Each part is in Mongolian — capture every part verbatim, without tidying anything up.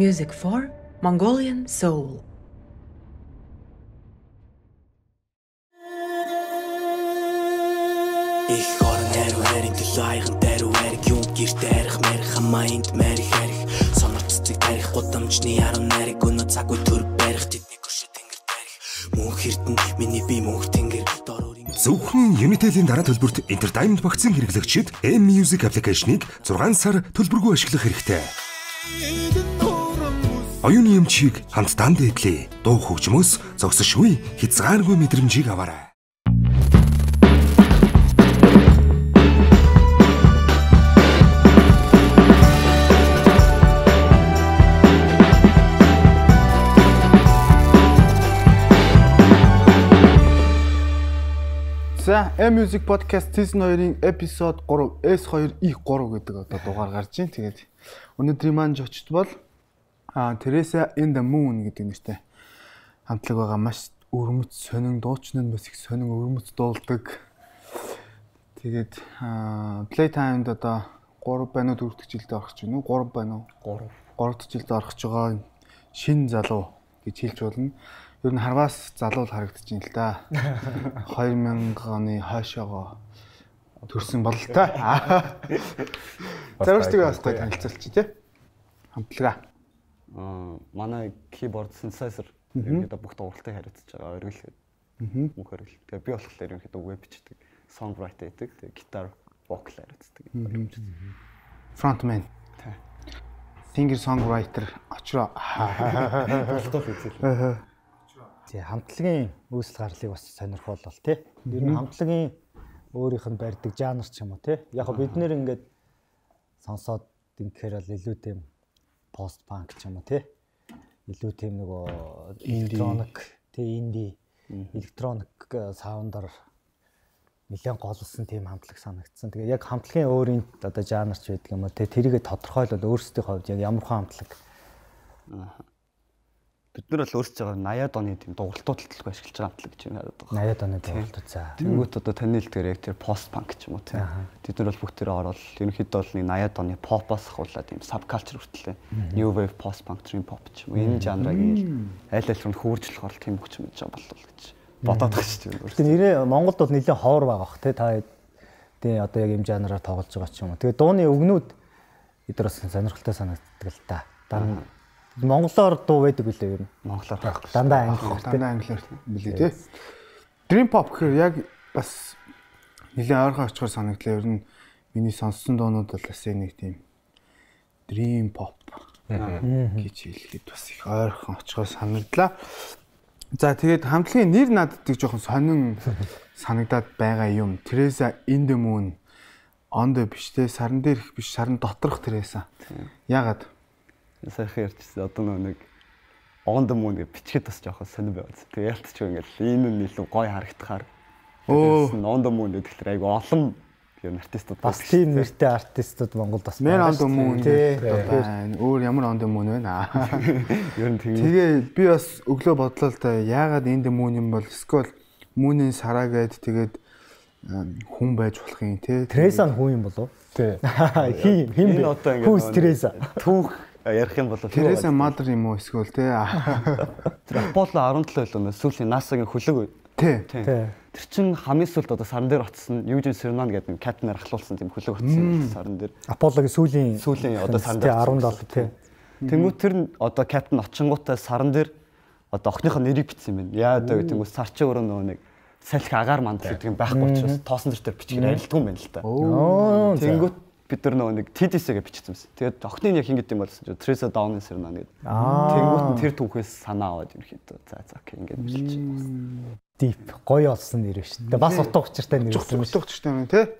Music for Mongolian Soul. Ich höre näher her in die Leichen, der Werk, Jung, Gift, Erich, Merich, Amaind, Merich, Erich. Sonarцыг тарих гудамжны арам нариг өнөө цаггүй төр барих тэдний гүшэ тэнгэр тарих мөнх эрдэн миний бие мөнх тэнгэр дороор зөвхөн Unitel-ийн дараа төлбөрт Entertainment багцын хэрэглэгчид M-Music аппликейшнийг зургаан сар төлбөргүй ашиглах хэрэгтэй. Оюуны эмчийг хамтдаа дээдлээ. Дуу хөгжмөөс зогсошгүй хязгааргүй мэдрэмжийг аваарай. За M-Music Podcast Season two-ийн episode three S two E three гэдэг одоо дугаар гарч байна. Тэгээд өнөөдрийн маань жочд бол Teresa in the Moon гэдэг нэртэй хамтлаг байгаа. Маш өрмөц сонин дуучны нь бас их сонин өрмөц дуулдаг. Тэгээд Playtime-д одоо three байна уу four дахь жилдээ орох гэж байна уу? three байна уу? three. three дахь жилдээ орох гэж байгаа шинэ залуу гэж хэлж болно. Ер нь харваас залуу харагдаж байна л да. two thousand оны хойшоогоо төрсэн бол л та. Зарвчтайг бас гоё танилцуулчих тий. Хамтлага. Аа манай keyboard synthesizer ерөнхийдөө бүх дугуйлтыг хариуцж байгаа оргил. Аа. Мөнх оргил. Тэгээ би болохоор ерөнхийдөө web бичдэг, songwriter хийдэг, тэгээ гитар, vocal хариуцдаг. Frontman. Тий. Singer songwriter очроо. Болтол үзэл. Тэгээ хамтлагийн үүсэл гарлыг бас сонирхолтой тий. Ер нь хамтлагийн өөрийнх нь барьдаг жанр ч юм уу тий. Яг бид нэр ингээд сонсоод ингэхээр л илүү тийм пост панк ч юм уу тий. Илүү тийм нөгөө электроник тий инди электроник саундаар нэлээд голсон тийм хамтлаг санагдсан. Тэгээ яг хамтлагийн өөрийн одоо жанр ч байдаг юм уу тий. Тэрийгэ тодорхойлол өөрсдийн хувьд яг ямар хэн хамтлаг. Аа бид нар бол өөрсдөө eighty оны тийм дугуултууд төлөв ашиглаж байгаа хамтлаг гэж яриад байгаа. eighty оны дугуултууд за. Тэнгүүт одоо таны хэлдгээр яг тэр пост панк ч юм уу тийм. Бид нар бол бүх тэрэ ороод ерөнхийдөө бол нэг eighty оны попоос хавуулаад тийм subculture хүртэл new wave post punk dream pop ч юм уу энэ жанрыг аль аль руу хөвөржлөх орол тийм бүх юм гэж болов гэж бодоод байгаа шүү дээ. Тэгээ нэрээ Монголд бол нэлээд ховор байгаа бах тий та тий одоо яг юм жанраар тоглож байгаа ч юм уу. Тэгээ дууны өгнүүд бид нар бас сонирхолтой санагддаг л та. Дараа Монголоор дуу байдаг үлээ ер нь. Монголоор байхгүй. Дандаа англиар дандаа англиар билээ тий. Dream pop гэхээр яг бас нэлээд ойрхон очихоор санагдлаа. Ер нь миний сонссон дуунууд бол бас нэг тийм dream pop гэж хэлэхэд бас их ойрхон очихоор санагдлаа. За тэгээд хамтлагийн нэр надад жоохон сонин санагдаад байгаа юм. Teresa in the Moon on the биш тий сарн дээрх биш сарн доторх Teresa. Яагаад сайхан ярьчихсан одоо нэг on the moon гэж бичгээд бас жоохон сонир байгаад. Тэгээ ялтч ингээл энэ нь илүү гоё харагдахаар. Өө on the moon гэхэлэр айгу олон юм артистууд бас тийм нэртэй артистууд Монголд бас байна. On the moon байна. Өөр ямар on the moon байна. Ер нь тийм. Тэгээ би бас өглөө бодлоо л да яагаад in the moon юм бол эсвэл moon-ийн сараа гээд тэгээд хүн байж болох юм те. Teresa нь хүн юм болов? Тий. Хин хин бэ? Who's Teresa? Түүх ярих юм бол Teresa Mother юм уу эсвэл те. Тэр Apollo seventeen л сүүлийн NASA-гийн хөлөг. Тий. Тэр чин хамгийн сүүлд одоо сарн дээр очсон Eugene Cernan гэдэг Captain-аар ахлуулсан тийм хөлөг очсон сарн дээр. Apollo-гийн сүүлийн сүүлийн одоо сарн дээр seventeen тий. Тэнгүүт тэр одоо Captain очингуудаа сарн дээр одоо охиныхоо нэрийг бичсэн юм байна. Яа даа гэнгүүт сар чи өөрөө нөгөө нэг салхи агаар мандал гэдэг юм байхгүй учраас тоосон дээр бичгээр арилдгүй юм байна л та. Тэнгүүт бид нар нөгөө нэг T D S-гээ бичсэн юмсэн. Тэгээд охины яг ингэж юм болсон чинь Teresa Down Cernan гэдэг. Тэнгүүт нь тэр түүхээс санаа аваад ерөнхийдөө за за окей ингэж бичиж байна. Deep гоё олсон нэр шүү дээ. Бас утга учиртай нэр байсан. Утга учиртай юм тий.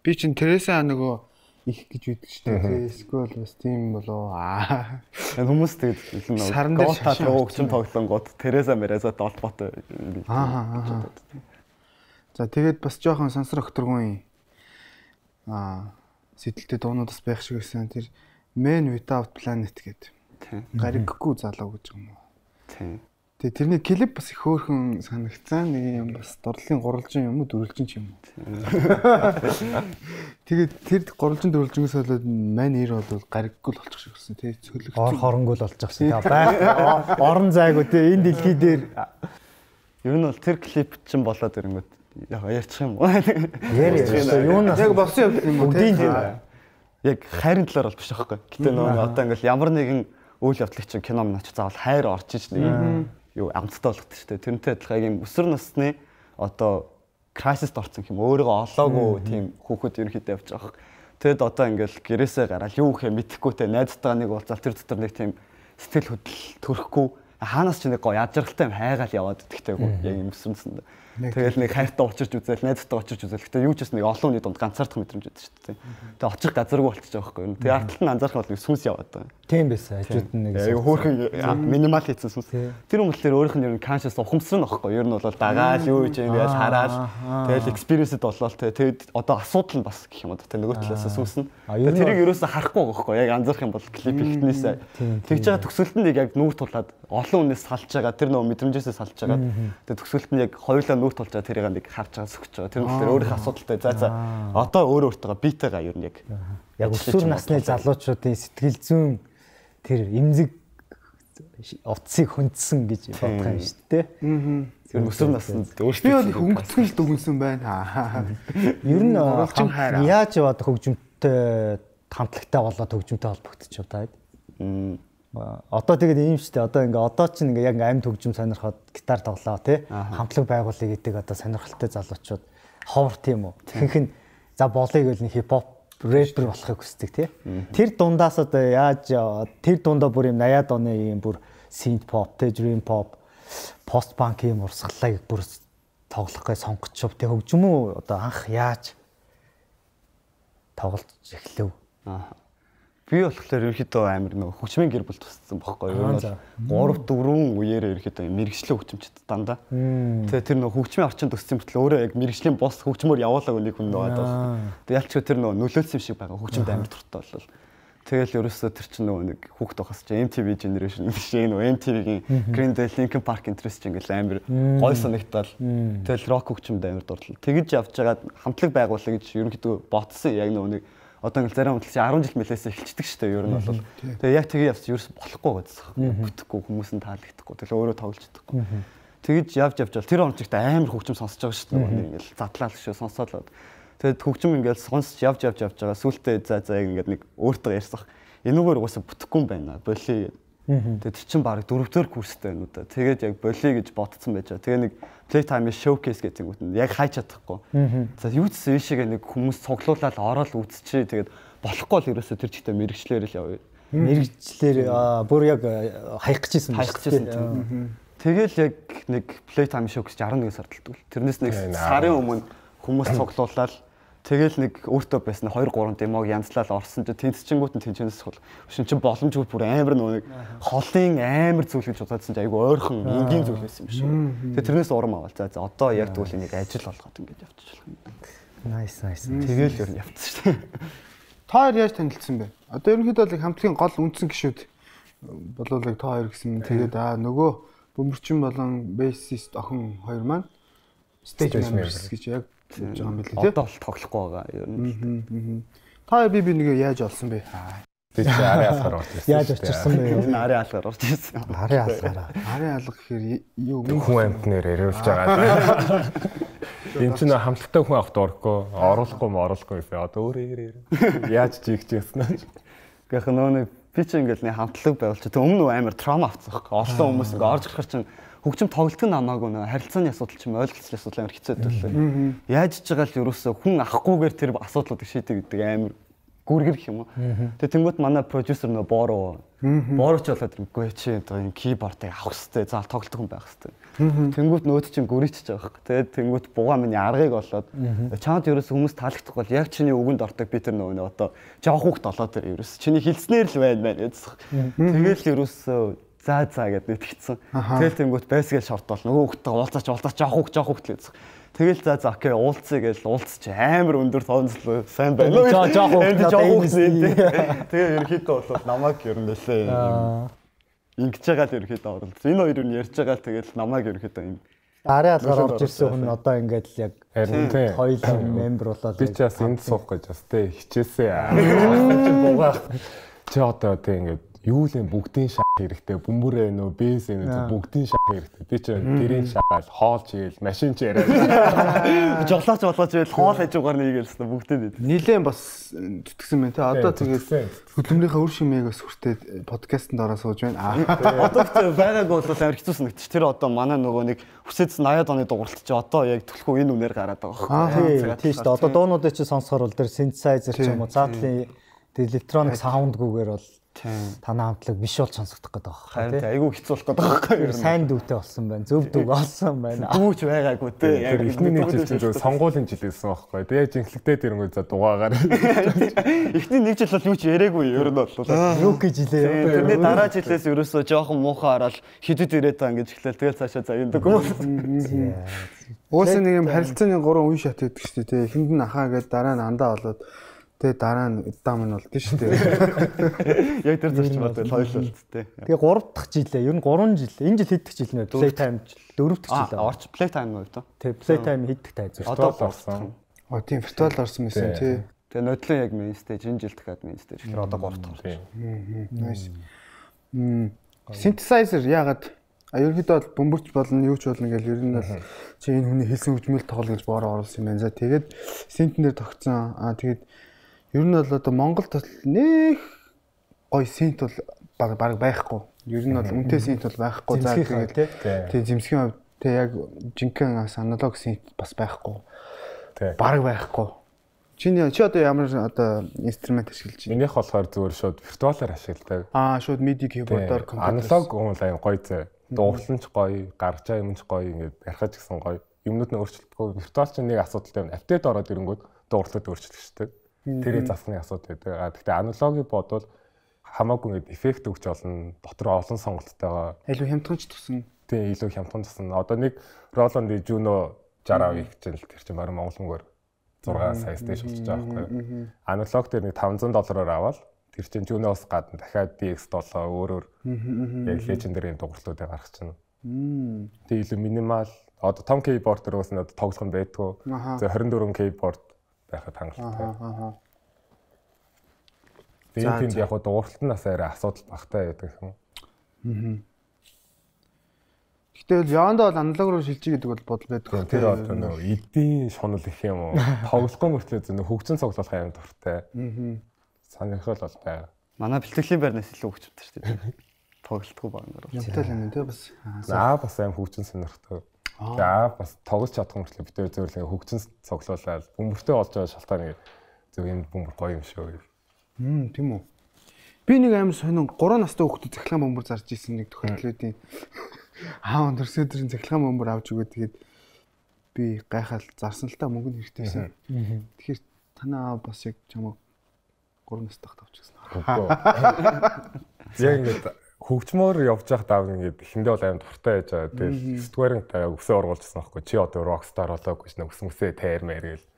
Би чинь Teresa нөгөө их гэж үйдэг шүү дээ. Эсвэл бас тийм болоо аа. Хүмүүс тэгээд илүү сарн дээр гоотаа өгчөн тоглонгууд Teresa Meresa толботой. Аа. За тэгээд бас жоохон сансар өгтөргүй аа сэтэлтэй дуунуудаас байх шиг байсан. Тэр Man Without Planet гэдэг. Тийм. Гариггүй залуу гэж юм уу? Тийм. Тэгээ тэрний клип бас их хөөрхөн санагцсан нэг юм бас дурлалын гурвалжин юм уу дөрвөлжин ч юм уу. Тэгээд тэр гурвалжин дөрвөлжингээс болоод мань нэр бол гариггүй л болчих шиг болсон тий цөлөгч. Ор хоронгуул болчих гэсэн. Бай орон зайгүй тий энэ дэлхий дээр ер нь бол тэр клип чинь болоод ирэнгүүт яг ярьчих юм уу? Яри юунаас яг болсон юм уу тий. Яг хайрын талаар бол биш аахгүй. Гэтэ нөгөө одоо ингээл ямар нэгэн үйл явдлыг чинь кино минь ч заавал хайр орж иж нэг юу амттай болгох шүү дээ. Тэрнтэй адилхан юм өсвөр насны одоо крайсист орсон юм өөрийгөө олоогүй тийм хүүхэд ерөнхийдөө явж байгаа. Тэгэд одоо ингээл гэрээсээ гараад юу гэхээ мэдэхгүй те найзтайгаа нэг уулзаал тэр дотор нэг тийм сэтгэл хөдлөл төрөхгүй хаанаас ч нэг гоо яжралтай юм хайгаал яваад идэгтэйгүү яг юм өсвөрнөсөнд. Тэгэл нэг хайртай очирч үзэл найзтайгаа очирч үзэл. Гэтэ юу ч бас нэг олон хүний дунд ганцаардах мэдрэмж өгдөг шүү дээ. Тэгээ очих газаргүй болчих жоох байхгүй юу. Тэгээ ард талд нь анзаарах бол нэг сүнс яваад байгаа. Тийм байсан. Хажууд нь нэг хөөрхөн минимал хийсэн сүнс. Тэр хүн болохоор өөрийнх нь ер нь conscious ухамсар нөхгүй. Ер нь бол дагаал юу гэж ингэж хараад тэгэл experience-д болоод тэгээд одоо асуудал нь бас гэх юм уу. Тэгээ нөгөө талаас сүнс нь. Тэрийг ерөөсө харахгүй байгаа байхгүй. Яг анзаарах юм бол клип ихнээсээ тэгж байгаа төгсөлтөнд яг нүүр тулаад олон хүнээс салж байгаа. Тэр нөгөө мэдрэмжээсээ салж байгаа. Тэгээ төгсөлт нь яг хоёулаа нүүр тулж байгаа тэрийг нэг харж байгаа сөхөж байгаа. Тэр нь болохоор өөрийнх асуудалтай. За за одоо өөр өөртөө битээгаа ер нь яг яг өсвөр насны залуучуудын сэтгэл зүйн тэр эмзэг утсыг хүндсэн гэж бодох юм шүү дээ. Тэр өсвөр наснд өөртөө би бол их өнгөцгөн л дүгнсэн байна. Ер нь яаж яваад хөгжимтэй хамтлагтай болоод хөгжимтэй холбогдчих вэ таад? Одоо тэгээд ийм шүү дээ. Одоо ингээ одоо ч ингээ яг амьд хөгжим сонирхоод гитар тоглоо тий. Хамтлаг байгуулъя гэдэг одоо сонирхолтой залуучууд ховор тийм үү. Тэгэх нь за болъё гэвэл нэг хипхоп рэпер болохыг хүсдэг тий. Тэр дундаас одоо яаж тэр дундаа бүр юм восьмидад оны юм бүр synth pop, dream pop, post punk юм урсгалыг бүр тоглох гэж сонгоч шив тий. Хөгжим үү одоо анх яаж тоглож эхлэв? Аа. Би болохоор ерөөхдөө амар нөгөө хөгжмийн гэр бүл туссан байхгүй юу? три дөрвөн үеэрээ ерөөхдөө мэрэгчлэн хөгжимчд дандаа. Тэгээ тэр нөгөө хөгжмийн орчинд төссөн мөртлөө өөрөө яг мэрэгжлийн бос хөгжмөөр явуулаагүй нэг хүн байгаа бол. Тэгээ ялчгүй тэр нөгөө нөлөөлсөн юм шиг байгаа хөгжимд амар дуртай болол. Тэгэл ерөөсөө тэр чинь нөгөө нэг хүүхд тохос чи эм ти ви generation биш ээ нөгөө эм ти ви-гийн Green Day, Linkin Park interest чинь ингээл амар гой санагдтал. Тэгэл рок хөгжимд амар дурлал. Тэгэж явж байгаад хамтлаг байгуулах гэж ерөөхдөө ботсон яг нөгөө нэг одоо ингээл зарим хөдөлгөөн арван жил мэлээс эхэлчихдэг шүү дээ ер нь бол. Тэгээ яг тэгээ явц ерөөс болохгүй гэсэн. Бүтэхгүй хүмүүс нь таалагдахгүй. Тэгээ өөрөө тоглож чадахгүй. Тэгэж явж явж бол тэр онцгт амар хөгжим сонсож байгаа шүү дээ. Ингээл задлал шүү сонсоолоод. Тэгээд хөгжим ингээл сонсож явж явж явж байгаа. Сүүлдээ за за ингээд нэг өөртөө ярьсах. Энүүгээр угаасаа бүтэхгүй юм байна. Болиё. Тэгээд тэр чинь баг дөрөвдөр курстэй байна уу да. Тэгээд яг болиё гэж бодсон байж байгаа. Тэгээ нэг Playtime showcase гэдэг нь яг хайж чадахгүй. За юу ч ийшээгээ нэг хүмүүс цуглуулаад ороод үзчихээ. Тэгээд болохгүй л ерөөсөө тэр чигтээ мэрэгчлэр л явъя. Мэрэгчлэр бүр яг хаях гэжсэн байх гэсэн. Тэгэл яг нэг Playtime showcase арван нэгэн сард л. Тэрнээс нэг сарын өмнө хүмүүс цуглуулаад тэгэл нэг өөртөө байсан two three демог янзлал орсон чи тэнцчингүүт нь тэнчэнээс хол. Шин чи боломжгүй бүр амар нэг холын амар зүйл гэж бодсон чи айгу ойрхон энгийн зүйл байсан юм шиг. Тэгээ тэрнээс урам авал. За за одоо яг тэгвэл энийг ажил болгоод ингэж явчих болох юм. Nice nice. Тэгэл ер нь явцсан шүү дээ. Та хоёр яаж танилцсан бэ? Одоо ерөнхийдөө л хамтлагийн гол үндсэн гишүүд болов л та хоёр гэсэн. Тэгээд аа нөгөө бөмбөрчин болон бейсист охин хоёр маань stage members гэж яг гэж байгаа юм билээ тий. Одоо л тоглохгүй байгаа ер нь. Та би би нэг яаж олсон бэ? Би ч ари алгаар орж ирсэн. Яаж очирсан бэ? Энэ ари алгаар орж ирсэн. Ари алгаараа. Ари алга гэхээр юу хүн амьтнаар яриулж байгаа. Энд чинь хамтлагтай хүн авахд орохгүй, оруулахгүй м оруулахгүй гэсэн. Одоо өөрөө ярээ. Яаж чийгч яснаа. Гэхдээ нөө би ч ингээл нэг хамтлаг байвал чи тэг өмнө амар траума авцсан байхгүй. Олон хүмүүс ингээ орж гарахаар чинь хөгжим тоглолт нь намаагүй нөө харилцааны асуудал ч юм ойлголцол асуудал амар хэцүү байлаа. Яаж ч байгаа л ерөөсөө хүн авахгүйгээр тэр асуудлуудыг шийдэх гэдэг амар гүргэр гэх юм уу. Тэгээ тэнгуут манай продюсер нөө боороо боорооч болоод ирэхгүй чи одоо энэ кибордыг авах хэрэгтэй. Заал тоглолт хүн байх хэрэгтэй. Тэнгуут нөөд чинь гүрийчж байгаа байхгүй. Тэгээ тэнгуут бугаа миний аргыг болоод чамд ерөөсөө хүмүүс таалагдахгүй бол яг чиний үгэнд ортог би тэр нөө одоо жоох хүүхд болоод тэр ерөөсөө чиний хилцнээр л байна байна гэсэн. Тэгээл ерөөсөө за за гэд нэтгэцсэн. Тэгэл тэнгуут байсгээл шорт бол нөгөө хүүхдтэй уулзаач уулзаач жоох хүүхд жоох хүүхд л гэсэн. Тэгэл за за окей уулзъя гэж уулзч амар өндөр тоонцлоо сайн байна. Жоо жоох хүүхд жоох хүүхд. Тэгээ ерөнхийдөө бол намайг ер нь лээ. ингэж байгаа л ерөөхдөө оролцсон. Энэ хоёр нь ярьж байгаа л тэгэл намайг ерөөхдөө юм. Арын алгаар орж ирсэн хүн одоо ингээд л яг хоёул мембер болоод би ч бас энд суух гэж бас тэ хичээсээ. Чи бугаа. Чи одоо тэ ингээд юу л юм бүгдийн шах хэрэгтэй. Бөмбөр ээ нөө бэс ээ нөө бүгдийн шах хэрэгтэй. Би ч тэрийн шахаал хоол чигээл машин ч яриад. Жоглооч болгооч ийл хоол хажуугаар нийгээлсэн бүгдээ. Нилээн бас зүтгэсэн байна те. Одоо тэгээд хөдөлмөрийнхээ үр шимээг бас хүртээд подкастэнд ороо сууж байна. Одоо ч байгаагүй бол амар хэцүү санагдчих. Тэр одоо манай нөгөө нэг хүсэдс наяад оны дугуйлт чи одоо яг түлхүү энэ үнээр гараад байгаа байхгүй. Тийм шүү дээ. Одоо дуунуудыг чи сонсохоор бол тэр synthesizer ч юм уу заадлын electronic sound-гүйгээр бол танаа хамтлаг биш бол сонсогдох гэдэг байгаа. Харин айгүй хэцүү болох гэдэг байгаа юм. Сайн дүүтэй болсон байна. Зөв дүүг олсон байна. Дүүч байгаагүй те. Яг эхний нэг жил зөв сонгуулийн жил гэсэн байхгүй. Тэгээ жинхлэгдээд ирэнгүүт за дугаагаар. Эхний нэг жил бол юу ч яриаггүй ер нь бол. Юу гэж жилээ. Тэгээ дараа жилээс ерөөсөө жоохон муухай хараад хидэд ирээд байгаа ингэж эхлэв. Тэгэл цаашаа заяадаг юм. Уусан нэг юм харилцааны гурван үе шат гэдэг шүү дээ. Эхэнд нь ахаа гэдэг дараа нь андаа болоод тэгээ дараа нь дам нь болд нь шүү дээ. Яг тэр зарчим одоо хоёулаа тэ. Тэгээ гурав дахь жилээ. Ер нь гурван жил. Энэ жил хэд дахь жил нэ? Playtime дөрөв дахь жил. Аа, орч Playtime уу то? Тэг, Playtime хэд дахь тайз. Одоо орсон. Оо тийм виртуал орсон байсан тий. Тэгээ нодлон яг main stage энэ жил дахиад main stage. Тэгэхээр одоо гурав дахь орсон. Nice. Мм. Synthesizer яагаад ерөнхийдөө бол бөмбөрч болно, юу ч болно гэж ер нь бол чи энэ хүний хэлсэн хөгжмөл тоглол гэж боороо оруулсан юм байна. За тэгээд synth-нэр тогтсон. Аа тэгээд ер нь бол одоо Монголд нэх гой synth бол баг баг байхгүй. Ер нь бол үнэтэй synth бол байхгүй. За тэгээд тэгээд зэмсгийн хувьд тэг яг жинхэнэ аналог synth бас байхгүй. Баг байхгүй. Чиний чи одоо ямар одоо инструмент ашиглаж байна? Минийх болохоор зүгээр шууд виртуалаар ашигладаг. Аа шууд MIDI keyboard-оор аналог уул аян гоё зэ. Дуурлан ч гоё, гарч байгаа юм ч гоё ингээд ярихаж гисэн гоё. Юмнууд нь өөрчлөлтгүй. Виртуал чинь нэг асуудалтай байна. Апдейт ороод ирэнгүүт дуурлалт өөрчлөгчтэй. Тэрийг засны асуудал байдаг. А гэхдээ аналогийг бодвол хамаагүй ингээд эффект өгч олно. Дотор олон сонголттойгоо. Илүү хямдхан ч тусан. Тийм илүү хямдхан тусан. Одоо нэг Roland Juno sixty их жил тэр чинь баруун Монгол мөнгөөр six сая стэйж болчихж байгаа байхгүй. Аналог дээр нэг five hundred доллараар аваад тэр чинь Juno-с гадна дахиад D X seven өөрөөр яг legendary дугуйлтуудыг гаргах чинь. Тэгээ илүү минимал одоо том keyboard дээр уус нь одоо тоглох нь байдгүй. За twenty-four keyboard байхад хангалттай. Тэгээд тэнд яг дугуйлтнаас арай асуудал багтаа байдаг юм. Гэтэл яандаа бол аналог руу шилжиж гэдэг бол бодол байдаг. Тэр одоо нөө эдийн шунал их юм уу? Тоглохгүй мөртлөө зөв хөгжин цуглуулах юм дуртай. Аа. Санахал бол байгаа. Манай бэлтгэлийн байрнаас илүү хөгжмөд шүү дээ. Тоглолтгүй багнаар. Ямтай л юм тий бас. Аа бас аим хөгжин сонирхтой. За бас тоглож чадах мөртлөө бид өөр зөвлөө хөгжин цуглуулаад бөмбөртэй болж байгаа шалтгааны зөв энэ бөмбөр гоё юм шүү. Хм тийм үү. Би нэг аим сонин three настай хүүхдэд цахилгаан бөмбөр зарж исэн нэг тохиолдлуудын аа өндөрсөдрийн цахилгаан бөмбөр авч өгөө тэгээд би гайхал зарсан л та мөнгө хэрэгтэйсэн. Тэгэхээр танаа бас яг чамаа three настай хат авчихсан. Яг ингээд хөгжмөр явж явах давг ингээд эхэндээ бол аим дуртай байж байгаа. Тэгээд сэтгүүрэн таа өсөө оруулжсан байхгүй чи одоо rockstar болоогүй ч нэг өсмөсөө тайрмаар гээл.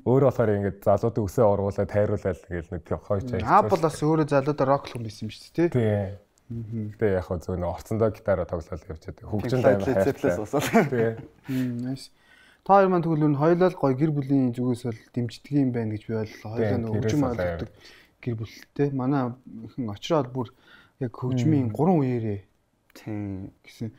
Өөр болохоор ингээд залуудыг өсөө оруулаад тайруулаад гээл нэг хойч аяг. Аа бол бас өөрөө залуудаа рок хүн байсан юм шүү дээ тий. Тэгээ яг хөө зөв нөө орцондоо гитараа тоглоод явж байгаа. Хөгжин аймаг хайртай. Тэгээ. Nice. Та хоёр маань тэгвэл хоёулаа гоё гэр бүлийн зүгээс бол дэмждэг юм байна гэж би бол хоёулаа нөө хөгжим ойлгодог гэр бүлтэй. Манай ихэн очроод бүр яг хөгжмийн гурван үеэрээ тийм гэсэн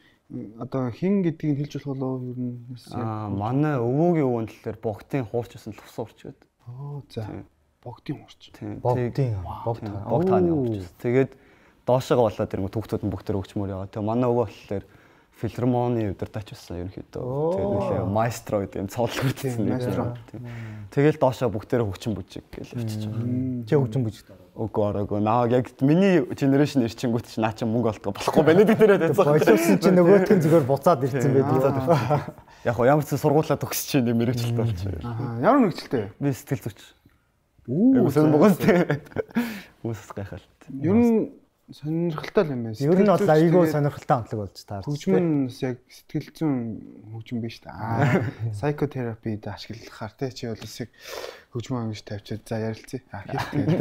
одоо хин гэдгийг хэлж болох болов ер нь аа манай өвөөгийн өвөн талаар богдын хуурч гэсэн л тус урч гэдэг. Оо за богдын хуурч. Тийм богдын богд богд хааны хуурч. Тэгээд доошоо болоод тэр хүүхдүүд нь бүгд хөгжмөр яваа. Тэгээ манай өвөө болохоор филармоны удирдаач байсан ерөнхийдөө. Тэгээд нэлээ маэстро гэдэг юм цоолол хүрдсэн маэстро. Тэгэл доошоо бүгдээрээ хөгжим бүжиг гэж явчихж байгаа. Чи хөгжим бүжиг Үгүй араагүй. Наа яг миний генерашн ирчингүүт чи наа чи мөнгө олдгоо болохгүй байна гэдэг дээрээ тайцсан. Боловсон чи нөгөөтгөн зүгээр буцаад ирсэн байдаг. Яг гоо ямар ч сургуулаа төгсөж чи нэг мэрэгчлээ болчих. Аа ямар мэрэгчлээ? Би сэтгэл зүйч. Үгүй сэн Монголд. Үсс гайхал. Ер нь сонирхолтой юм байна. Ер нь бол айгүй сонирхолтой амтлаг болж таарч. Хөгжмөн яг сэтгэл зүйн хөгжим биш та. Аа psychotherapy-д ашиглахаар те чи бол яг хөгжмөн ангиж тавьчаад за ярилцъя. Аа хийх гэдэг.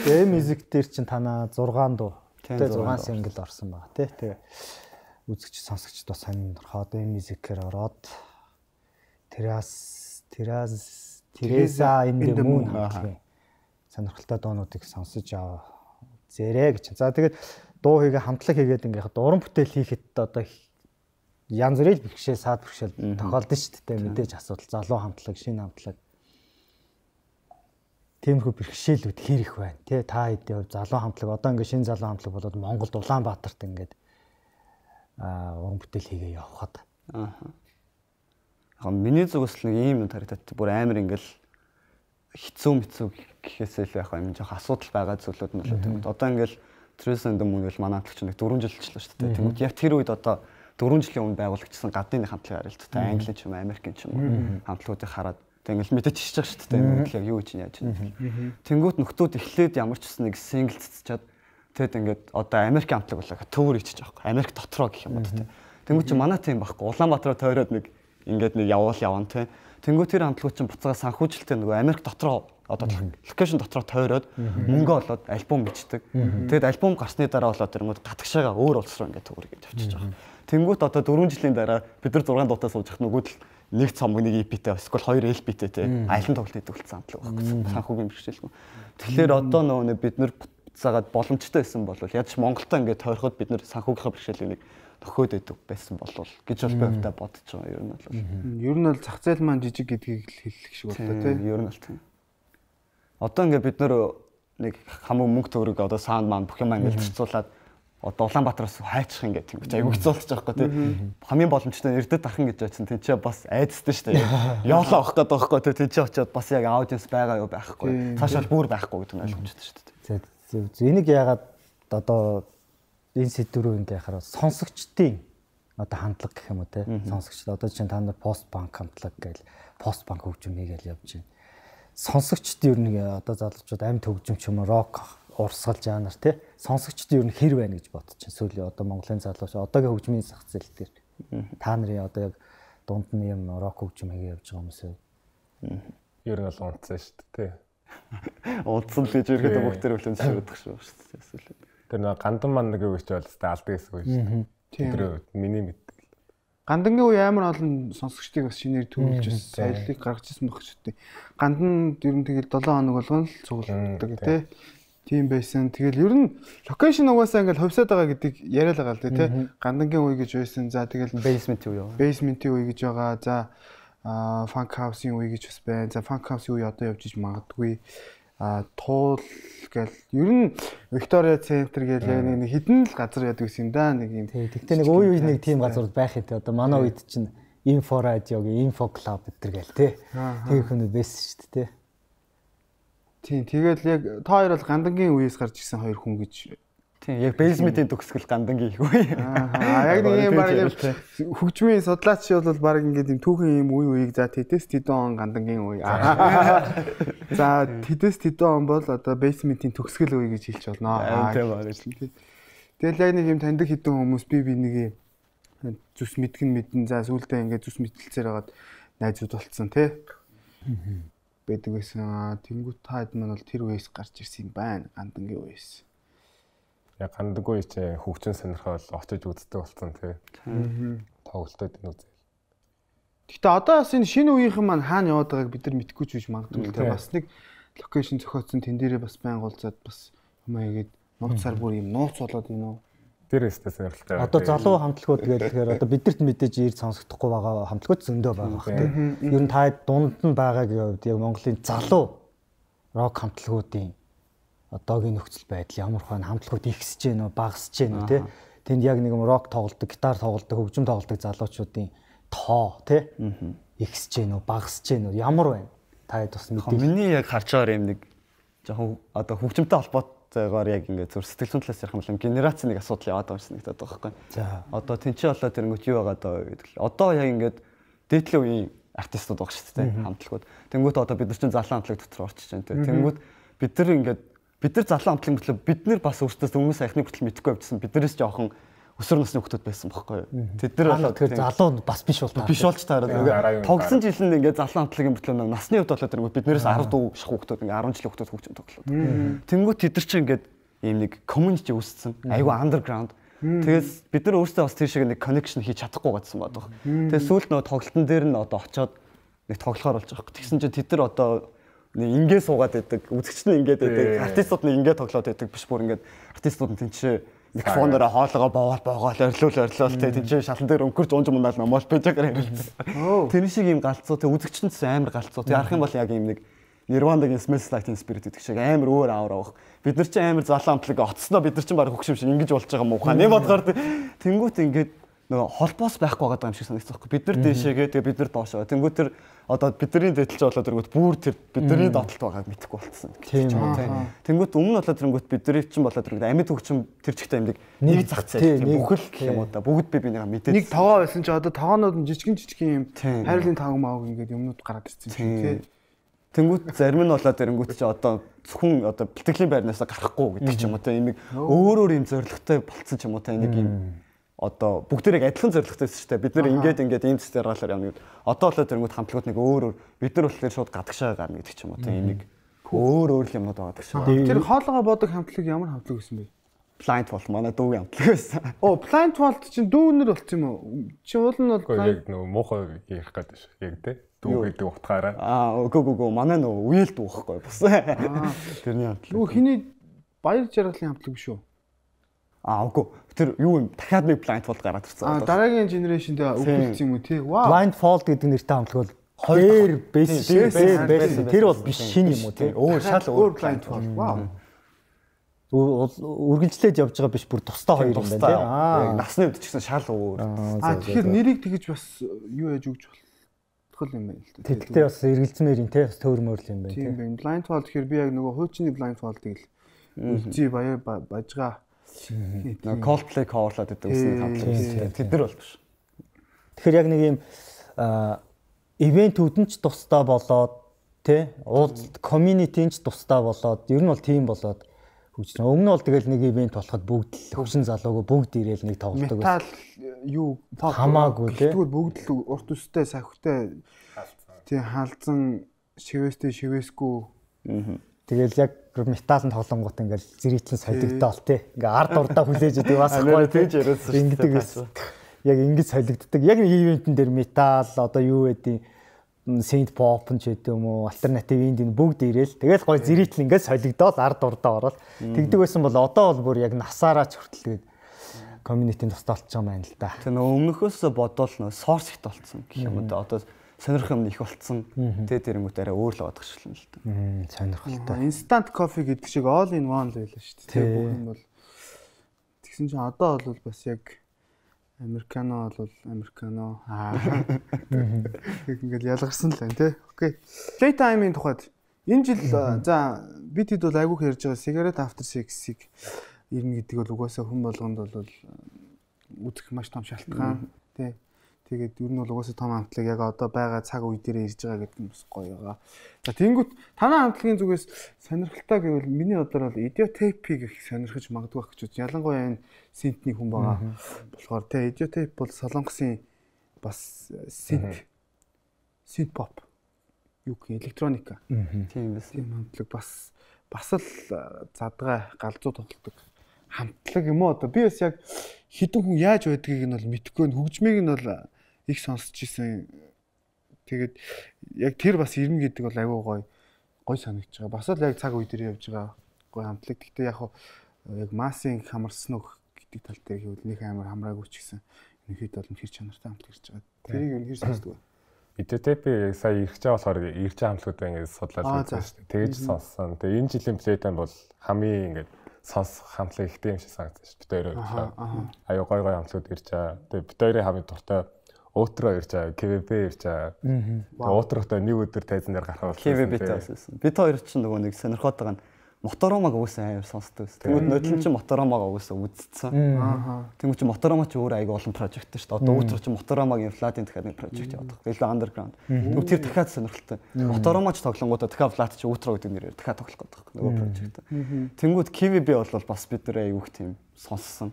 Тэгээ мьюзик дээр чин танаа six дуу. хамтлагтай зургаан single орсон байгаа тий. Тэгээ үзэгч сонсогчд бас сонирхоод энэ мюзикээр ороод Терас Терас Тереса in the Moon хамтлагийн сонирхолтой дуунуудыг сонсож аваа зээрээ гэж. За тэгээд дуу хийгээ хамтлаг хийгээд ингээ уран бүтээл хийхэд одоо янз бүрийн бэрхшээл саад бэрхшээл тохиолдсон шүү дээ. Мэдээж асуудал залуу хамтлаг, шинэ хамтлаг. Тиймэрхүү бэрхшээлүүд хэр их байна тий. Та хэдийн хувь залуу хамтлаг одоо ингээ шинэ залуу хамтлаг болоод Монголд Улаанбаатарт ингээд аа уран бүтээл хийгээ явхад. Аа. Яг миний зүгээс л ийм юм харагдаад бүр амар ингээл хэцүү мэцүү гэхээсээ л яг юм жоох асуудал байгаа зүйлүүд нь л тийм. Одоо ингээл Teresa in the Moon гэл манай хамтлагч нэг дөрвөн жил болчихлоо шүү дээ. Тэгмэд яг тэр үед одоо дөрвөн жилийн өмнө байгуулагчсан гадны хамтлаг арил та Англи ч юм Америкийн ч юм хамтлагуудыг хараад тэг ингээл мэдэж чиж байгаа шүү дээ. Нэг яг юу гэж яаж юм. Тэнгүүт нөхдүүд эхлээд ямар ч гэсэн нэг сингл цэцчаад тэгэд ингээд одоо Америк хамтлаг болоо төвөр ичиж байгаа байхгүй. Америк дотроо гэх юм уу тийм. Тэнгүүт чи манай тийм байхгүй. Улаанбаатараа тойроод нэг ингээд нэг явуул явна тийм. Тэнгүүт тэр хамтлагууд чинь буцаага санхүүжилттэй нөгөө Америк дотроо одоо локейшн дотроо тойроод мөнгө олоод альбом бичдэг. Тэгэд альбом гарсны дараа болоод тэр мод гатгшаага өөр улс руу ингээд төгөр гэж авчиж байгаа. Тэнгүүт одоо дөрвөн жилийн дараа бид нар зургаан дуутай сууж хат нөгөөд л нэг цомог нэг и пи-тэй эсвэл хоёр эл пи-тэй те аялан тоглолт хийдэг болсон хамтлаг байхгүй. Санхүүгийн бэрхшээлгүй. Тэгэхээр одоо нөгөө бид нар буцаагаад боломжтой байсан бол ядч Монголтой ингээд тойроход бид нар санхүүгийнхаа бэрхшээлийг нэг төхөөд өгдөг байсан болов гэж бол бовдоо бодож байгаа ер нь бол. Ер нь бол зах зээл маань жижиг гэдгийг л хэлэх шиг болоо тийм. Ер нь бол тийм. Одоо ингээд бид нар нэг хамаг мөнгө төгрөг одоо саунд маань бүх юм ингээд зарцуулаад одоо Улаанбаатараас хайчих ингээд тийм ч айгүй хэцүүлчих жоохгүй тийм. Хамгийн боломжтой эрдэд дархан гэж байсан тийм ч бас айдстай шүү дээ. Явлаа авах гэдэг байхгүй тийм ч очиод бас яг аудиенс байгаа юу байхгүй. Цаашаа бүр байхгүй гэдэг нь ойлгомжтой шүү дээ. За энийг яагаад одоо энэ сэдврүү ингээ хараад сонсогчдын одоо хандлага гэх юм уу те сонсогчд одоо чинь та нар пост банк хандлага гээл пост банк хөгжим хийгээл явж байна. Сонсогчд ер нь одоо залуучууд амьд хөгжим ч юм уу рок урсгал жанр те сонсогчд ер нь хэр байна гэж бодож чинь сүүлийн одоо Монголын залууч одоогийн хөгжмийн зах зээл дээр та нарын одоо яг дунд нь юм рок хөгжим хийгээ явж байгаа хүмүүс юу? Ер нь бол унтсан шүү дээ те. Унтсан л гэж ерөөдөө бүх төр хөлөнд ширдэх шүү дээ. Тэр нэг гандан маань нэг үеч бол тест алдаг гэсэн үг шүү дээ. Тэр миний мэддэг. Гандангийн үе амар олон сонсогчдыг бас шинээр төрүүлж бас соёлыг гаргаж ирсэн байх шүү дээ. Гандан ер нь тэгэл долоон хоног болгоно л цуглуулдаг тий. Тийм байсан. Тэгэл ер нь локейшн угаасаа ингээл хувьсаад байгаа гэдгийг яриад байгаа л тий. Гандангийн үе гэж байсан. За тэгэл basement үе. Basement-ийн үе гэж байгаа. За фанк хаусийн үе гэж бас байна. За фанк хаусийн үе одоо явж иж магадгүй. А туул гэл ер нь Виктория центр гэл яг нэг хідэн л газар яадаг гэсэн юм да нэг юм. Тэгтээ нэг үе үе нэг тийм газар байх юм те. Одоо манай үед чинь инфо радиогийн инфо клуб гэдэр гэл те. Тэр хүмүүс байсан шүү дээ те. Тийм тэгэл яг та хоёр бол гандангийн үеэс гарч ирсэн хоёр хүн гэж. Тийм яг basement-ийн төгсгөл гандангийн их үе. Аа яг нэг юм баг хөгжмийн судлаач бол баг ингээд юм түүхэн юм үе үеийг за тэтэс тэдэн он гандангийн үе. За тэтэс тэдэн он бол одоо basement-ийн төгсгөл үе гэж хэлж болно. Тэгэл яг нэг юм таньдаг хэдэн хүмүүс би би нэг зүс мэдгэн мэдэн за сүулдэ ингээд зүс мэдэлцээр хагаад найзууд болцсон тий. Байдаг байсан. Тэнгүүт та хэд мань бол тэр үеэс гарч ирсэн юм байна. Гандангийн үеэс. Яг гандаггүй чи хөгжин сонирхол очиж үздэг болсон тий. Тоглолтод энэ үзэл. Гэхдээ одоо бас энэ шинэ үеийнхэн маань хаана яваад байгааг бид нар мэдэхгүй ч биш магадгүй тий. Бас нэг локейшн зохиоцсон тэн дээрээ бас байн голцоод бас юм аягээд нууцаар бүр юм нууц болоод юм уу. Тэр өстэй сонирхолтой. Одоо залуу хамтлагууд гэхээр одоо бидэрт мэдээж ирд сонсогдохгүй байгаа хамтлагууд зөндөө байгаа бах тий. Ер нь та дунд нь байгаагийн хувьд яг Монголын залуу рок хамтлагуудын одоогийн нөхцөл байдал ямар хөө хамтлагууд ихсэж гэнэ үү багасж гэнэ үү тий. Тэнд яг нэг юм рок тоглодог, гитар тоглодог, хөгжим тоглодог залуучуудын тоо тий ихсэж гэнэ үү багасж гэнэ үү ямар байна? Та хэд бас мэдээ. Миний яг харж байгаа юм нэг жоохон одоо хөгжимтэй холбоотойгоор яг ингээд зүр сэтгэл зүйн талаас ярих юм бол генерац нэг асуудал яваад байгаа юм шиг надад байгаа байхгүй. За одоо тэнцээ болоод тэрэнгүүт юу байгаа даа гэдэг л. Одоо яг ингээд дээдлийн үеийн артистууд байгаа шүү дээ хамтлагууд. Тэнгүүт одоо бид нар чинь залуу хамтлаг дотор орчиж байна тий. Тэнгүүт бид нар ингээд бид нар залуу хамтлаг мөртлөө бид нар бас өөрсдөөс өмнө саяхны хүртэл мэдхгүй явжсан биднээс жоохон өсвөр насны хүмүүс байсан байхгүй юу. Тэд нар болоо тэгэхээр залуу бас биш бол биш болж таараад тогсон жил нь ингээд залуу хамтлагийн мөртлөө насны хувьд болоод тэрнгүүт биднээс арав дуу шах хүмүүс ингээд арван жилийн хүмүүс хөгжим тоглоод. Тэнгүүт тэд нар чинь ингээд ийм нэг community үүссэн. Айгу underground. Тэгээс бид нар өөрсдөө бас тийшээ нэг connection хийж чадахгүй гадсан байдаг. Тэгээд сүүлд нөгөө тоглолтын дээр нь одоо очиод нэг тоглохоор болж байгаа. Тэгсэн чинь тэд нар одоо нэг ингээ суугаад байдаг. Үзэгч нь ингээд байдаг. Артистууд нь ингээ тоглоод байдаг биш бүр ингээд артистууд нь тэнцээ микрофоноор хоолоогоо боогоол боогоол орилуул орилуул тэ тэнцээ шалан дээр өнгөрч унж мундаал намаал пэжгээр ярилцсан. Тэр шиг ийм галзуу тэ үзэгч нь амар галзуу. Тэ харах юм бол яг ийм нэг Nirvana-гийн Smells Like Teen Spirit гэдэг шиг амар өөр аавар авах. Бид нар чинь амар залан амтлаг оцсноо бид нар чинь баг хөгшим шиг ингэж болж байгаа муухай. Нэг бодохоор тэнгуут ингээд нөгөө холбоос байхгүй байгаа юм шиг санагдсан байхгүй. Бид нар дээшээгээ тэгээ бид нар доошоо. Тэнгуут тэр одоо бидний дэдэлж болоод тэргүүт бүр тэр бидний доотлолт байгааг мэдэхгүй болчихсон. Тийм. Тэнгуут өмнө болоод тэргүүт бидний чинь болоод тэргүүт амьд хөгшим тэр чигтэй амьдаг нэг зах зээл бүхэл гэх юм уу да. Бүгд би бинийгаа мэдээд. Нэг тогоо байсан чи одоо тогоонууд нь жижигэн жижигэн юм хайрлын тавг мааг ингээд юмнууд гараад ирсэн тийм. Тэнгүүт зарим нь болоод ирэнгүүт чи одоо зөвхөн одоо бэлтгэлийн байрнаас гарахгүй гэдэг ч юм уу те энийг өөр өөр юм зоригтой болцсон ч юм уу те энийг юм одоо бүгдээрээ адилхан зоригтой байсан шүү дээ бид нар ингээд ингээд ийм зүйл гаргалаар явна гэдэг одоо болоод ирэнгүүт хамтлагууд нэг өөр өөр бид нар болохоор шууд гадагшаа гарна гэдэг ч юм уу те энийг өөр өөр юмнууд байгаа шүү. Тэр хоолойгоо бодог хамтлаг ямар хамтлаг байсан бэ? Blind Vault манай дүүгийн хамтлаг байсан. Оо Blind Vault чинь дүүнэр болчих юм уу? Чи уул нь бол яг нөгөө муухай ярих гэдэг шүү. Яг те дүү гэдэг утгаараа. Аа үгүй үгүй манай нөгөө үйл дүүхгүй бас. Тэрний хамтлаг. Нөгөө хиний баяр жаргалын хамтлаг биш үү? Аа үгүй тэр юу юм дахиад нэг Blind Vault гараад ирсэн. Аа дараагийн генерашнд өгүүлсэн юм уу тий? Вау. Blind Vault гэдэг нэртэй хамтлаг бол хоёр байсан. Тэр бол биш шинэ юм уу тий? Өөр шал өөр Blind Vault. Вау. Үргэлжлээд явж байгаа биш бүр тусдаа хоёр юм байна тий. Аа насны үед ч гэсэн шал өөр. Аа тэгэхээр нэрийг тэгэж бас юу яаж өгч болох юм байна л дээ. Тэгтээ бас эргэлзмээр юм тий бас төөрмөр л юм байна тий. Тийм байна. Blind Vault гэхээр би яг нөгөө хуучны Blind Vault-ыг л үзье баяа бажгаа. Нөгөө Coldplay coverлаад байдаг үсний хамтлаг. Тэд нар бол биш. Тэгэхээр яг нэг юм ивентүүд нь ч тусдаа болоод тий уулзалт community нь ч тусдаа болоод ер нь бол тийм болоод хөгжсөн. Өмнө бол тэгэл нэг ивент болоход бүгд л хөгжин залууг бүгд ирээл нэг тоглодог байсан. Метал юу хамаагүй тий. Тэгвэл бүгд л урт үстэй сахивтай тий халзан шивэстэй шивэсгүй. Тэгэл яг металын тоглонгууд ингээл зэрэгцэн солигдтал тий. Ингээ ард урдаа хүлээж идэв бас гоё тийж яриадсан шүү. Ингэдэг байсан. Яг ингэж солигддаг. Яг нэг ивентэн дээр метал одоо юу гэдэг synth pop ч гэдэг юм уу альтернатив инди бүгд ирээл тэгэл гоё зэрэгтэл ингээд солигдоод ард урдаа ороод тэгдэг байсан бол одоо бол бүр яг насаараа ч хүртэл тэгээд community-ийн тусдаа болчихсон байна л да. Тэгээ нөө өмнөхөөс бодвол нөө source ихт болцсон гэх юм да. Одоо сонирх юм их болцсон. Тэгээ тэрэнгүүт арай өөр л бодох шилэн л да. Сонирхолтой. Instant coffee гэдэг шиг all in one л байлаа шүү дээ. Тэгээ бүх юм бол тэгсэн чинь одоо бол бас яг Американо бол Американо аа ингээд ялгарсан л байна тий. Окей. Playtime-ийн тухайд энэ жил за бид хэд бол айгүйх ярьж байгаа Cigarette After Sex-ийг ирнэ гэдэг бол угаасаа хүн болгонд бол үзэх маш том шалтгаан тий. Тэгээд ер нь бол угаасаа том хамтлаг яг одоо байгаа цаг үе дээр ирж байгаа гэдэг нь бас гоё байгаа. За тэнгүүт танай хамтлагийн зүгээс сонирхолтой гэвэл миний бодлоор бол Idiotape-ийг их сонирхож магадгүй байх гэж байна. Ялангуяа энэ синтний хүн байгаа. Болохоор тэ Idiotape бол Солонгосын бас синт синт pop юу гэх электроника. Тийм бас тийм хамтлаг бас бас л задгай галзуу тоглодог хамтлаг юм уу одоо би бас яг хідэн хүн яаж байдгийг нь бол мэдэхгүй хөгжмийг нь бол их сонсч ирсэн. Тэгээд яг тэр бас ирнэ гэдэг бол аюу гой гой санагдаж байгаа. Бас л яг цаг үе дээр явж байгаа гой хамтлаг. Гэхдээ яг яг массын хамарсан уу гэдэг тал дээр хэвэл нэг амар хамраагүй ч гэсэн энэ хэд бол хэр чанартай хамтлаг ирж байгаа. Тэрийг юу хэр сонсдог вэ? Idiotape сая ирж байгаа болохоор ирж байгаа хамтлагууд ингэж судлаад үзсэн шүү дээ. Тэгэж сонссон. Тэгээ энэ жилийн Playtime бол хамгийн ингэж сонс хамтлаг ихтэй юм шиг санагдсан шүү дээ. Бид хоёроо. Аюу гой гой хамтлагууд ирж байгаа. Тэгээ бид хоёрын хамгийн дуртай Outro ирж байгаа, кей ви би ирж байгаа. Тэгээ Outro-той нэг өдөр тайзан дээр гарах болсон. кей ви би таасан. Бид хоёр ч нөгөө нэг сонирхоод байгаа нь Моторомаг уусаа амар сонсдог байсан. Тэгмэд нодлон чинь Моторомаг уусаа үзсэн. Тэгмэд чинь Моторома ч өөр аяга олон прожект шүү дээ. Одоо Outro чинь Моторомагийн Flat-ийн дахиад нэг прожект явуулдаг. Илүү underground. Тэгвэл тэр дахиад сонирхолтой. Моторoma ч тоглонгуудаа дахиад Flat чи Outro гэдэг нэрээр дахиад тоглох гэдэг нөгөө прожект. Тэнгүүд кей ви би бол бас бид нэр аяг тийм сонссон.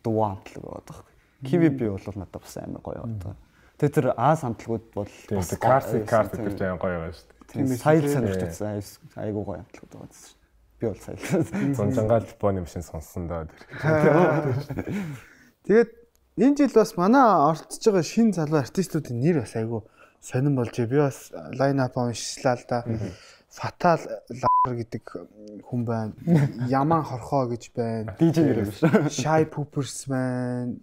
Дуу хамтлаг байдаг. кей ви би бол надад бас амар гоё одоо. Тэгээ тэр Аз хамтлагууд бол бас classic card гэж амар гоё байгаа шүү дээ. Тийм сайл сонирхож байсан айгуу гоё хамтлагууд байгаа шүү дээ. Би бол сая. Зунжангаал Японы машин сонссон доо. Тэгээд энэ жил бас манай оролцож байгаа шинэ залуу артистуудын нэр бас айгүй сонирн болж би бас лайн ап уншслаа л да. Fatal гэдэг хүн байна. Яман хорхоо гэж байна. Дижи нэр биш. Shy Poopers байна.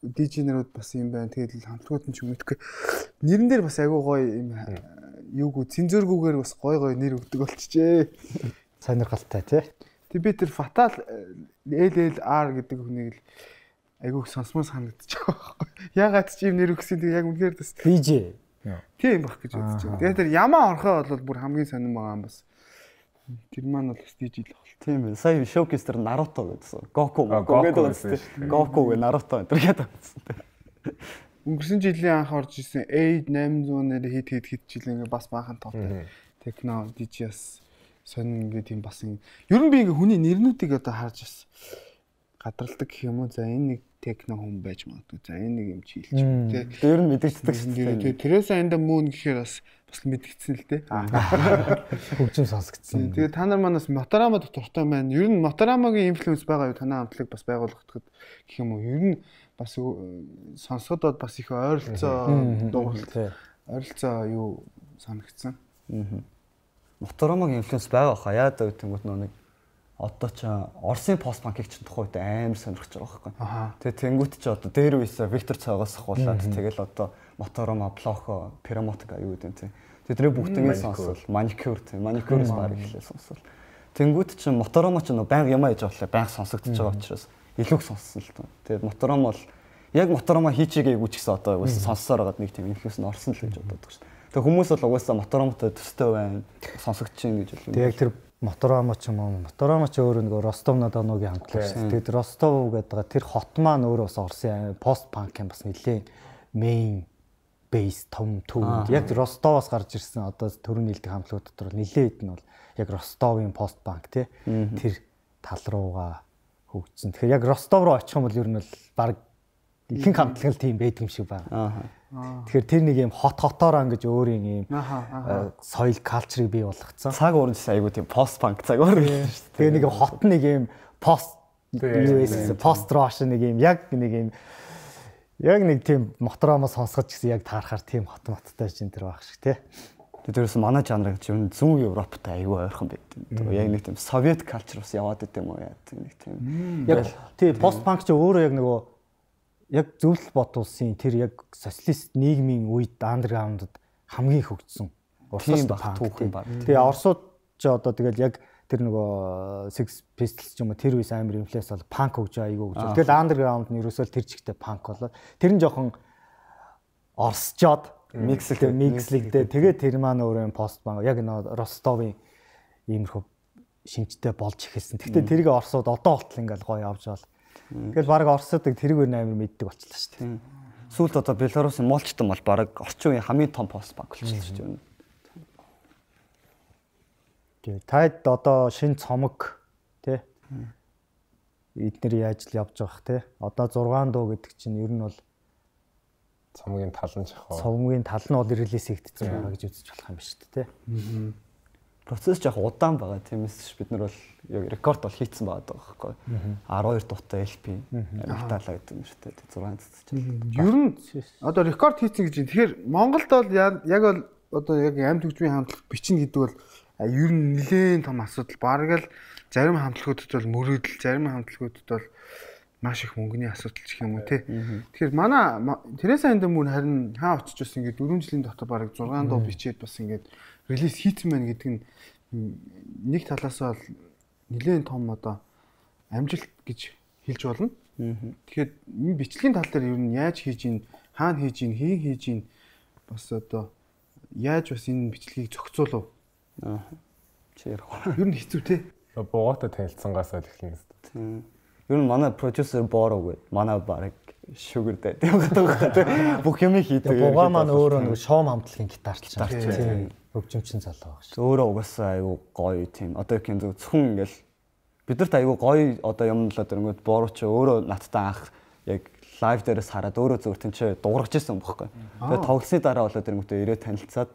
Дижи нэрүүд бас юм байна. Тэгээд хамтлагууд нь ч юм мэдгүй. Нэрэн дээр бас айгүй гоё юм юугүй цензургүйгээр бас гоё гоё нэр өгдөг болчихжээ. Сонирхолтой тий. Тэг би тэр Fatal эл эл ар гэдэг хүнийг л айгүй сонсмоо санагдчих байгаа байхгүй. Ягаад ч юм нэр өгсөн тэг яг үнээр бас Дижи. Тийм баг гэж бодож байна. Тэгээд тэр ямаа орхоо бол бүр хамгийн сонирн байгаа юм бас. Тэр маань бол стижил л бол. Тийм ээ. Сая шоукейс тэр Наруто гэдсэн. Гоку гэдэг үстэй. Гоку гэ Наруто энэ гэдэг үстэй. Өнгөрсөн жилийн анх орж исэн восемь восемь нэр хит хит хит жил ингээ бас баахан товтой. Техно дижис сонин ингээ тийм бас ер нь би ингээ хүний нэрнүүдийг одоо харж бас гадралдаг гэх юм уу. За энэ нэг техно хүн байж магадгүй. За энэ нэг юм чи хэлчих юм тий. Тэр нь мэдэгддэг шүү дээ. Тэрээс энэ мөн гэхээр бас бас мэдгдсэн л тий. Хөгжим сонсгдсон. Тэгээ та нар манаас Моторама дуртай байна. Ер нь Моторамагийн инфлюенс байгаа юу? Танай хамтлаг бас байгуулагдахад гэх юм уу? Ер нь бас сонсоход бас их ойролцоо дууралт. Ойролцоо юу санагдсан. Моторамагийн инфлюенс байгаа хаа. Яа даа гэнгүүт нэг одоо ч Оросын пост банкийг ч тухайд амар сонирхож байгаа байхгүй. Тэгээ тэнгуут ч одоо дээр үеэс Виктор цаагаас ахуулаад тэгэл одоо Моторома, Плохо, Перемотка юу гэдэг юм. Тэдний бүгднийг сонсвол маникюр тийм маникюрс баг ихлээ сонсвол. Тэнгуут ч Моторома ч нөө байнга юм аяж авлаа байнга сонсогдож байгаа учраас илүү сонссон л тоо. Тэгээд Моторома бол яг Моторома хийчихээгүй ч гэсэн одоо угаасаа сонссоор байгаад нэг тийм инфлюенс нь орсон л гэж боддог шүү дээ. Тэгээ хүмүүс бол угаасаа Моторомтой төстэй байна. Сонсогдож чинь гэж хэлсэн. Тэгээ яг тэр Моторама ч юм уу. Моторама ч өөрөө нэг Ростов-на-Доногийн хамтлаг шүү. Тэгээд Ростов гэдэг тэр хот маань өөрөө бас Оросын пост панк юм бас нэлээ main base том төв. Яг Ростовоос гарч ирсэн одоо төрөний хэлдэг хамтлагууд дотор нэлээ хэд нь бол яг Ростовын пост панк тий. Тэр тал руугаа хөгжсөн. Тэгэхээр яг Ростов руу очих юм бол ер нь бол баг ихэнх хамтлаг л тийм байдаг юм шиг байна. Тэгэхээр тэр нэг юм хот хотоор ангиж өөрийн юм соёл калчрыг бий болгоцсон. Цаг уурын айгуу тийм пост панк цаг уур шүү дээ. Тэгээ нэг хот нэг юм пост ю эс пост рош нэг юм яг нэг юм яг нэг тийм Моторама сонсгож гэсэн яг таарахаар тийм хот моттой чинь тэр байх шиг тий. Тэрээс манай жанр гэж юм зүүн Европтой айгүй ойрхон байд. Яг нэг тийм Совет калчр бас яваад идэм үү яа нэг тийм. Яг тий пост панк ч өөрөө яг нөгөө яг зөвлөл бодуулсан тэр яг социалист нийгмийн үед андерграундд хамгийн хөгжсөн урсгал баг түүхэн баг. Тэгээ Оросууд ч одоо тэгэл яг тэр нөгөө Sex Pistols ч юм уу тэр үеэс амар инфлюенс бол панк хөгж айгүй хөгж. Тэгэл андерграунд нь ерөөсөө тэр чигтээ панк болоо. Тэр нь жоохон орсчоод микслэг микслэгдээ тэгээ тэр маань өөрөө пост панк яг нөгөө Ростовын иймэрхүү шинжтэй болж эхэлсэн. Гэхдээ тэрийг Оросууд одоо болтол ингээл гоё явж байгаа. Тэгэл баг Оросуудыг тэрийг өөр амар мэддэг болчихлоо шүү дээ. Сүүлд одоо Беларусын молчтон бол баг орчин үеийн хамгийн том пост банк болчихлоо шүү дээ. Тэгээ таад одоо шинэ цомог тий эднэр яаж л явж байгаа тий. Одоо зургаан дуу гэдэг чинь ер нь бол цомгийн тал нь жахаа. Цомгийн тал нь бол релиз хийгдсэн байгаа гэж үзэж болох юм ба шүү дээ тий. Процесс жоох удаан байгаа. Тиймээс бид нар бол яг рекорд бол хийцэн байгаа байхгүй. twelve дуутаа эл пи амтаалаа гэдэг юм шүү дээ. зургаан цэцэж. Ер нь одоо рекорд хийцэн гэж юм. Тэгэхээр Монголд бол яг бол одоо яг амт хөгжмийн хамтлаг бичнэ гэдэг бол ер нь нэлээд том асуудал. Бараг л зарим хамтлагуудад бол мөрөөдөл, зарим хамтлагуудад бол маш их мөнгөний асуудал ч юм уу тий. Тэгэхээр манай Тереса энэ мөн харин хаа очиж бас ингээд дөрвөн жилийн дотор бараг six дуу бичээд бас ингээд релиз хийцэн байна гэдэг нь нэг талаас бол нэлээд том одоо амжилт гэж хэлж болно. Тэгэхээр энэ бичлэгийн тал дээр ер нь яаж хийж ийн, хаана хийж ийн, хийн хийж ийн бас одоо яаж бас энэ бичлэгийг зохицуулав? Аа. Чи ярих. Ер нь хэцүү те. Буугатай танилцсангаас эхэлнэ гэсэн. Ер нь манай продюсер Бороо гэдэг. Манай баг шүгэрдээ тэгээд бүх юм хийдэг. Бугаа маань өөрөө нэг шоу хамтлагийн гитарч чинь. Хөгжимчин залуу баг шүү. Өөрөө угаасаа аюу гоё тийм. Одоо их юм зөвхөн ингээл бидэрт аюу гоё одоо юм л одоо ингээд Бороо ч өөрөө надтай анх яг лайв дээрээс хараад өөрөө зөв тэнцээ дуургаж ирсэн бохоггүй. Тэгээд тоглосны дараа болоод тэрнгүүтээ ирээд танилцаад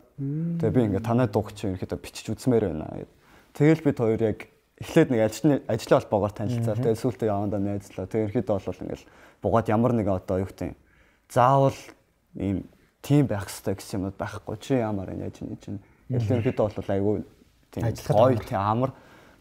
тэгээд би ингээд танай дууг чи ерөөхдөө бичиж үзмээр байна. Тэгэл бид хоёр яг эхлээд нэг ажлын ажлын холбоогоор танилцаад тэгээд сүүлдээ явандаа найзлаа. Тэгээд ерөөхдөө бол ингээл бугаад ямар нэгэн одоо юу гэдэг заавал ийм тим байх хэрэгтэй гэсэн юмуд байхгүй. Чи ямар яаж нэг чинь ерөөхдөө бол айгүй тийм гоё тийм амар.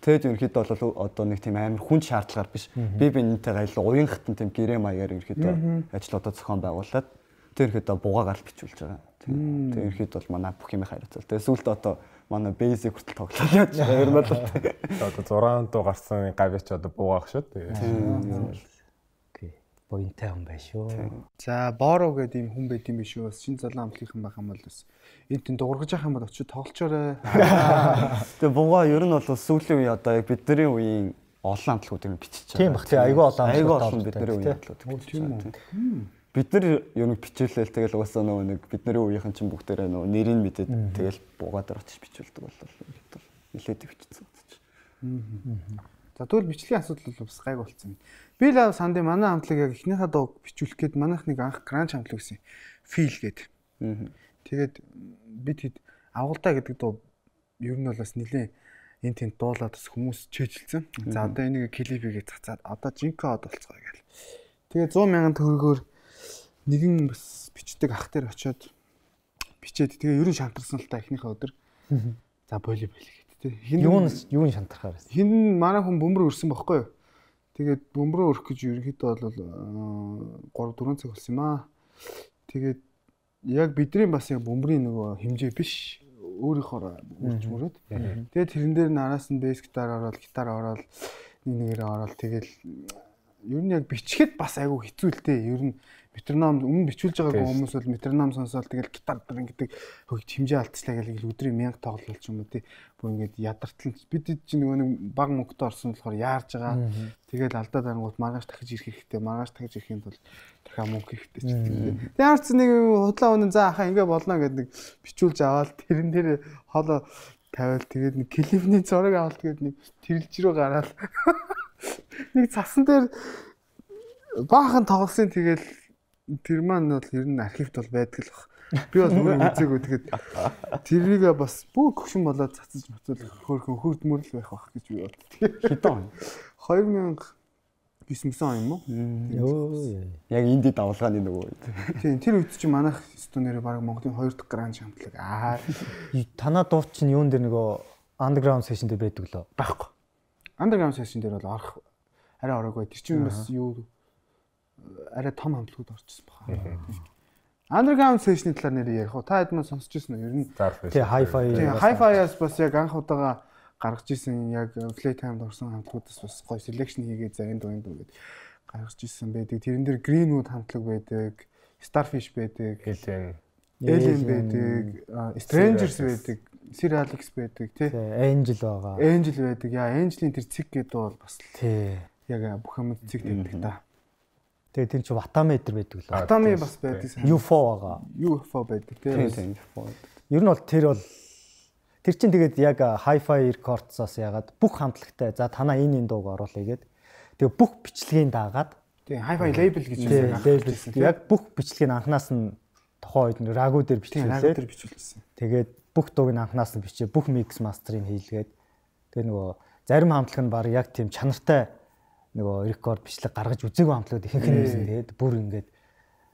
Тэгээд ерөөхдөө бол одоо нэг тийм амар хүн шаардлагаар биш. Би бинэнтэйгээ ил уян хатан тийм гэрээ маягаар ерөөхдөө ажлуудаа зохион байгуулад тэр ерөөхдөө бугаагаар л бичүүлж байгаа. Тэгээд ерөөхдөө бол манай бүх юм хайрцал. Тэгээд сүүлдээ одоо манай basic хүртэл тоглоод яаж байгаа юм бол одоо зургаан дуу гарсан гавьяч одоо буугаах шүү. Тэгээд боинтай хүн байх шүү. За Боро гэдэг ийм хүн байд юм биш үү? Бас шинэ залуу амтлынхан байх юм бол бас энэ тэн дуургаж явах юм бол очиж тоглолчоорой. Тэгээ бугаа ер нь бол сүүлийн үе одоо яг бидний үеийн олон амтлагуудыг бичиж байгаа. Тийм бах тий айгүй олон айгүй олон бидний үеийн амтлагуудыг бичиж байгаа. Бид нар ер нь бичүүлээл тэгэл угаасаа нөгөө нэг бидний үеийнхэн чинь бүгдээрээ нөгөө нэрийг мэдээд тэгэл бугаа дээр очиж бичүүлдэг боллоо. Нилээд бичсэн гэж. За тэгвэл бичлэгийн асуудал бол бас гайг болцсон. Би л санд манай хамтлаг яг эхнийхээ дуу бичүүлэх гээд манайх нэг анх гранч хамтлаг гэсэн фил гээд. Тэгээд бид хэд агуултаа гэдэг дуу ер нь бол бас нилээн энэ тэнд дуулаад бас хүмүүс чэйжилсэн. За одоо энийг клипигээ цацаад одоо жинкод болцгоо гээл. Тэгээд сто мянган төгрөгөөр нэгэн бас бичдэг ах дээр очиод бичээд тэгээ ерөн шантарсан л та эхнийхээ өдөр. За боли боли гэдэг тий. Юу нь юу нь шантархаар байсан. Хин манай хүн бөмбөр өрсөн бохгүй юу? Тэгээд бөмбөрөө өрөх гэж ерөнхийдөө бол три дөрвөн цаг болсон юм аа. Тэгээд яг бидний бас яг бөмбөрийн нөгөө хэмжээ биш өөрийнхөө үрж мөрөөд. Тэгээд тэрэн дээр нараас нь бэс гитар ороод гитар ороод нэг нэгээрээ ороод тэгэл ер нь яг бичгэд бас айгүй хэцүү л дээ. Ер нь метроном өмнө бичүүлж байгаагүй хүмүүс бол метроном сонсоод тэгэл гитар дар ингэдэг хөгж хэмжээ алдчихлаа гэл өдрийн мянга тоглол ч юм уу тий. Бүр ингэж ядартал бид чинь нөгөө нэг баг мөнгөтэй орсон болохоор яарж байгаа. Тэгэл алдаад ангууд маргааш дахиж ирэх хэрэгтэй. Маргааш дахиж ирэхэд бол дахиад мөнгө хэрэгтэй ч тийм. Ямар ч нэг худлаа өнөн за ахаа ингэ болно гэдэг нэг бичүүлж аваад тэрэн дээр хоолоо тавиал тэгээд нэг клипний зураг авалт гэдэг нэг тэрэлж рүү гараад нэг цасан дээр баахан тоглосон тэгэл тэр маань бол ер нь архивт бол байдаг л баг. Би бол өөрөө үзээгүй тэгээд тэрийг бас бүх гүшин болоод цацаж мөцөл хөөрхөн хөрдмөр л байх байх гэж би бод. Хэдэн? two thousand nine он юм уу? Йоо. Яг инди давлгааны нөгөө. Тийм тэр үед чинь манайх стонерээ баг Монголын хоёр дахь гранж хамтлаг. Аа танаа дуу чинь юун дээр нөгөө underground session дээр байдаг лөө. байхгүй. Underground session дээр бол орох арай ороогүй. Тэр чинь бас юу арай том хамтлагууд орчихсон баха. Underground session-ийн талаар нэр ярих уу? Та хэд мань сонсч ирсэн үү? Ер нь тий hi-fi. Тий hi-fi-аас бас яг анх удаага гаргаж исэн яг Playtime-д орсон хамтлагуудаас бас гоё selection хийгээд за энэ дуу энэ дуу гэд гаргаж исэн байдаг. Тэрэн дээр Greenwood хамтлаг байдаг, Starfish байдаг, Alien байдаг, Strangers байдаг, Sir Alex байдаг тий. Angel байгаа. Angel байдаг. Яа, Angel-ийн тэр цэг гэдэг бол бас тий. Яг бүх юм цэг байдаг та. Тэгээ тэр чинь Watame дээр байдаг лээ. Watame бас байдаг. ю эф о байгаа. ю эф о байдаг тий. Ер нь бол тэр бол тэр чинь тэгээд яг hi-fi records-аас ягаад бүх хамтлагтай за танаа энэ энэ дууг оруулъя гээд тэгээ бүх бичлэгийг даагаад тий hi-fi label гэж байсан. Яг бүх бичлэгийг анханаас нь тухайн үед Ragu дээр бичүүлээ. Тэр бичүүлсэн. Тэгээд бүх дууг нь анханаас нь бичээ, бүх mix master-ыг хийлгээд тэгээ нөгөө зарим хамтлаг нь баг яг тийм чанартай нөгөө рекорд бичлэг гаргаж үзээгүй хамтлагууд ихэнх нь байсан. Тэгээд бүр ингээд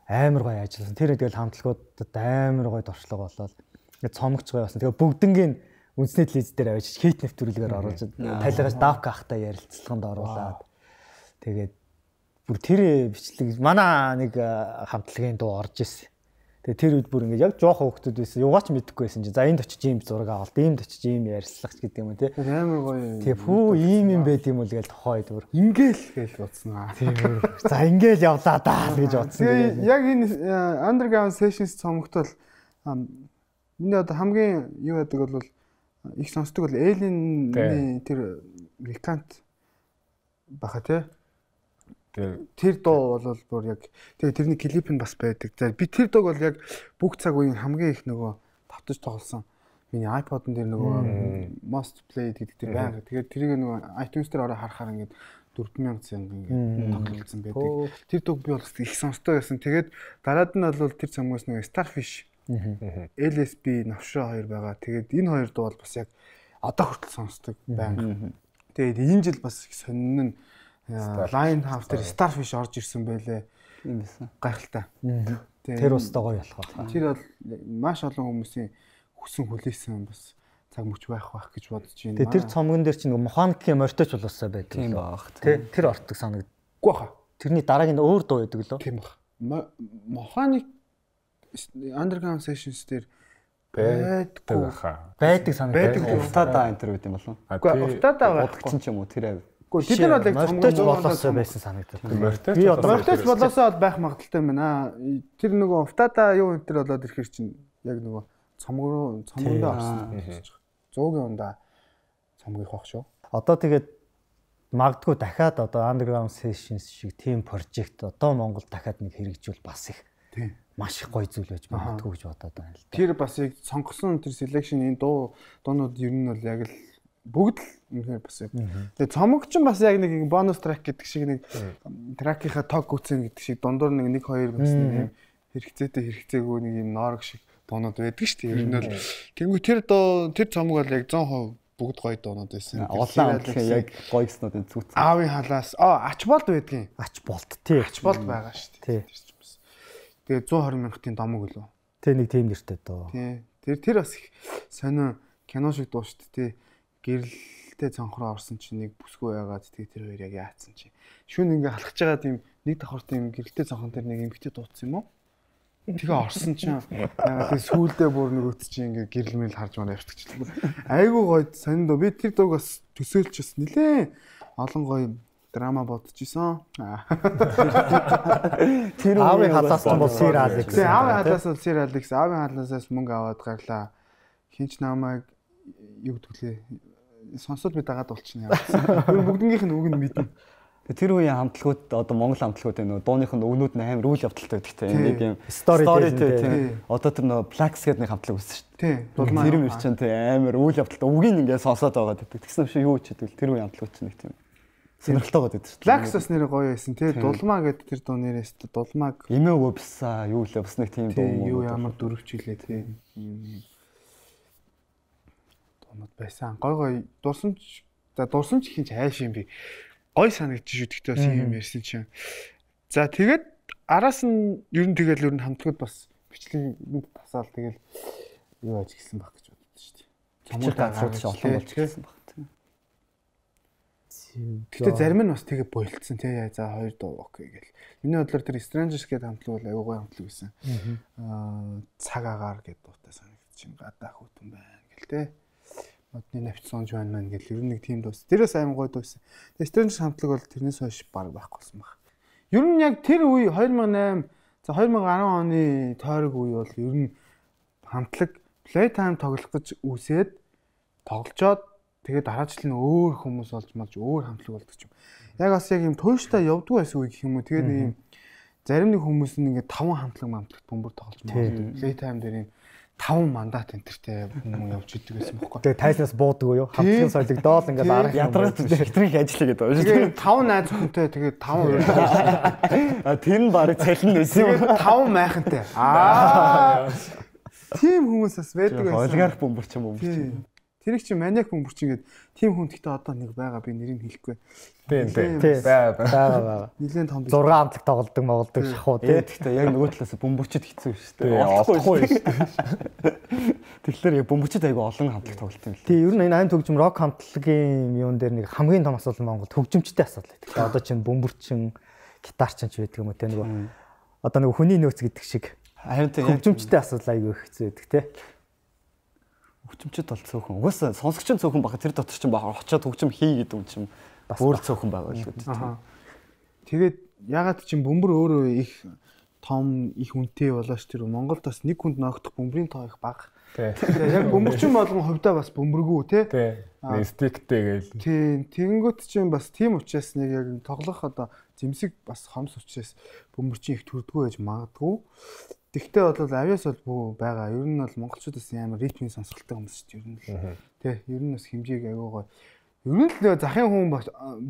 амар гоё ажилласан. Тэр тэгэл хамтлагуудад амар гоё дуршлаг болоод ингээд цомогч гоё болсон. Тэгээ бүгднгийн үндэсний телевиз дээр авчиж хейт нэвтрүүлгээр оруулж тайлгаж давка ахтай ярилцлаганд оруулаад тэгээд бүр тэр бичлэг манай нэг хамтлагийн дуу орж ирсэн. Тэгээ тэр үед бүр ингээд яг жоохон хөвгтүүд байсан. Югаач мэдэхгүй байсан чинь. За энд очиж ийм зураг авалт, иймд очиж ийм ярьцлах ч гэдэг юм уу тий. Амар гоё. Тэгээ фүү ийм юм байд юм уу гээл тохойд бүр. Ингээл гээл бодсон аа. Тийм. За ингээл явлаа даа гэж бодсон. Тэгээ яг энэ underground sessions цомогтол миний одоо хамгийн юу яадаг бол их сонсдог бол Alien-ийн тэр Recant баха тий. Тэр дуу бол бүр яг тэгээ тэрний клип нь бас байдаг. За би тэр дууг бол яг бүх цаг үеийн хамгийн их нөгөө тавтаж тоглосон. Миний iPod-н дээр нөгөө most played гэдэг тэр байнга. Тэгээд тэрийг нөгөө iTunes дээр ороо харахаар ингээд дөрвөн мянган цанга ингээд тоглолцсон байдаг. Тэр дууг би бол их сонсдог байсан. Тэгээд дараад нь бол тэр цамгаас нөгөө Starfish, эл эс би Навшаа хоёр байгаа. Тэгээд энэ хоёр дуу бол бас яг одоо хүртэл сонсдог байнга. Тэгээд энэ жил бас их сонин нь Lion House дээр Starfish орж ирсэн байлээ. Тийм байсан. Гайхалтай. Тэр ус гоё болох байна. Тэр бол маш олон хүмүүсийн хүсэн хүлээсэн бас цаг мөч байх байх гэж бодож байна. Тэгээд тэр цомгон дээр чинь механикийн морьточ болоосаа байдаг. Тийм баах. Тэр ортог санагдгүй баха. Тэрний дараагийн өөр дуу байдаг лөө. Тийм баха. Механик Underground Sessions дээр байдгүй баха. Байдаг санагддаг. Уфтада энэ төр үт юм болов. Үгүй уфтада байхгүй ч юм уу тэр. Гэхдээ бид нар бол яг морьточ болоосаа байсан санагдав. Би одоо морьточ болоосоо байх магадaltaй байна. Тэр нөгөө уфтада юу энэ төр болоод ирэхэр чинь яг нөгөө цомог руу цомгондоо орсон. цуугийн ундаа цомгих байх шүү. Одоо тэгээд магадгүй дахиад одоо Underground Sessions шиг team project одоо Монгол дахиад нэг хэрэгжүүл бас их маш их гоё зүйл байж магадгүй гэж бодоод байна л да. Тэр бас яг сонгосон тэр selection-ийн дуу дуунууд ер нь бол яг л бүгд л үнэхээр бас яг. Тэгээ цомог ч бас яг нэг бонус трак гэдэг шиг нэг тракийнхаа тог гүцэн гэдэг шиг дундуур нэг нэг хоёр бас нэг юм хэрэгцээтэй хэрэгцээгүй нэг юм ноорг шиг дуунууд байдаг шүү дээ. Ер нь бол тэнгуү тэр дуу тэр цомог бол яг цаан хувь бүгд гоё дуунууд байсан. Улаан амтлах яг гоё гэснүүд зүгт. Аавын халаас аа ач болд байдгийн. Ач болд тий. Ач болд байгаа шүү дээ. Тэгээ one twenty мянгатын домог үлээ. Тэ нэг тийм нэртэй доо. Тий. Тэр тэр бас их сонио кино шиг дуу шүү дээ. Гэрэлтэй цонхроо орсон чинь нэг бүсгүй байгаад тэгээ тэр хоёр яг яатсан чинь. Шүн ингээ халахж байгаа тийм нэг давхар тийм гэрэлтэй цонхон тэр нэг эмгтэй дуудсан юм уу? Тэгээ орсон чинь ягаад тэгээ сүүлдээ бүр нэг өт чинь ингээ гэрэлмэл харж маа явчихчихлаа. Айгуу гоё сонио доо. Би тэр дууг бас төсөөлч бас нилээ олон гоё драма бодож исэн. Тэр аавын халаас нь бол Sir Alex. Тэгээ аавын халаас бол Sir Alex. Аавын халаасаас мөнгө аваад гарлаа. Хинч намайг юу гэдгэлээ сонсоод би дагаад болчихно яа. Бүгднгийнх нь үг нь мэднэ. Тэр үеийн хамтлагууд одоо Монгол хамтлагууд энэ дууных нь өгнүүд нь амар үйл явдалтай байдаг те. Нэг юм story тийм. Одоо тэр нөө Plax гэдэг нэг хамтлаг үүссэн шүү дээ. Тийм. Тэр юм ирчин те амар үйл явдалтай үгийг ингээд сонсоод байгаа гэдэг. Тэгсэн юм шиг юу ч хэдвэл тэр үеийн хамтлагууд чинь нэг тийм сонирхолтой байдаг шүү дээ. Plax бас нэр гоё байсан те. Дулмаа гэдэг тэр дуу нэрээс дулмааг эмээ өвса юу л бас нэг тийм дуу юу ямар дөрвч хилээ те. Дуунууд байсан. Гой гой дурсамж за дурсамж ихэнч хайш юм би. Гой санагдчих шүү гэхдээ бас юм ярьсан чинь. За тэгээд араас нь ер нь тэгэл ер нь хамтлагууд бас бичлэг тасаал тэгэл юу аж гисэн баг гэж боддоо шүү дээ. Цомог газрууд олон болж гисэн баг. Гэтэ зарим нь бас тэгээ болцсон тий. За хоёр дуу окей гэл. Миний бодлоор тэр Strangers гэдэг хамтлаг бол аюу гой хамтлаг байсан. Аа цаг агаар гэдэг дуутай санагдчих. Гадаа хөтөн байна гэл тий. Модны навчсонж байна мэн гэл ер нь нэг тийм дуус. Тэрээс аймаг гоё дуусан. Тэгээ Strangers хамтлаг бол тэрнээс хойш баг байхгүйсэн баг. Ер нь яг тэр үе two thousand eight за two thousand ten оны тойрог үе бол ер нь хамтлаг Playtime тоглох гэж үсээд тоглолцоод тэгээд дараачлал нь өөр хүмүүс олж малж өөр хамтлаг болдог юм. Яг бас яг юм тууштай явдгүй байсан үе гэх юм уу. Тэгээд нэг юм зарим нэг хүмүүс нь ингээд таван хамтлаг хамтлагт бөмбөр тоглож байгаа. Playtime дээр юм таван мандат энтертэй хүмүүс явж идэг байсан бохоггүй. Тэгээ тайснаас буудаг уу юу? Хамтлагын соёлыг доол ингээд арга ядаргаад хэтрийг ажиллая гэдэг байна. Тэгээ таван найз хүнтэй тэгээд таван а тэр нь барыг цалин байсан юм. Тэгээд таван майхантай. Аа. Тим хүмүүс бас байдаг байсан. Олигарх бөмбөр ч юм уу. Тэрийг чи маниак бөмбөр чи ингээд тим хүн гэхдээ одоо нэг байгаа би нэрийг хэлэхгүй. Тийм тийм. Баа баа. Нилийн том six хамтлаг тоглодог моголдог шахуу тий. Гэхдээ яг нөгөө талаас бөмбөрчд хэцүү шүү дээ. Олохгүй шүү дээ. Тэгэхээр яг бөмбөрчд айгүй олон хамтлаг тоглолт юм л. Тий, ер нь энэ айн төгжим рок хамтлагийн юун дээр нэг хамгийн том асуудал Монгол төгжимчтэй асуудал байдаг. Тэгээ одоо чинь бөмбөрчин, гитарчин ч байдаг юм уу тий нөгөө одоо нөгөө хүний нөөц гэдэг шиг харин төгжимчтэй асуудал айгүй их хэцүү байдаг тий. Хөгжимчд бол цөөхөн. Угаасаа сонсогч нь цөөхөн баха тэр дотор чинь баха очиод хөгжим хий гэдэг юм чинь бас өөр цөөхөн байгаа л үү. Тэгээд ягаад чинь бөмбөр өөрөө их том их үнэтэй болооч тэр Монголд бас нэг хүнд ноогдох бөмбөрийн тоо их бага. Тэгээ яг бөмбөрчин болгон хувьдаа бас бөмбөргүү тий. Тий. Стиктэй гээл. Тий. Тэгэнгүүт чинь бас тийм учраас нэг яг тоглох одоо зэмсэг бас хомс учраас бөмбөрчин их төрдгөө байж магадгүй. Тэгтээ бол авиас бол бүү байгаа. Ер нь бол монголчуудаас амар ритмийн сонсголтой хүмүүс шүү дээ. Ер нь л. Тэ, ер нь бас хэмжээг аюугаа. Ер нь л захын хүн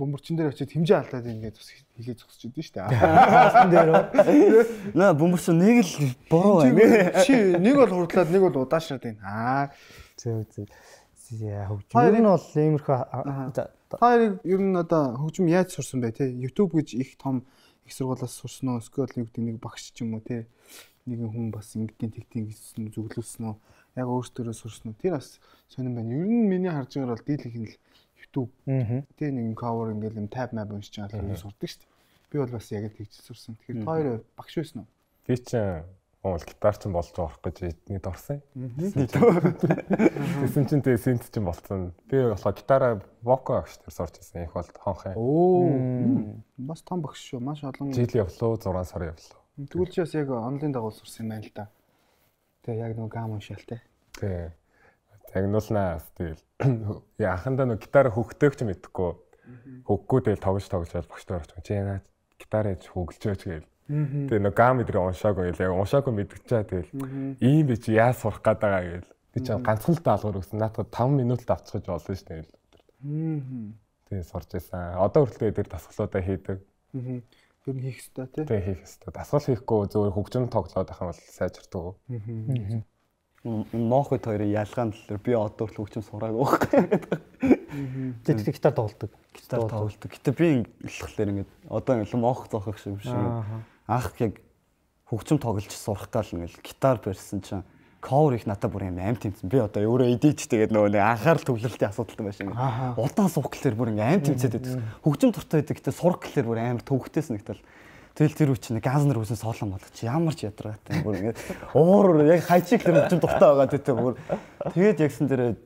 бөмбөрчин дээр очиод хэмжээ алдаад ингээд бас хилээ зогсож идэв шүү дээ. Асан дээр үү? Наа бөмбөрчин нэг л буруу байна. Чи нэг бол хурдлаад нэг бол удаашраад байна. Аа. Зөө зөө. Яа хөгжим. Ер нь бол иймэрхүү Та ер нь одоо хөгжим яаж сурсан бэ те? YouTube гэж их том их сургуулиас сурсан уу? Эсвэл юу гэдэг нэг багш ч юм уу те? Нэгэн хүн бас ингэдийн тэгтийн гэсэн зөвлөсөн үү? Яг өөртөө сурсан уу? Тэр бас сонирн байна. Ер нь миний харж байгаагаар бол дийлэх нь л YouTube. Тэ нэг cover ингээл юм tab map уншиж байгаа л сурдаг шүү дээ. Би бол бас яг тэгж сурсан. Тэгэхээр хоёр багш байсан уу? Би чинь Ол гитарчин болж байгаа хэрэг гэж эднийд орсон. Тэсэн чинь тэгээ синт чинь болцсон. Би болохоор гитараа воко агш тэр сурч ирсэн. Их бол хонх. Оо. Бас том багш шүү. Маш олон жил явлаа, зургаан сар явлаа. Тэгвэл чи бас яг онлайн дагуу сурсан юм байна л да. Тэгээ яг нэг гам уншаал те. Тий. Загнуулнаа тэгэл. Яа анхандаа нэг гитараа хөгтөөх ч мэдэхгүй. Хөггүй тэгэл тогж тогж бол багштай орч. Чи яа гитараа хөгөлжөөч гээл. Тэгээ нэг гам идрээ уншаагүй яг уншаагүй мэдчихээ тэгэл ийм би чи яа сурах гээд байгаа гээл би чи ганцхан л даалгавар өгсөн наадад таван минут л авчихж болно шүү дээ. Тэгээ сурч байсан. Одоо хүртэл тэр дасгалуудаа хийдэг. Тэр нь хийх хэрэгтэй тий. Тэгээ хийх хэрэгтэй. Дасгал хийхгүй зөвхөн хөгжим тоглоод байх юм бол сайжирдаг. Моохот хоёрын ялгаа нь л би одоо хүртэл хөгжим сураагүй байхгүй. Тэг гитар тоглодог. Гитар тоглодог. Гэтэ би болохоор ингээд одоо ингээд моох зоохох шиг биш юм. Анх яг хөгжим тоглож сурах гал ингээл гитар барьсан чинь cover их надад бүр юм амт тэмцэн. Би одоо өөрөө edit тэгээд нөгөө нэг анхаарал төвлөрөлтийн асуудалтай байсан. Удаан суух гэхэлэр бүр ингээм амт тэмцээд байдаг. Хөгжим дуртай байдаг. Гэтэ сурах гэхэлэр бүр амар төвөгтэйс нэгтэл. Тэгэл тэр үуч нэг газнэр үсэн соолон болгоч ямар ч ядаргаатай бүр ингээд уур яг хайчиг тэр хөгжим дуртай байгаа гэдэг бүр тэгээд ягсан дээр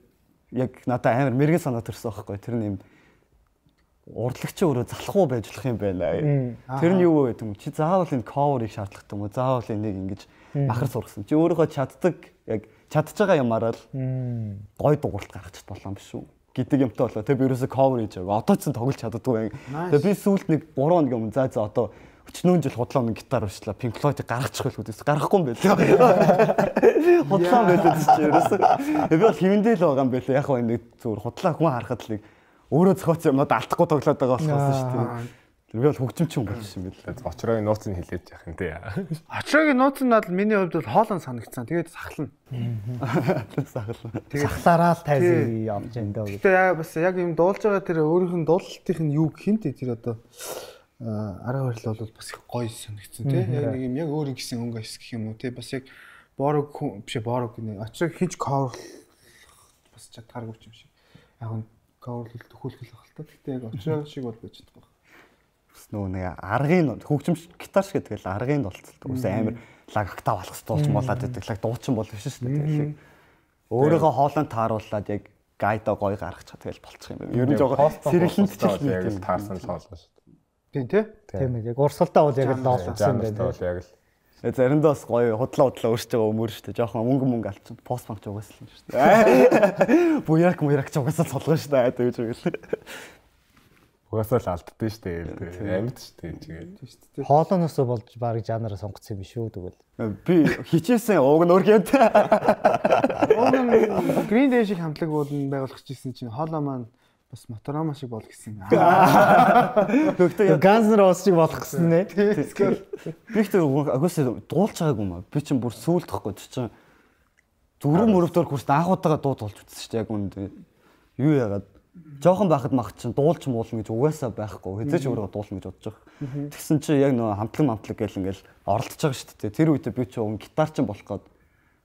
яг надад амар мэрэгэн санаа төрсөн байхгүй. Тэр нь юм урдлагч өөрөө залхуу байж болох юм байна. Тэр нь юу вэ гэдэг юм? Чи заавал энэ cover-ыг шаардлагатай юм уу? Заавал энийг ингэж махар сургасан. Чи өөрийнхөө чаддаг яг чадж байгаа юмараа л гой дууралт гаргачих болон биш үү? Гэдэг юмтай болоо. Тэг би ерөөсө cover хийж байгаа. Одоо ч тоглож чаддаггүй. Тэг би сүүлд нэг гурван хоног юм за за одоо өчнөө жил худлаа нэг гитар уучлаа. Pink Floyd-ыг гаргачих байлгүй дээ. Гаргахгүй юм байлээ. Худлаа байлаа чи ерөөсө. Би бол хивэндээ л байгаа юм байлээ. Яг нэг зүгээр худлаа хүн харахад л өөрөө зохиоц юмнууд алдахгүй тоглоод байгаа болохоос шүү дээ. Тэр би бол хөгжимч юм болж юм байлээ. Очроогийн нууц нь хилээж яах юм те. Очроогийн нууц нь бол миний хувьд бол хоолон санагдсан. Тэгээд сахална. Сахална. Сахлаараа л тайзан явж энэ дээ. Гэтэ яа бас яг юм дуулж байгаа тэр өөрийнх нь дуулалтынх нь юу гэх юм те тэр одоо арга барил бол бас их гоё санагдсан тий. Яг нэг юм яг өөр ингэсэн өнгө ис гэх юм уу тий. Бас яг борог биш борог гэнэ. Очрог хинч cover бас чадхааргүй юм шиг. Яг нь cover л төхөөлөх байх л та. Гэтэ яг очрог шиг бол байж чадахгүй. Бас нөө нэг аргын хөгжим гитар шиг тэгэл аргын болцолтой. Үс амар лаг октав алхас дуулж молаад байдаг. Лаг дуучин бол биш шүү дээ. Өөрөөгөө хоолойнд тааруулаад яг гайда гоё гаргах чад тэгэл болчих юм байна. Ер нь жоо сэргэлэнт ч яг л таарсан л хоолой шүү. Тийм тий. Тийм ээ. Яг урсгалтай бол яг л доолсон юм байна. Яг л. Заримдаа бас гоё худлаа худлаа өөрсдөө өмөр шүү дээ. Жохон мөнгө мөнгө алчин пост банк ч угаасл юм шүү дээ. Буяк муяк ч угаасаа цолгоо шүү дээ гэж үгэл. Угаасаа л алддсан шүү дээ. Амьд шүү дээ чигээ. Хоолооноос болж баг жанраа сонгоцсон юм биш үү тэгвэл. Би хичээсэн ууг нь өргөнд. Ууг нь Green Day шиг хамтлаг уулын байгуулах гэсэн чинь хоолоо маань бас Моторама шиг болох гэсэн. Гэхдээ Guns N' Roses шиг болох гэсэн нэ. Би ихтэй агуулсаа дуулж байгаагүй юм аа. Би чинь бүр сүулдэхгүй чинь зүрх мөрөвдөр хүрст анхудаага дуу дуулж үзсэн шүү дээ яг үнд. Юу яагаад жоохон байхад мах чинь дуулж муулна гэж угаасаа байхгүй. Хэзээ ч өөрөө дуулна гэж бодож байгаа. Тэгсэн чинь яг нөө хамтлаг хамтлаг гэл ингээл оролдож байгаа шүү дээ. Тэр үедээ би чинь уг гитар чинь болох гээд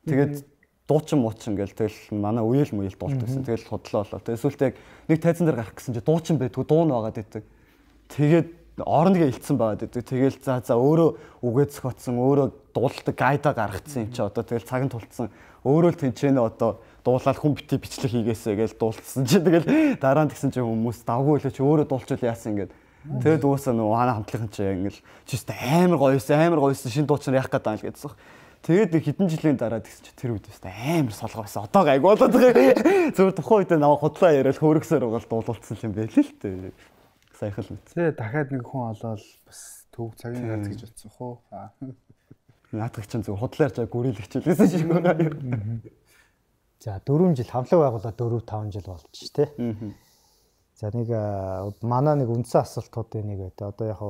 тэгээд дуучин муучин гэл тэгэл манай үеэл мүеэл дуулт гэсэн. Тэгэл худлаа болоо. Тэгэл сүултээ яг нэг тайзан дээр гарах гэсэн чи дуучин байдгүй дуу нь байгаад идэг. Тэгээд орныг илтсэн байгаад идэг. Тэгэл за за өөрөө үгээ зохиоцсон, өөрөө дуулалтыг гайда гаргацсан юм чи одоо тэгэл цаг нь тулцсан. Өөрөө л тэнчэнэ одоо дуулаад хүн бити бичлэг хийгээсэ гэж дуулсан чи тэгэл дараа нь тэгсэн чи хүмүүс давгүй лээ чи өөрөө дуулчул яасан ингээд. Тэгээд уусаа нөгөө хана хамтлагын чи ингээл чист амар гоёсэн, амар гоёсэн шин дуучин яах гээд байгаа л гэдсэн. Тэгээд хэдэн жилийн дараа тэгсэн чи тэр үед өстой амар солгоо байсан. Одоо гайг болоод байгаа. Зөв тухайн үед наваа худлаа яриад хөөргсээр угаал дуулуулсан юм байл л дээ. Сайхан л мэт. Тэ дахиад нэг хүн олоод бас төв цагийн гац гэж бодсон хоо. Наадах чинь зөв худлаа ярьж гүрэлэгчлээсэн шиг байна. За дөрвөн жил хамтлаг байгуулаад дөрөв таван жил болж ш тэ. За нэг манай нэг үндсэн асуултуудын нэг байдаг. Одоо яг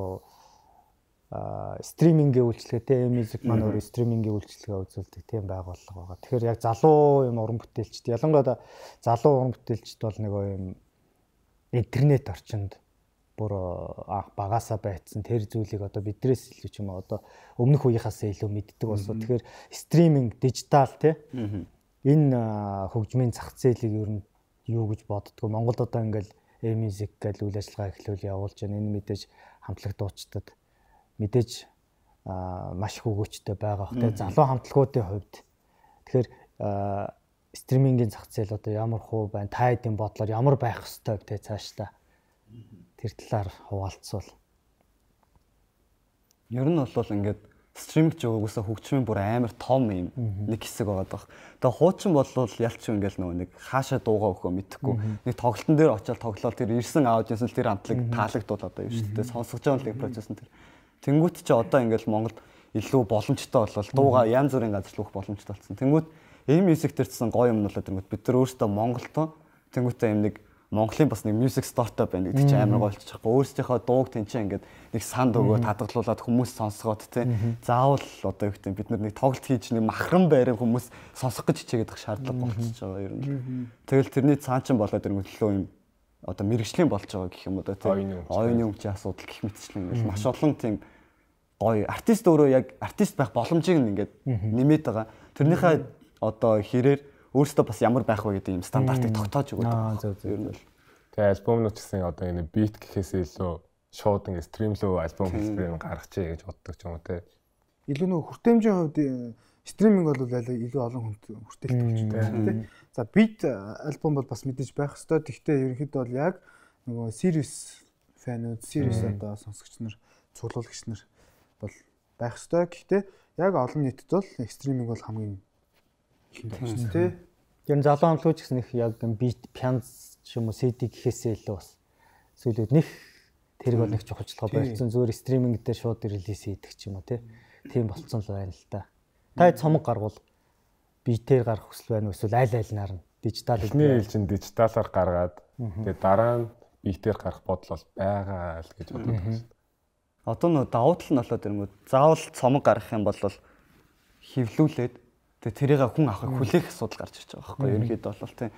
а стримингийн үйлчлэгээтэй music маань өөр стримингийн үйлчлэгээ үзүүлдэг тийм байгууллага байгаа. Тэгэхээр яг залуу юм уран бүтээлчд ялангуяа залуу уран бүтээлчд бол нэг юм интернет орчинд бүр анх багасаа байцсан тэр зүйлийг одоо бидрээс илүү ч юм уу одоо өмнөх үеийнхаас илүү мэддэг болсон. Тэгэхээр стриминг, дижитал тий энэ хөгжмийн зах зээлийг ер нь юу гэж боддгоо. Монголд одоо ингээл e-music гэл үйл ажиллагаа эхлүүл явуулж байна. Энэ мэдээж хамтлаг дуучдад мэдээж маш их өгөөчтэй байгаа бох тий залуу хамтлагуудын хувьд. Тэгэхээр стримингийн зах зээл одоо ямар хуу байна? Та хэдийн бодлоор ямар байх ёстой вэ цаашлаа? Тэр талаар хуваалцвал. Ер нь бол ингээд стриминг ч угсаа хөгжмийн бүр амар том юм нэг хэсэг байгаа даа. Тэгээ хуучин бол ялч ингээл нөгөө нэг хаашаа дуугаа өгөө мэдхгүй. Нэг тоглолтын дээр очиад тоглолт тэр ирсэн аудиенс л тэр хамтлаг таалагдвал одоо юм шүү дээ. Сонсгож байгаа л процесс нь тэр. Тэнгүүт чи одоо ингээл Монголд илүү боломжтой болол дуугаа янз бүрийн газар л өгөх боломжтой болсон. Тэнгүүт e-music төрсэн гоё юм нь болоод тэнгүүт бид нар өөрсдөө Монголтоо тэнгүүтээ юм нэг Монголын бас нэг music startup байна гэдэг чинь амар гоё болчих واخгүй. Өөрсдийнхөө дууг тэнцээ ингээд нэг санд өгөө татгалуулаад хүмүүс сонсгоод тий. Заавал одоо юу гэдэг бид нар нэг тоглолт хийж нэг махран байрын хүмүүс сонсох гэж хичээгээд их шаардлага болчихж байгаа ер нь. Тэгэл тэрний цаан чин болоод ирэнгүүтлөө юм одоо мэрэгжлийн болж байгаа гэх юм уу тий. Оюуны өмчийн асуудал гэх мэтчлэн ингээд маш олон тийм гоё артист өөрөө яг артист байх боломжийг ингээд нэмээд байгаа. Тэрнийхээ одоо хэрээр өөрөөсөө бас ямар байх вэ гэдэг юм стандартыг тогтоож өгöd байгаа. Ер нь л. Тэгээ альбомнууд гэсэн одоо энэ бит гэхээс илүү шууд ингэ стримлөө альбом хэлбэрээр гаргачихъя гэж боддог ч юм уу те. Илүү нөгөө хүртээмжийн хувьд стриминг бол илүү олон хүнд хүртээлт болж байна те. За бит альбом бол бас мэдээж байх ёстой. Гэхдээ ерөнхийдөө бол яг нөгөө serious фанууд, serious одоо сонсогч нар, цуглуулагч нар бол байх ёстой. Гэхдээ яг олон нийтэд бол стриминг бол хамгийн тий. Тэр залуу хамтлагч гэсэн их яг бит пянз ч юм уу си ди гэхээсээ илүү бас зүйлүүд нэг тэрг бол нэг чухалчлага барьсан зүгээр стриминг дээр шууд релиз хийдэг ч юм уу тий. Тийм болцсон л байна л да. Та цомог гаргуул битээр гарах хүсэл байна уу эсвэл аль альнаар нь дижитал хэлний хэлчин дижиталаар гаргаад тэгээ дараа нь битээр гарах бодол бол байгаа л гэж боддог байна. Одоо нөө давуу тал нь болоод ирэнгүүт заавал цомог гаргах юм бол хевлүүлээд тэгээ тэрийг хүн авахыг хүлээх асуудал гарч ирж байгаа байхгүй ерөнхийдөө бол тийм.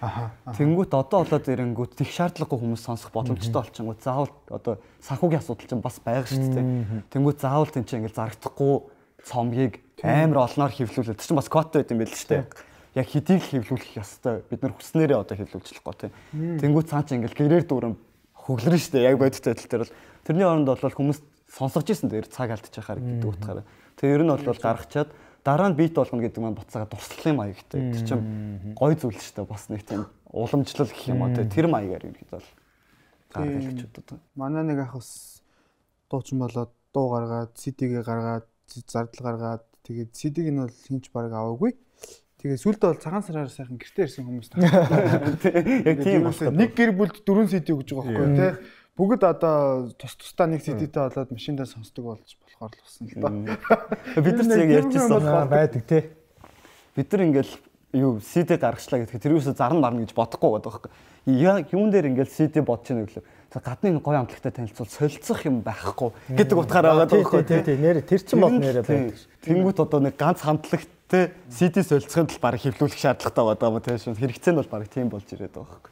Тэнгүүт одоо болоод ирэнгүүт их шаардлагагүй хүмүүс сонсох боломжтой болчихгоо заавал одоо санхүүгийн асуудал чинь бас байгаа шүү дээ. Тэнгүүт заавал тийм чинь ингээл зарагдахгүй цомгийг амар олноор хевлүүлээд чинь бас квот байт юм байл шүү дээ. Яг хэдийг хевлүүлэх ёстой бид нар хүснээрээ одоо хевлүүлчихлэхгүй тийм. Тэнгүүт цаа чинь ингээл гэрээр дүүрэн хөглөрнө шүү дээ. Яг бодит байдал дээр бол тэрний оронд бол хүмүүс сонсож ирсэн дээр цаг алдчих хаар гэдэг утгаараа. Тэгээ ер нь бол гаргачаад дараа нь бит болгоно гэдэг маань буцаага дурслалын маягтай. Тэр чинь гой зүйл шүү дээ. Бас нэг тийм уламжлал гэх юм уу тэр маягаар юм хэд бол гаргаж гэж боддог. Манай нэг ах бас дуучин болоод дуу гаргаад, си ди-гээ гаргаад, зардал гаргаад тэгээд си ди-г нь бол хинч баг аваагүй. Тэгээд сүүлдээ бол цагаан сараар сайхан гэртээ ирсэн хүмүүс таа. Яг тийм байна. Нэг гэр бүлд дөрвөн си ди өгж байгаа байхгүй тий. Бүгд одоо тус тусдаа нэг си ди-тэй болоод машиндаа сонсдог болж болохоор л болсон л доо. Бид нар яг ярьчихсан байдаг тий. Бид нар ингээл юу си ди гаргачлаа гэхэд тэр юусоо зарна марна гэж бодохгүй байгаа байхгүй. Яг юун дээр ингээл си ди бодож байна гэвэл гадны гоё амтлагтай танилцуул солилцох юм байхгүй гэдэг утгаараа байгаа байхгүй тий. Тий нэр тэр чин бол нэрээ байдаг. Тэнгүүт одоо нэг ганц хамтлагтай си ди солилцохын тул баг хэвлүүлэх шаардлагатай байгаа юм тийм хэрэгцээ нь бол баг тийм болж ирээд байгаа байхгүй.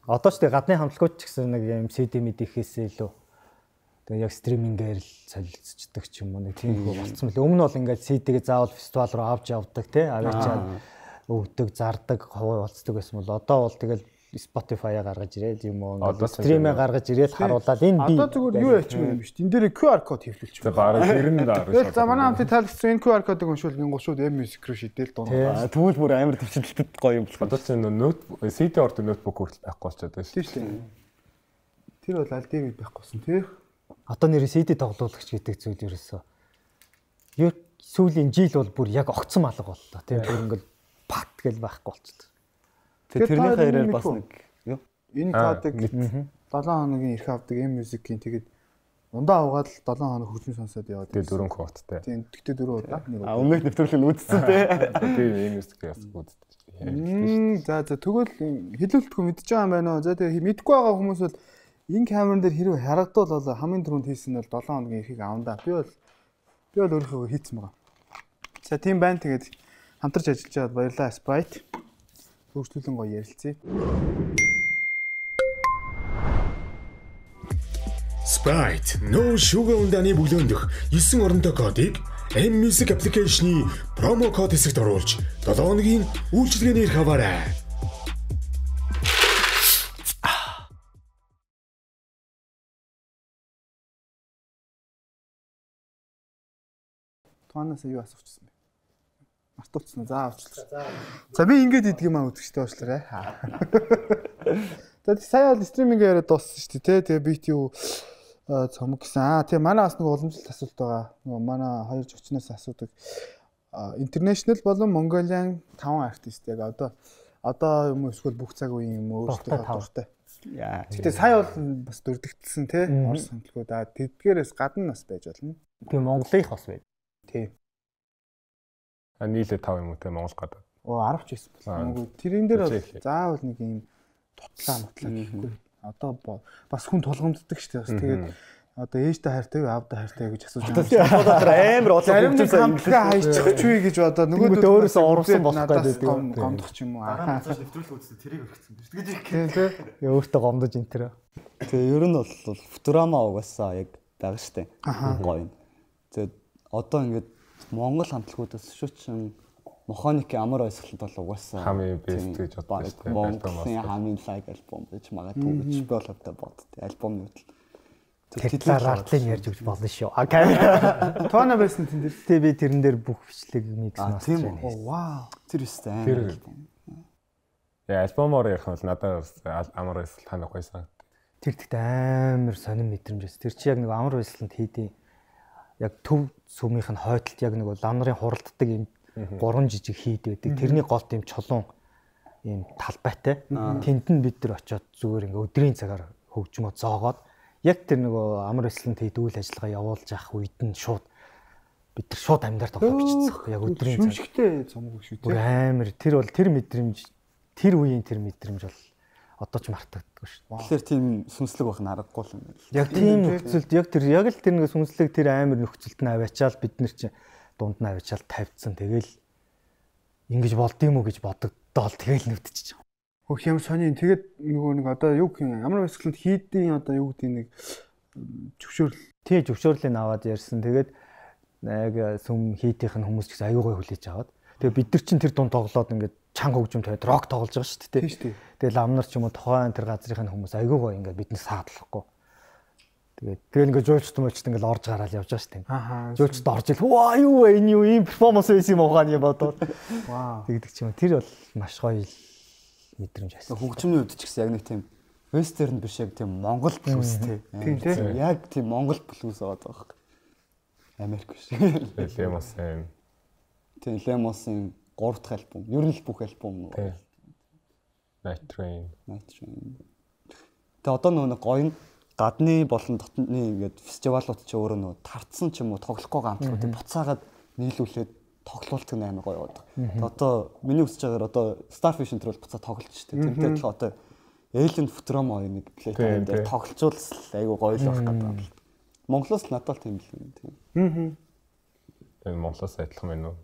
Одоо ч тий гадны хамтлагууд ч гэсэн нэг юм си ди мэдээхээс илүү тэгээ яг стримингээр л солилцдог ч юм уу нэг тийм хөө болцсон мөлий. Өмнө бол ингээд си ди-гээ заавал фестивал руу авч явдаг тий аваачаад өгдөг, зардаг, хуваалцдаг байсан бол одоо бол тэгэл Spotify-а гаргаж ирээд юм уу ингээд стримээ гаргаж ирээд харуулаад энэ би одоо зүгээр юу яачмаа юм биш. Энд дээр ку ар код хэвлүүлчих. За бараг тэр нь даа. Тэгэл за манай хамтын тайлбарсан энэ ку ар кодыг уншуулгын гушууд M-Music руу шидэл дуунаа. Тэгвэл бүр амар төвчөлтөд гоё юм болох. Одоо ч ноут си ди ордог ноутбук хүртэл байхгүй болчиход байна шүү. Тийм. Тэр бол аль дээр байхгүйсэн тий. Одоо нэр си ди тоглуулагч гэдэг зүйл ерөөсөө юу сүүлийн жил бол бүр яг огцом алга боллоо тий. Бүр ингээл пат гэл байхгүй болчихлоо. Тэгээ тэрний хайраар бас нэг юу энэ кодыг седем хоногийн эрх авдаг M-Music-ийн тэгээд ундаа угаад л седем хоног хөгжим сонсоод яваад. Тэгээ дөрвөн квоттэй. Тийм тэгтээ дөрөв удаа. А өмнөх нэвтрүүлэг нь үзсэн тий. Тэгээ M-Music-ээс үздэг. За за тэгвэл хэлүүлэлтгүй мэдчихэж байгаа юм байна уу? За тэгээ мэдгүй байгаа хүмүүс бол энэ камерын дээр хэрэг харагдвал бол хамгийн түрүүнд хийсэн нь бол седем хоногийн эрхийг авандаа. Би бол би бол өөрийнхөө хийцэн байгаа. За тийм байна тэгээд хамтарч ажиллаж байгаад баярлалаа Sprite. Хөгжлүүлэн гоё ярилцъя. Sprite, no sugar ундааны бүлөөндөх нine оронтой кодыг M Music application-ы промо код хэсэгт оруулж seven хоногийн үйлчилгээний эрх аваарай. Тоноос юу асуучихсан бэ? Мартуулсан уу? За авчлаа. За би ингэж идэх юм аа үзэгчтэй уучлаарай. Тэгээд сая бол стриминг яриад дууссан шүү дээ, тий. Тэгээ би юу цомог гэсэн. Аа тий манай бас нэг уламжлалт асуулт байгаа. Нөгөө манай хоёр зочноос асуудаг. International болон Mongolian five артист яг одоо одоо юм эсвэл бүх цаг үеийн юм өөрсдөө дуртай. Яа. Гэтэ сая бол бас дурддагдсан тий. Орос хамтлагууд аа тэдгээрээс гадна бас байж болно. Тийм Монголынх бас байд. Тий. А нийлээ five юм уу те Монгол гадаад. Оо ten ч байсан. Үгүй тэрэн дээр бол заавал нэг юм тутлаа мутлаа гэхгүй. Одоо бас хүн тулгамддаг шүү дээ. Бас тэгээд одоо ээжтэй хайртай юу аавтай хайртай гэж асууж байгаа. Одоо амар олон хүмүүс хамтгаа хайчих чүй гэж одоо нөгөө өөрөөсөө урсан болох гэдэг. Гомдох ч юм уу. Аа. Нэвтрүүлэг үзсэн тэрийг өргөцсөн. Тэгэж их. Тийм тийм. Яа өөртөө гомдож энэ тэр. Тэгээ ер нь бол Futurama угаасаа яг байгаа штэ. Гоё. Тэгээд одоо ингээд Монгол хамтлагуудаас шүүчин механикийн амар ойсголт бол угаасаа хамгийн бест гэж боддог штэ. Монголын хамгийн лайк альбом гэж магадгүй гэж би бол одоо боддог. Альбомны хөдөл. Тэгэхээр артлыг ярьж өгч болно шүү. А камера. Тона байсан тэн дээр. Тэ би тэрэн дээр бүх бичлэг микс масч байна. Оо вау. Тэр өстэй амар альбом. Яа, альбомоор ярих бол надад амар ойсголт танах байсан. Тэр тэгт амар сонирн мэдрэмж байсан. Тэр чи яг нэг амар ойсголт хийдیں۔ Яг төв сүмийнх нь хойдолт яг нэг лам нарын хуралддаг юм гурван жижиг хийд байдаг. Тэрний голд юм чулуун юм талбайтай. Тэнд нь бид нар очиод зүгээр ингээ өдрийн цагаар хөгжмөө зоогоод яг тэр нөгөө амар өслөнт хийд үйл ажиллагаа явуулж явах үед нь шууд бид нар шууд амьдаар тоглож бичсэн. Яг өдрийн цаг. Шүмжигтэй цомог шүү дээ. Амар тэр бол тэр мэдрэмж тэр үеийн тэр мэдрэмж бол одоо ч мартагддаггүй шүү. Тэгэхээр тийм сүнслэг байх нь аргагүй юм байна. Яг тийм нөхцөлд яг тэр яг л тэр нэг сүнслэг тэр амар нөхцөлд нь аваачаал бид нар чи дунд нь аваачаал тавьдсан. Тэгэл ингэж болдгийм үү гэж бодогдоол тэгэл нүвдчихэж байгаа. Хөх юм сони тэгээд нөгөө нэг одоо юу гэх юм ямар өсгөлд хийдийн одоо юу гэдэг нэг зөвшөөрөл. Тий зөвшөөрлийг аваад ярьсан. Тэгээд яг сүм хийтийнх нь хүмүүс ч гэсэн аюугай хүлээж аваад. Тэгээд бид нар чин тэр дунд тоглоод ингээд чанга хөгжим тавиад рок тоглож байгаа шүү дээ. Тийм шүү дээ. Тэгээд ламнар ч юм уу тухайн тэр газрын хүмүүс аюугай ингээд биднээс саадлахгүй. Тэгээд тэгэл ингээд жуулчт мөлчт ингээд орж гараал явж байгаа шүү дээ. Аа. Жуулчт орж ил ваа юу вэ энэ юу ийм перформанс байсан юм ухааны юм бодоод. Вау. Тэгдэг ч юм. Тэр бол маш гоё мэдрэмж байсан. Хөгжмийн үед ч гэсэн яг нэг тийм вестерн биш яг тийм монгол блюз тий. Тийм тий. Яг тийм монгол блюз байгаа байхгүй. Америк биш. Лемосын. Тийм Лемосын гурав дахь альбом. Ер нь л бүх альбом. Night Train. Night Train. Тэгээ одоо нөгөө гоё гадны болон дотны ингээд фестивалууд ч өөрөө нөгөө тартсан ч юм уу тоглохгүй гамтлуудыг буцаагаад нийлүүлээд тоглолт нь амар гоё байдаг. Тэгээ одоо миний үсэж байгаагаар одоо Starfish энэ төр бол буцаа тоглолт шүү дээ. Тэрнтэй адилхан одоо Alien Futurama хоёр нэг плейтайн дээр тоглолцуулс айгу гоё л байх гэдэг. Монголоос надад тийм л юм тийм. Аа. Энэ Монголоос адилхан байна уу?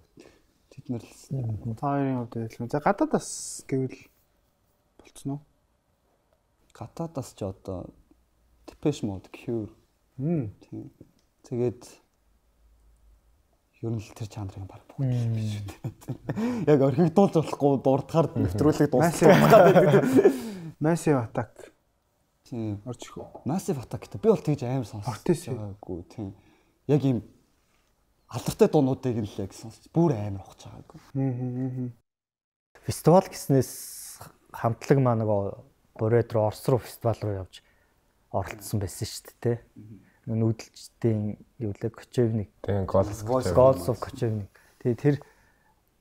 Тэд нар л таарын хувьд адилхан. За гадаадас гэвэл болцсон уу? Гадаадас ч одоо Depeche Mode, Cure. Тийм. Тэгээд ер нь л тэр жанрын баг бүгд л биш үү. Яг орхигдуулж болохгүй дурдахаар нэвтрүүлэг дуусгах. Massive Attack. Тийм. Орж ирэх. Massive Attack гэдэг. Би бол тэгж аим сонсчихгүй тийм. Яг ийм алдартай дуунуудыг л яг сонсч бүр амар ухаж байгаагүй. Аа. Фестивал гэснээс хамтлаг маа нөгөө Бурейд руу Орос руу фестивал руу явж оролцсон байсан шүү дээ. Нүүдэлчдийн юу лээ Кочевник. Тийм Goals of Kocevnik. Тэгээ тэр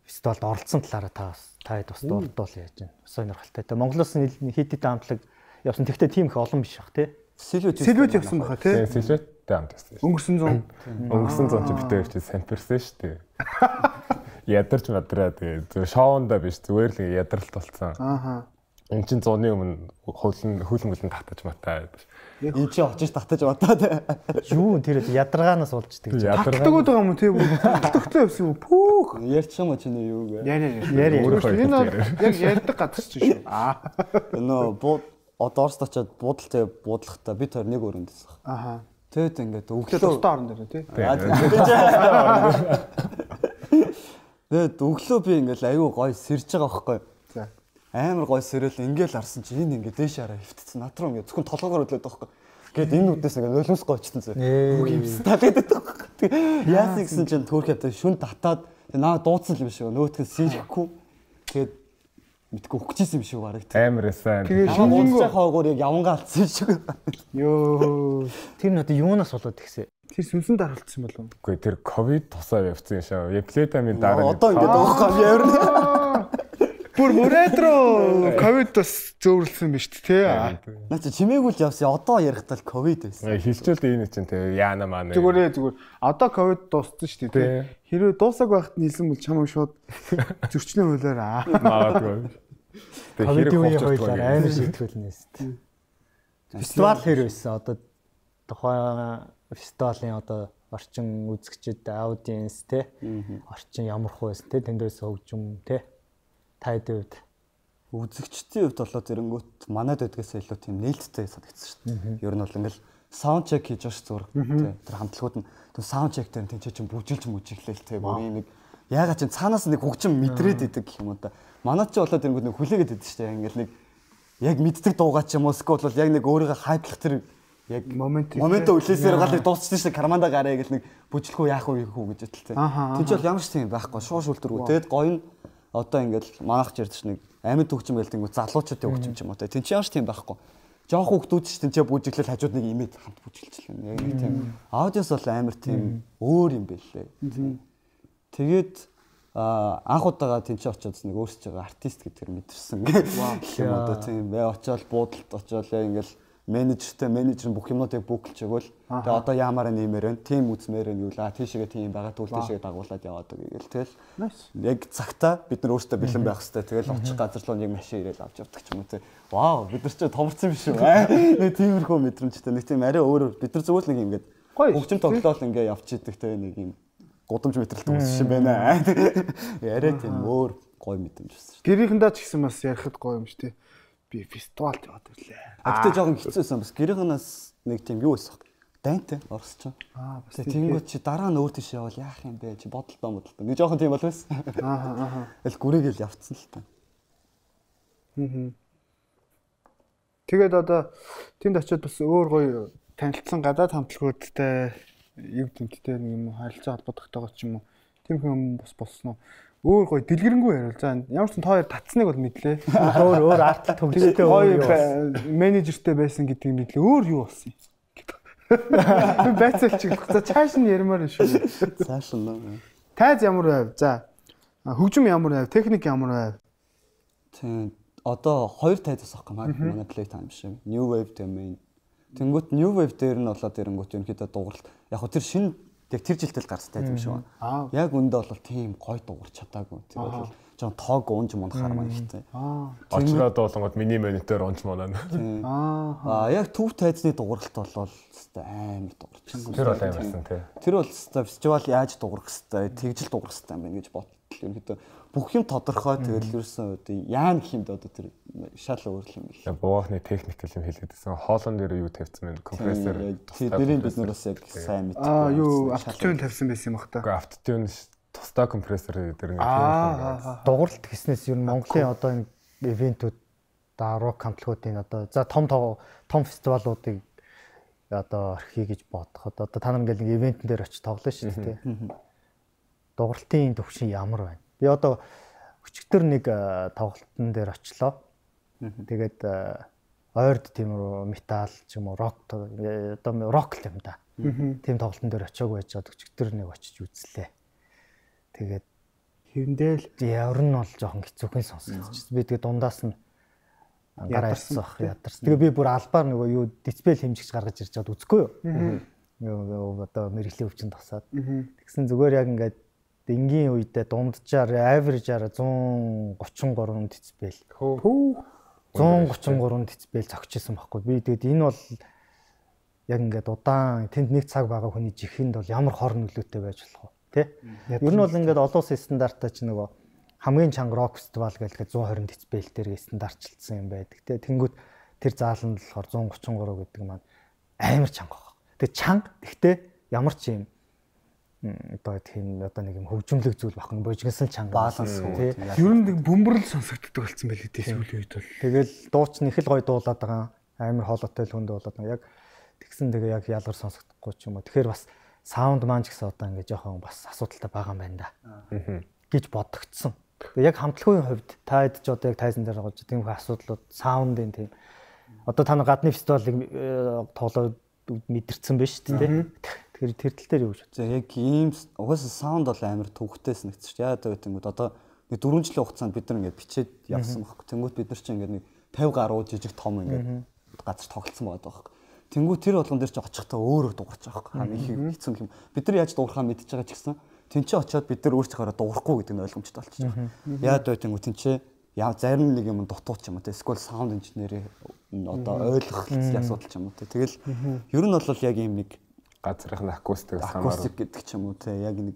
фестивалд оролцсон талаараа та таад бас дурдвал яаж байна. Бас сонирхолтой. Тэгээ Монголоос хэд хэдэн хамтлаг явсан. Тэгтээ тийм их олон биш бах тий. Сэлвэт Сэлвэт явсан баха тий. Сэлвэттэй хамт байсан. Өнгөрсөн зам. Өнгөрсөн зам чи битээ ирч самперсэн шүү дээ. Ядарч мадраа тэгээ шоунда биш зүгээр л ядралт болсон. Ааха. Энд чинь зууны өмнө хөлн хөлн хөлн татаж матаа. Энд чинь очиж татаж матаа. Юу тэр ядаргаанаас болж тэг. Ядаргаад байгаа юм тий. Тогттой явсан юм. Пүүх. Ярьчих юм чинь юу вэ? Яри яри. Энэ яг ярьдаг газар чинь шүү. Аа. Нөө бууд одоо Оросд очиод буудалтай буудлахтаа бид хоёр нэг өрөөнд байсан. Ааха. Тэгэд ингээд өглөө тусдаа орон дээр тий. Тэгэд өглөө би ингээд аюу гой сэрж байгаа байхгүй. За. Амар гой сэрэл ингээд харсан чи энэ ингээд дээш хараа хөвтцэн над руу ингээд зөвхөн толгоогоор өдлөөд байхгүй. Гээд энэ үднээс ингээд нулимс гойчтсан зэ. Үг юмс талаад байдаг. Яасан гэсэн чинь төрхөд шүн татаад наа дуудсан юм шиг нөөтгөө сэрхгүй. Тэгээд мэдгүй өгчээсэн юм шиг бараг. Амар эсэн. Тэгээд шинжэнгөө хаагуур яг явангаа алдсан шиг. Йоо. Тэр нь одоо юунаас болоод тэгсэ? Тэр сүнсэн даралтсан болов уу? Үгүй тэр ковид тусаа явцсан шаа. Эплетамин дараа. Одоо ингээд уухгүй явна. Бүр мөрөөдрөө ковид бас зөөвөрлсөн биз дээ тий. Наа чи чимээгүй л явсан. Одоо ярихтал ковид байсан. Хилчүүлд энэ чинь тий яана маань. Зүгээрээ зүгээр. Одоо ковид дууссан шүү дээ тий. Хэрвээ дуусаагүй байхад нийлсэн бол чамайг шууд зөрчлийн хуулиараа. Магадгүй. Тэг хэрэг хоолцоо амар шийтгэл нэст. Фестивал хэр байсан? Одоо тухайн фестивалийн одоо орчин үзэгчид аудиенс те орчин ямар хөө байсан те тэндээс хөгжим те таад үед үзэгчдийн хувьд болоо зэрэнгүүт манайд байдгаас илүү тийм нээлттэй санагдсан шүү дээ. Ер нь бол ингээл саунд чек хийж байгаа ш зураг те тэр хамтлагууд нь тэр саунд чек дээр тэнцээ чинь бүжилж мүжиглээл те бүр юм нэг ягаад чинь цаанаас нэг хөгжим мэдрээд идэг гэх юм уу да. Манайд ч болоо зэрэнгүүт нэг хүлээгээд идэв шүү дээ. Ингээл нэг яг мэддэг дуугаа ч юм уу скол бол яг нэг өөрийгөө хайплах тэр яг момент момент үлээсээр гал нэг дуусчихсан шүү дээ. Карманда гараа гэл нэг бүжлэхүү яах вэ гэхүү гэж бодлоо. Тэнд ч бол ямар ч тийм байхгүй шууш үлдэргүй. Тэгэд гоё нь одоо ингээл манайх ч ярьдаш нэг амьд хөгжим гэлтэнгүү залуучуудын хөгжим ч юм уу те. Тэнд ч ямар ч тийм байхгүй. Жоох хүүхдүүд ч тэнцээ бүжиглэл хажууд нэг имэд хамт бүжиглчихлээ. Яг нэг тийм аудиос бол амар тийм өөр юм байлээ. Тэгээд анх удаага тэнцээ очиод нэг өөрсөж байгаа артист гэдгээр мэдэрсэн. Гэх юм одоо тийм бай очиод буудалд очиод яг ингээл менежертэй менежер бүх юмнуудыг бүгэлж өгөөл. Тэгээ одоо яамаар нэмэр вэ? Тим үзмээр нь юу лаа? Тийшээгээ тийм байгаа түл тийшээгээ дагуулад яваад байгаа гэл тэгэл. Яг цагтаа бид нар өөрсдөө бэлэн байх хэрэгтэй. Тэгэл очих газар руу яг машин ирээл авч явдаг ч юм уу те. Вау, бид нар ч томорсон биш үү? Нэг тиймэрхүү мэдрэмжтэй. Нэг тийм арай өөр. Бид нар зүгээр л нэг ингээд хөгжим тоглоол ингээд явж идэг те нэг юм гудамж мэтрэлт үүссэн байна. Арай тийм өөр гоё мэдрэмж байсан шүү. Гэрийнхэндээ ч гэсэн бас ярихад гоё юм шүү те. Би фестивалд яваад ирлээ. Агтаа жоохон хэцүүсэн бас гэрийнхнээс нэг тийм юу байсан. Дайнтай орсч. Аа бас тэнгууд чи дараа нь өөр тийш явал яах юм бэ? Чи бодолтоо бодолтоо. Нэг жоохон тийм бол байсан. Аа аа. Эл гүрэгээл явцсан л та. Аа. Тэгээд одоо тэнд очиод бас өөр гоё танилцсан гадаад хамтлагуудтай юу гэмттэй нэг юм харилцаа холбогдохтойгоо ч юм уу. Тийм юм бас болсон уу? Өөр гоё дэлгэрэнгүй яриул. За ямар ч тоо хоёр татсныг бол мэдлээ. Өөр өөр артлт хөгжөлтэй гоё менежертэй байсан гэдгийг мэдлээ. Өөр юу болсон юм? Би байцаалч гэх. За цааш нь ярмаар шүү. Цааш нь. Тайз ямар байв? За хөгжим ямар байв? Техник ямар байв? Тийм. Одоо хоёр тайзаас авах гэмээр манай Playtime шиг. New Wave domain. Тэнгүүт New Wave дээр нь болоод ирэнгүүт ерөнхийдөө дууралт. Яг хөө тэр шинэ яг тэр жилдэл гарсан тайз юм шиг байна. Яг үндэ бол тийм гоё дуурч чадаагүй. Тэгээд бол жоон тоог унж мунахаар маань ихтэй. Аа. Очроод болгоод миний монитор унж моноо. Аа. Яг төв тайзны дууралт болол өстой амар дуурч. Тэр бол амарсан тий. Тэр бол өстой фестивал яаж дуурах хэвтэй, тэгжил дуурах хэвтэй юм байна гэж бодлоо. Ерөнхийдөө бүх юм тодорхой тэгэл ерөөсөн одоо яа гэх юм бэ одоо тэр шал өөр юм биш. Буугахны техникэл юм хэлээдсэн. Хоолон дээр юу тавьсан бэ? Компрессор. Тэрийг бид нар бас яг сайн мэдээ. Аа юу автотюн тавьсан байсан юм бах та. Уу автотюн тусдаа компрессор дээр нэг тийм дууралт гэснээс ер нь Монголын одоо энэ ивентүүд рок хамтлагуудын одоо за том том фестивалуудыг одоо орхиё гэж бодоход одоо та нар ингээл нэг ивентэн дээр очиж тоглоно шүү дээ. Дууралтын төвшин ямар байна? Би одоо өчигдөр нэг тоглолтын дээр очлоо. Тэгээд ойрд тийм метал ч юм уу рок одоо рок л юм да. Тийм тоглолтын дээр очиагүй байж одоо өчигдөр нэг очиж үзлээ. Тэгээд хэвэндэл явар нь бол жоохон хэцүүхэн сонсогдчихсэн. Би тэгээд дундаас нь гараа ирсэн баг ядарсан. Тэгээ би бүр албаар нөгөө юу дисплей хэмжигч гаргаж ирж чад үзэхгүй юу? Юу одоо мэрэглийн өвчин тасаад. Тэгсэн зүгээр яг ингээд энгийн үедээ дунджаар average-аар one thirty-three децибел. one thirty-three децибел зогчихсон байхгүй. Би тэгээд энэ бол яг ингээд удаан тэнд нэг цаг байгаа хүний жихэнд бол ямар хор нөлөөтэй байж болох вэ? Тэ? Ер нь бол ингээд олон улсын стандартаа ч нөгөө хамгийн чанга рок фестивал гэдэг one twenty децибел дээр стандартчилсан юм байдаг. Тэ? Тэнгүүд тэр зааланд болохоор one thirty-three гэдэг маань амар чанга байна. Тэгээ чанга гэхдээ ямар ч юм одоо тийм одоо нэг юм хөгжмөлөг зүйл багхан божигнсан чанга баланс тий. Ер нь нэг бөмбөрл сонсогддог болсон байл дээ сүүлийн үед бол. Тэгэл дууч нь их л гоё дуулаад байгаа. Амар хоолойтой л хүнд болоод байгаа. Яг тэгсэн тэгээ яг ялгар сонсогдохгүй ч юм уу. Тэгэхээр бас саунд маань ч гэсэн одоо ингэ жоохон бас асуудалтай байгаа юм байна да. гэж бодогдсон. Тэгээ яг хамтлагын хувьд та хэд ч одоо яг тайзан дээр байгаа тийм их асуудлууд саундын тийм одоо та гадны фестивалыг тоглоод мэдэрсэн байж шүү дээ. Тэгэхээр тэр тал дээр юу гэж бодсон. Яг ийм угаасаа саунд бол амар төвхтэй санагдчих. Яагаад гэвэл одоо нэг дөрвөн жилийн хугацаанд бид нар ингээд бичээд явсан байхгүй. Тэнгүүт бид нар чинь ингээд нэг пятьдесят гаруй жижиг том ингээд газар тоглолцсон байдаг байхгүй. Тэнгүүт тэр болгон дээр ч очихдаа өөрөө дуурч байгаа байхгүй. Хам их хэцүү юм. Бид нар яаж дуурхаа мэдчихэж байгаа ч гэсэн тэнцээ очиод бид нар өөрсдөө дуурахгүй гэдэг нь ойлгомжтой болчихж байгаа. Яагаад вэ тэнгүүт тэнцээ яа зарим нэг юм дутууч юм уу те эсвэл саунд инженери одоо ойлгох асуудал ч юм уу те. Тэгэл ер нь бол яг ийм нэг газрын акустик акустик гэдэг ч юм уу те яг нэг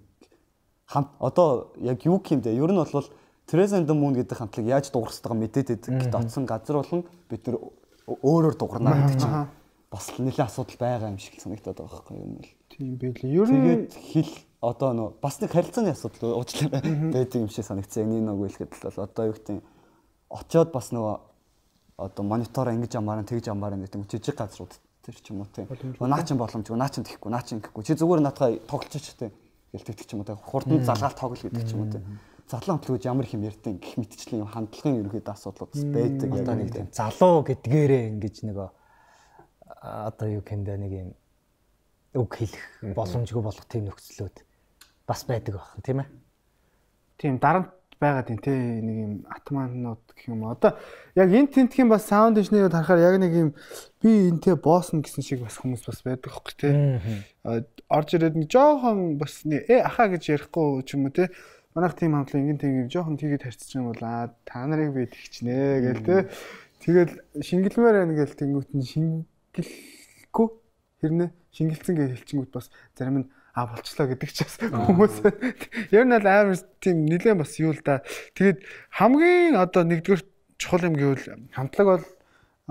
хамт одоо яг юу юм те ер нь бол Teresa and the Moon гэдэг хамтлаг яаж дуурах байгаа мэдээд байдаг. Гэт оцсон газар болон бид нар өөрөөр дуурна гэдэг чинь бас нэлээд асуудал байгаа юм шиг санагдаад байгаа байхгүй юм бол. Тийм байлээ. Ер нь тэгээд хэл одоо нөө бас нэг харилцааны асуудал уучлаарай байдаг юм шиг санагдсан. Яг нэг нэг хэлэхэд л одоо юу гэдэг очиод бас нөгөө одоо монитор ингэж амаараа тэгж амаараа гэдэг жижиг газрууд тэр ч юм уу тийм. Наа чин боломжгүй, наа чин тэхгүй, наа чин гэхгүй. Чи зүгээр наадхаа тоглож ч тийм. Гэл тэгдэг ч юм уу тийм. Хурдан залгаал тоглол гэдэг ч юм уу тийм. Залуу хамтлагууд ямар их юм ярьдیں۔ Гэх мэтчлэн юм хандлагын ерөнхийдөө асуудлууд байдаг. Одоо нэг тийм залуу гэдгээрээ ингэж нөгөө одоо юу гэмдэ нэг юм үг хэлэх боломжгүй болох тийм нөхцлүүд бас байдаг байх тийм ээ. Тийм дарамт байгаа тийм тий нэг юм атманууд гэх юм. Одоо яг энэ тентхийн бас саунд инженерийг харахаар яг нэг юм би энтэй боосно гэсэн шиг бас хүмүүс бас байдаг хөөхгүй тий. Орж ирээд нэг жоохон бас э ахаа гэж ярихгүй ч юм уу тий. Манайх тийм хамтлаг ингэн тийм жоохон тийгээд харьцчих юм бол аа та нарыг би тэгчнэ гээл тий. Тэгэл шингэлмээр байна гээл тэнгуут нь шингэлэхгүй хэрнээ шингэлцэн гэж хэлчихэнгүүт бас зарим нь а болчлоо гэдэг ч бас хүмүүс ер нь л амар тийм нэлээд бас юу л да. Тэгээд хамгийн одоо нэгдүгээр чухал юм гэвэл хамтлаг бол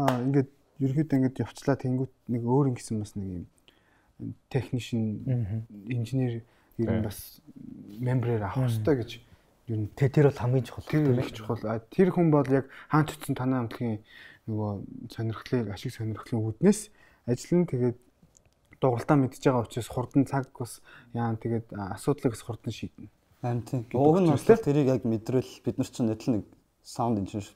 ингээд ерөөхдөө ингээд явцлаа тэнгуут нэг өөр ингэсэн бас нэг юм технишн инженер ер нь бас мембрээр авах хэрэгтэй гэж ер нь тэр бол хамгийн чухал тийм их чухал. Тэр хүн бол яг хаан tutсан танай хамтлагийн нөгөө сонирхлыг ашиг сонирхлын үүднээс ажиллана. Тэгээд дугалтаа мэдж байгаа учраас хурдан цаг бас яа тэгээд асуудлыг бас хурдан шийднэ. Харин тийм. Уг нь бас тэрийг яг мэдрэл бид нар чинь нэтэл нэг саунд инженер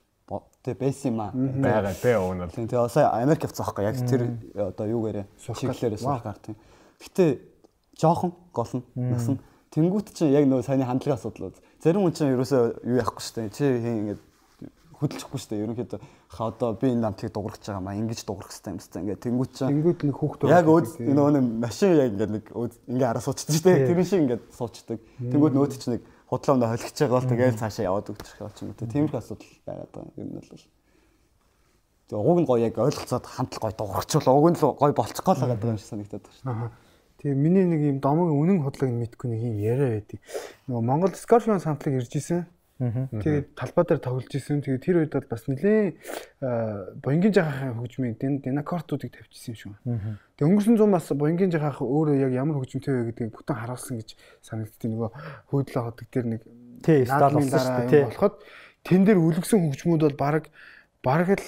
тэг бэйс юм аа байгаа тэ уг нь. Тийм тэгээ сая Америк явцсан байхгүй яг тэр одоо юугаарэ чиглэлээрээ сурахаар тийм. Гэтэ жоохон гол нь нас нь тэнгуут чинь яг нөө саяны хандлагын асуудал. Зарим хүн чинь ерөөсөө юу яахгүй шүү дээ. Чи ингээд хөдөлчихгүй шүү дээ. Ерөнхийдөө ха одоо би энэ намтлыг дуурах гэж байгаа маа ингэж дуурах хэрэгтэй юм байна. Ингээд тэнгуут чинь тэнгуут нэг хүүхдүүд яг нөгөө нэг машин яг ингээд нэг ингээ араа суучдаг шүү дээ. Тэр шиг ингээд суучдаг. Тэнгуут нөөт чинь нэг худлаамда холигч байгаа бол тэгээл цаашаа яваад өгчих юм чинь. Тиймэрхүү асуудал байгаад байгаа юм бол. Тэгээ уг нь гоё яг ойлголцоод хамтлаг гоё дуурахчвал уг нь л гоё болчих гол байгаа юм шиг санагдаад байна шүү дээ. Тэгээ миний нэг юм домог үнэн худлаг нь мэдгүй нэг юм яриа байдаг. Нөгөө Монгол Scorpions хамтлаг ирж исэн. Тэгээд талбай дээр тоглож исэн. Тэгээд тэр үед бол бас нэлээ боёнгийн жахахын хөгжмийн динакортуудыг тавьчихсан юм шиг байна. Тэгээд өнгөрсөн зам бас боёнгийн жахах өөрөө яг ямар хөгжмөнтэй вэ гэдгийг бүтэн харуулсан гэж санагдтыг нөгөө хөөдлөө ходог дээр нэг тий стал болсон шүү дээ. Болоход тэн дээр үлгсэн хөгжмүүд бол баг баг л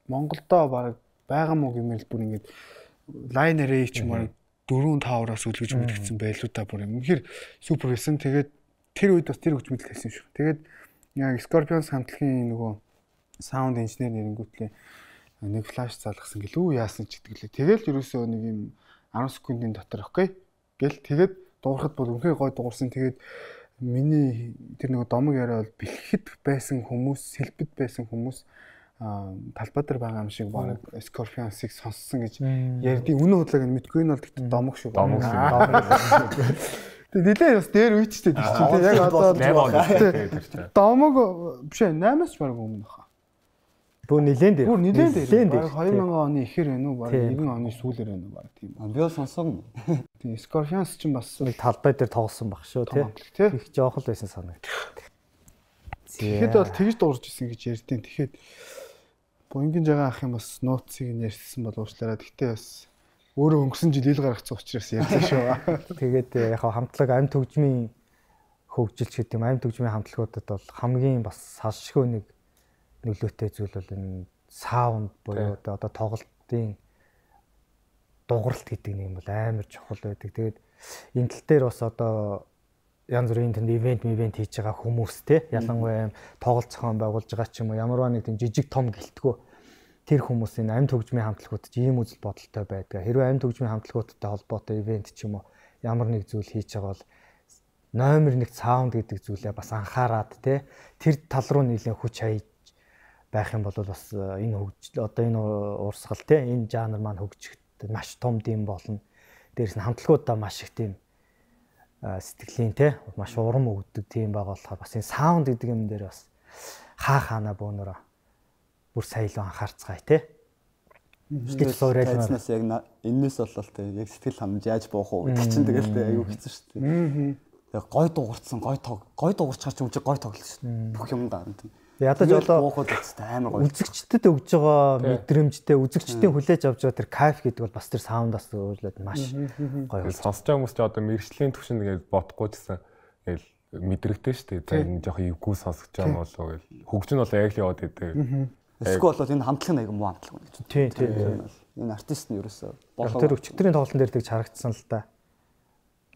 Монголдоо баг байгаа мó гэмээр бүр ингэж лайн арray ч юм уу дөрөв тавраас үлгэж мэдгэсэн байлуу та бүр юм. Үнэхээр супер байсан. Тэгээд тэр үед бас тэр хөгжмөд тавьсан шүү. Тэгээд яг Scorpions хамтлагийн нөгөө саунд инженер нэрэнгүүтлээ нэг флаш залгасан гэлүү яасан ч гэдэг лээ. Тэгэл ерөөсөө нэг юм десять секундын дотор өгөхгүй. Гэл тэгээд дуурахад бол үнхээр гой дуурсан. Тэгээд миний тэр нөгөө домог яриа бол бэлгэхэд байсан хүмүүс, сэлбэд байсан хүмүүс талбай дээр байгаа юм шиг баг Scorpions-ыг сонссон гэж ярьдیں۔ Үнэн худлааг нь мэдгүй нь бол тэгт домог шүү. Домог шүү. Тэгээ нэлээ бас дээр үйчтэй тэр чинь яг одоо домог биш ээ наймаас ч баг өмнө баха. Бүр нилээн дээр. Бүр нилээн дээр. Баг две тысячи оны ихэр байна уу? Баг нэгэн оны сүүлээр байна уу? Баг тийм. Би бол сонсоогүй. Тийм Scorpions ч бас нэг талбай дээр тоглосон баг шүү тий. Их жоох л байсан санагд. Тэгэхэд бол тэгж дуурж исэн гэж ярьдیں۔ Тэгэхэд боёнгийн жагаа ах юм бас нууцыг нь ярьсан бол уучлаарай. Гэхдээ бас өөрөө өнгөрсөн жил ил гаргацсан учраас ярьсан шүү. Тэгээд яг хамтлаг амт хөгжмийн хөгжилч гэдэг юм амт хөгжмийн хамтлагуудад бол хамгийн бас салшгүй нэг нөлөөтэй зүйл бол энэ саунд буюу одоо тоглолтын дууралт гэдэг нэг юм бол амар чухал байдаг. Тэгээд энэ тал дээр бас одоо янз бүрийн тэнд ивент ивент хийж байгаа хүмүүс те ялангуяа тоглолт зохион байгуулж байгаа ч юм уу ямарваа нэг тийм жижиг том гэлтгүү тэр хүмүүсийн амт хөгжмийн хамтлагуудад ийм үзэл бодолтой байдаг. Хэрвээ амт хөгжмийн хамтлагуудтай холбоотой ивент ч юм уу ямар нэг зүйл хийж байгаа бол номер нэг саунд гэдэг зүйлээ бас анхаарад те тэр тал руу нэлээд хүч хаяж байх юм бол бас энэ хөгжил одоо энэ урсгал те энэ жанр маань хөгжихэд маш том дэм болно. Дээрс нь хамтлагуудаа маш их тийм сэтгэлийн те маш урам өгдөг тийм байгаа болохоор бас энэ саунд гэдэг юм дээр бас хаа хаана бөөнөрөө бүр саялуу анхаарцгаая те. Сэтгэл суурайлнаас яг энэс болол те яг сэтгэл ханамж яаж буух уу гэдэг чинь тэгэл те аюу хэцүү шүү дээ. Яг гой дуурцсан гой тог гой дуурчаар ч юм чи гой тоглож шүү дээ. Бүх юм даана тийм. Ядаж болоо амар гоё. Үзэгчдэд өгж байгаа мэдрэмжтэй үзэгчдийн хүлээж авч байгаа тэр кайф гэдэг бол бас тэр саундаас өөрлөд маш гоё. Сонсож байгаа хүмүүс ч одоо мэрэгжлийн төвшин ингээд бодохгүй гэсэн тэгэл мэдрэгтэй шүү дээ. За энэ жоохон эвгүй сонсож байгаа юм болоо гэл. Хөгжин бол яг л яваад идэв. Эсвэл бол энэ хамтлагын аягүй муу хамтлаг байна гэж. Тийм тийм. Энэ артист нь ерөөсөө болоо. Тэр өчигдрийн тоглолтын дээр тэгж харагдсан л да.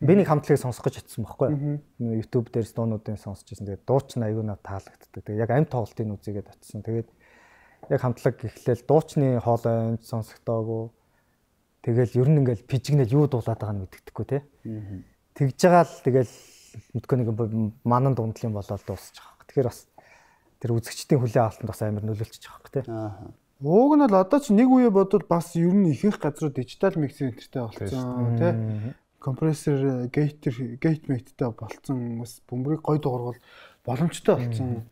Би нэг хамтлагийг сонсох гэж очсон байхгүй. YouTube дээр дуунуудын сонсож байсан. Тэгээд дуучин аягүй надад таалагддаг. Тэгээд яг амт тоглолтын үзийгээд очсон. Тэгээд яг хамтлаг эхлээл дуучны хоолой сонсогдоогүй. Тэгэл ер нь ингээл пижигнэл юу дуулаад байгааг нь мэддэхгүй те. Тэгж байгаа л тэгэл мэдгүй нэг манан дундлын болоод дуусчих واخ. Тэгэхээр бас тэр үзэгчдийн хүлээн авалтанд бас амар нөлөөлчих واخ те. Ууг нь бол одоо ч нэг үе бодвол бас ер нь ихэнх газрууд дижитал миксер энтертэй болсон те. Компрессор гейтер гейт мэйттэй болцсон бас бөмбөрийг гой дуургал боломжтой болсон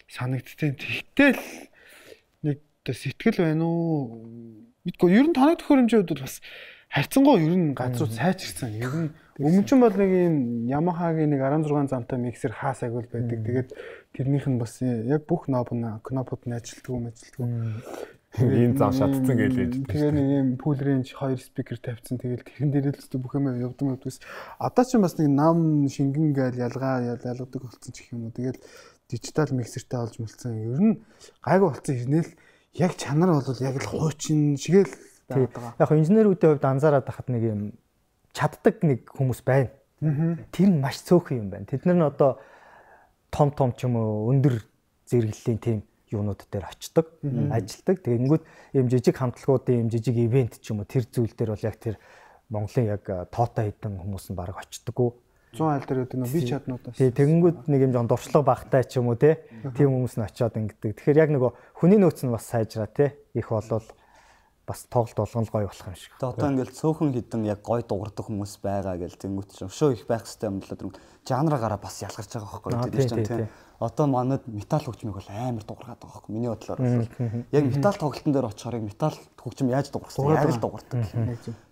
санагдтiin. Тэгтэл нэг сэтгэл байна уу? Мэдгүй ер нь танай төхөөрөмжийн хувьд бас харьцангуй ер нь газрууд сайжирсан. Ер нь өмнө нь бол нэг юм Yamaha-гийн нэг арван зургаан замтай миксер хаас агуул байдаг. Тэгээд тэрнийх нь бас яг бүх knob knopууд нь ажилтгүй мэжилтгүй. Ийм зам шатцсан гэж ээж. Тэгээ нэг юм pool range хоёр спикер тавьсан. Тэгэл тэрхэн дээр л зү бүх юм явдсан явдгүйс. Одоо ч бас нэг нам шингэн гээл ялгаа ялгадаг болсон ч гэх юм уу. Тэгэл дижитал миксертэй олж мэлсэн. Ер нь гайгүй болсон ирнэл яг чанар бол яг л хуучин шигээл байгаа. Яг инженерүүдийн хувьд анзаараад байхад нэг юм чаддаг нэг хүмүүс байна. Тэр нь маш цөөхөн юм байна. Тэд нар нь одоо том том ч юм уу өндөр зэрэглэлийн тийм юунууд дээр очдог, ажилдаг. Тэгэнгүүт ийм жижиг хамтлагуудын ийм жижиг ивент ч юм уу тэр зүйл дээр бол яг тэр Монголын яг тоотой хэдэн хүмүүс нь баг очдоггүй. зуун айл дээр гэдэг нь би чаднуудаас. Тий, тэгэнгүүт нэг юм жон дуршлаг багтай ч юм уу те. Тийм хүмүүс нь очиод ингэдэг. Тэгэхээр яг нөгөө хүний нөөц нь бас сайжраа те. Их болвол бас тоглолт болгоно гоё болох юм шиг. Тэгээ одоо ингээл цөөхөн хідэн яг гоё дуурдаг хүмүүс байгаа гэл тэнгүүт ч өшөө их байх хэрэгтэй юм л тэр жанраараа бас ялгарч байгаа байхгүй тийм тийм. Одоо манад металл хөгжмийг бол амар дуургаад байгаа байхгүй миний бодлоор бол. Яг металл тоглолтын дээр очихоор яг металл хөгжим яаж дуурах вэ? Яг л дуурдаг.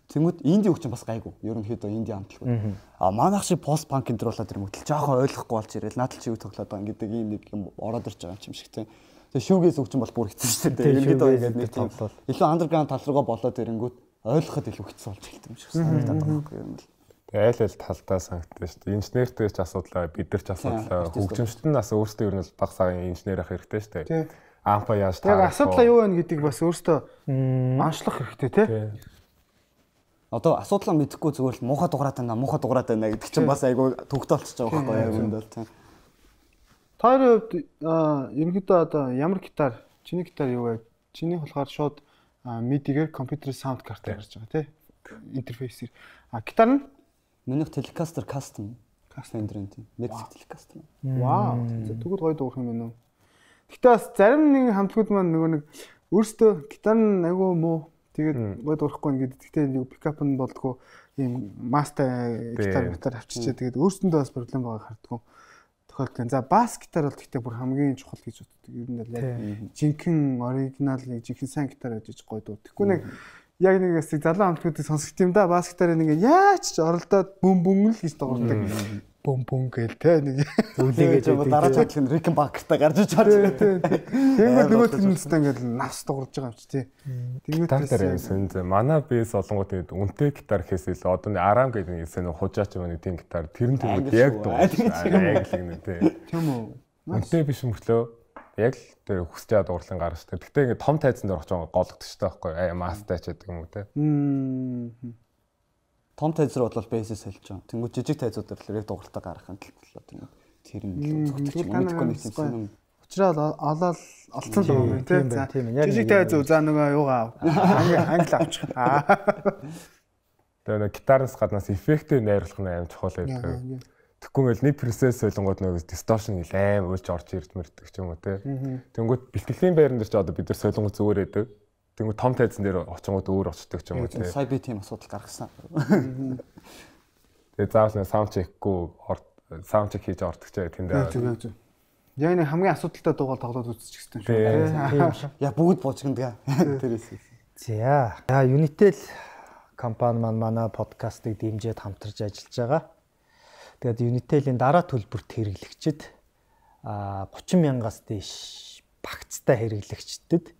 Тэнгүүт инди хөгжим бас гайгүй. Ерөнхийдөө инди хамтлагууд. А манайх шиг пост панк энэ төр болоод тэр мөтөл жоохон ойлгохгүй болж ирэл надад ч юу тоглоод байгаа гэдэг ийм нэг юм ороод ирж байгаа юм шиг тийм. Тэгээ шүүгээс хөгжим бол бүр хэцүү шүү дээ. Ерөнхийдөө ингээд нэг тийм илүү андерграунд тал руугаа болоод ирэнгүүт ойлгоход илүү хэцүү болж эхэлсэн юм шиг санагдаад байгаа байхгүй юм л. Тэгээ айл айл талдаа санагдсан шүү дээ. Инженертэй ч асуудал бид нар ч асуудал хөгжимчт нь бас өөрсдөө ер нь баг цагаан инженер ах хэрэгтэй шүү дээ. Ампа яаж таа. Яг асуудал юу вэ гэдэг бас өөртөө аншлах хэрэгтэй тий. Одоо асуудлаа мэдэхгүй зүгээр л муухай дугаараад байна, муухай дугаараад байна гэдэг чинь бас айгүй төгтө болчихж байгаа байхгүй юу юм бол тий. Таарын хувьд ерөнхийдөө одоо ямар гитар, чиний гитар юу вэ? Чиний болохоор шууд мидигээр компьютерийн саунд картаар гарч байгаа тий. Интерфейсээр. А гитар нь минийх Telecaster Custom Fender-ийн тийм Mexic Telecaster. Вау. Тэгвэл гоё дуурах юм байна уу? Гэхдээ бас зарим нэг хамтлагууд маань нөгөө нэг өөрсдөө гитар нь айгүй муу тэгээд гоё дуурахгүй ингээд гэхдээ нэг пикап нь болдгоо ийм мастер гитар гитар авчичээ тэгээд өөрсөндөө бас проблем байгааг харддаг. Тохиолдол. За бас гитар бол гэхдээ бүр хамгийн чухал гэж боддог. Ер нь л яг жинхэнэ оригинал нэг жинхэнэ сайн гитар гэж гоё дуу. Тэгэхгүй нэг яг нэг хэсэг залуу хамтлагуудыг сонсох юм да бас гитарыг ингээ яаж ч оролдоод бөм бөм л гэж дуурдаг. бум бум гээл те нэг үлээгээд дараа жаадлах нь Рик Бакертай гарч иж чарж байна. Тэнгүүд нөгөө тэндээ ингээл нас дуурж байгаа юм чи тий. Тэнгүүд дээр сэн зэ манай бэс олонгууд тэгээд үнэтэй гитар хийсэл одоо нэг Арам гэдэг нэг сэн хужаач юм нэг тийм гитар тэр нь тэнгүүд яг дуурж байгаа нэг тий. Тийм үү. Үнэтэй биш мөглөө яг л тэр хүсэж байгаа дуурлан гарч та. Гэтэ ингээд том тайзан дээр очиж гологдчих штэ байхгүй аа мастай ч гэдэг юм уу те. Том тайзар бол бейсээс хэлж байгаа. Тэнгүүд жижиг тайзуудаар л яг дууралтаа гаргах юм төлөө тэнгүүд тэр нь зөвхөн мэдгүй нэг юм. Учраа олоод олцсон л юм те. За жижиг тайз үү за нөгөө юугаа англи авчих. Тэгээ нэг гитараас гаднаас эффектийг найруулах нь аим чухал байдаг. Тэгэхгүй мэл нэг процесс солонгууд нөгөө distortion аим уйлж орж ирд мэрдэг ч юм уу те. Тэнгүүд бэлтгэлийн байран дээр ч одоо бид нар солонгууд зүгээр байдаг. Тэнгүүд том тайзан дээр очингууд өөр очдог ч юм уу те. Сая би тийм асуудал гаргасан. Тэгээ заавал нэг саунд чекгүй саунд чек хийж ордог ч тэндээ. Яг нэг хамгийн асуудалтай дуугаар тоглоод үзчих гэсэн шүү те. Яа бүгд буучгиндаг. Тэрээс. За. За Unitel компани маань манай подкастыг дэмжиж хамтарч ажиллаж байгаа. Тэгээд Unitel-ийн дараа төлбөрт хэрэглэгчид а гучин мянгаас дээш багцтай хэрэглэгчдэд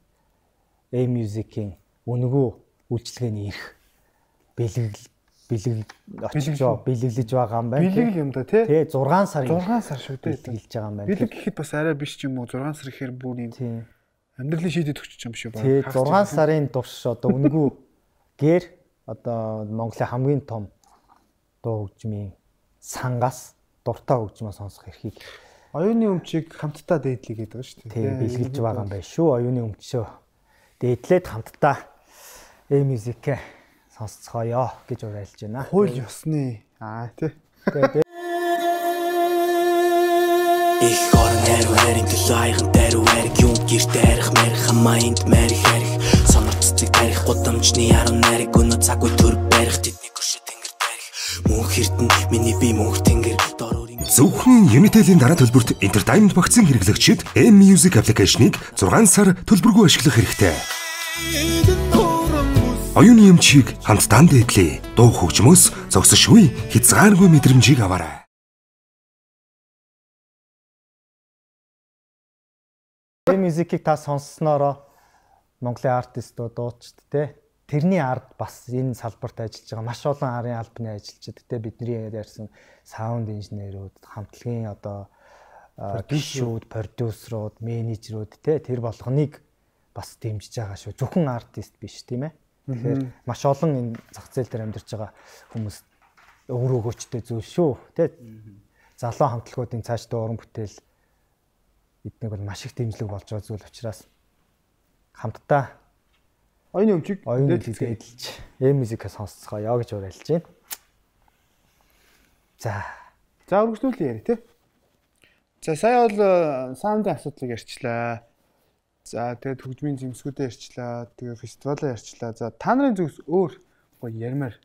A-Music-ийн үнэгүй үйлчилгээний эрх бэлэг бэлэг очиж бэлэглэж байгаа юм байна. Бэлэг юм да тий. Тий зургаан сарын зургаан сар шүү дээ бэлэглэж байгаа юм байна. Бэлэг гэхэд бас арай биш ч юм уу зургаан сар гэхээр бүр юм. Тий. Амьдралын шийдэд өгч юм шүү байна. Тий зургаан сарын турш одоо үнэгүй гэр одоо Монголын хамгийн том дуу хөгжмийн сангаас дуртай хөгжмөө сонсох эрхийг оюуны өмчийг хамтдаа дээдлээ гэдэг шүү дээ. Тий бэлгэлж байгаа юм байна шүү. Оюуны өмчөө дээдлээд хамтдаа A-Music сонсцгоё гэж уриалж байна. Хууль ёсны аа тий. Их орон хэрэг хэрэг төлөйгэн дээр үрэг юм гэрт арих мэрх хамайнд мэрх хэрэг сонорццыг тарих гудамжны яруу нариг өнөө цаггүй төр барих тэдний гүшэ тэнгэр тарих мөнх эрдэн миний би мөнх тэнгэр дороор зөвхөн Unitel-ийн дараа төлбөрт entertainment багцын хэрэглэгчид A-Music application-ыг зургаан сар төлбөргүй ашиглах хэрэгтэй. Оюуны эмчийг хамтдаа дээдлээ. Дуу хөгжмөөс зогсошгүй хязгааргүй мэдрэмжийг аваарай. A-Music-ийг та сонсснороо Монголын артистууд дуучид те тэрний ард бас энэ салбарт ажиллаж байгаа маш олон арын албаны ажилчид те бидний ярьсан саунд инженерүүд, хамтлагийн одоо гишүүд, продюсерууд, менежерүүд те тэр болгоныг бас дэмжиж байгаа шүү. Зөвхөн артист биш тийм ээ. Тэгэхээр маш олон энэ зах зээл дээр амьдарч байгаа хүмүүс өөр өгөөчтэй зүйл шүү. Тэ залуу хамтлагуудын цаашдаа уран бүтээл эднийг бол маш их дэмжлэг болж байгаа зүйл учраас хамтдаа оюуны өмчийг дээдлж A-Music-ийг сонсцгоё гэж уриалж байна. За. За өргөжлүүлээ яри тий. За сая бол саундын асуудлыг ярьчлаа. За тэгээд хөгжмийн зэмсгүүдээ ярьчлаа. Тэгээд фестивалаа ярьчлаа. За та нарын зүгс өөр гоё ярмаар.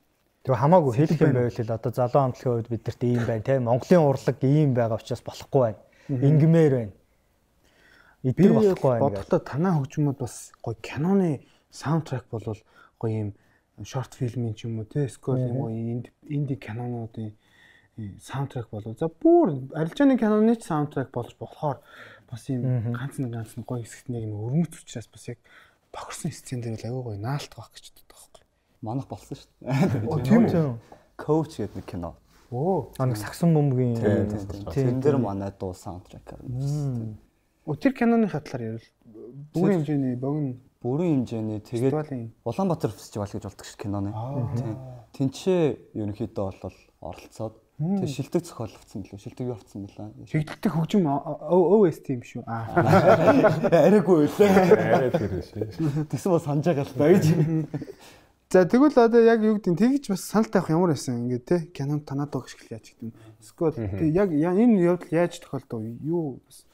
Тэг хамаагүй хэлэх юм байвал л одоо залуу хамтлагийн үед бидэрт ийм байна те. Монголын урлаг ийм байгаа учраас болохгүй байна. Ингмээр байна. Эдгээр болохгүй байна. Бодолтой танаа хөгжмүүд бас гоё киноны саундтрек болвол гоё юм шорт фильмийн ч юм уу те. Эсвэл юм гоё инди кинонуудын саундтрек болов. За бүр арилжааны киноны ч саундтрек болж болохоор бас юм ганц нэг ганц нэг гоё хэсэгт нэг юм өрмөц учраас бас яг тохирсон сцен дээр л аягүй гоё наалт баг гэж боддог байхгүй. Манах болсон шүү дээ. Оо тийм үү. Coach гэдэг нэг кино. Оо. А нэг сагсан бөмбөгийн тийм дээр манай дуу саундтрек гарна. Оо тэр киноны хатлаар ярил. Бүрийн хэмжээний богино бүрийн хэмжээний тэгээд Улаанбаатар фестивал гэж болдог шүү киноны. Тийм. Тэнцээ ерөнхийдөө бол оролцоод тэг шилдэг зохиоловцсон билүү? Шилдэг юу авцсан бэлээ? Шилдэгдэх хөгжим о эс ти юм шүү. Аа. Арайгүй үлээ. Арай тэр шүү. Тэгсэн бол санаж байгаа л та гэж. За тэгвэл одоо яг юу гэдэг тэгж бас санал тавих ямар байсан ингээд те кинонд танаад байгаа шиг л яаж гэдэг юм. Эсвэл яг энэ явдал яаж тохиолдов? Юу бас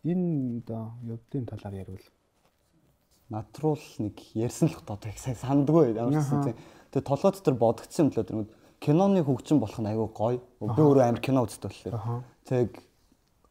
энэ одоо явдлын талаар ярил. Натруул нэг ярьсан л одоо их сайн сандгүй ямарсан тийм. Тэгээ толгой дотор бодогдсон юм л тэр киноны хөгжим болох нь айгүй гоё. Би өөрөө амар кино үздэг болохоор. Тэг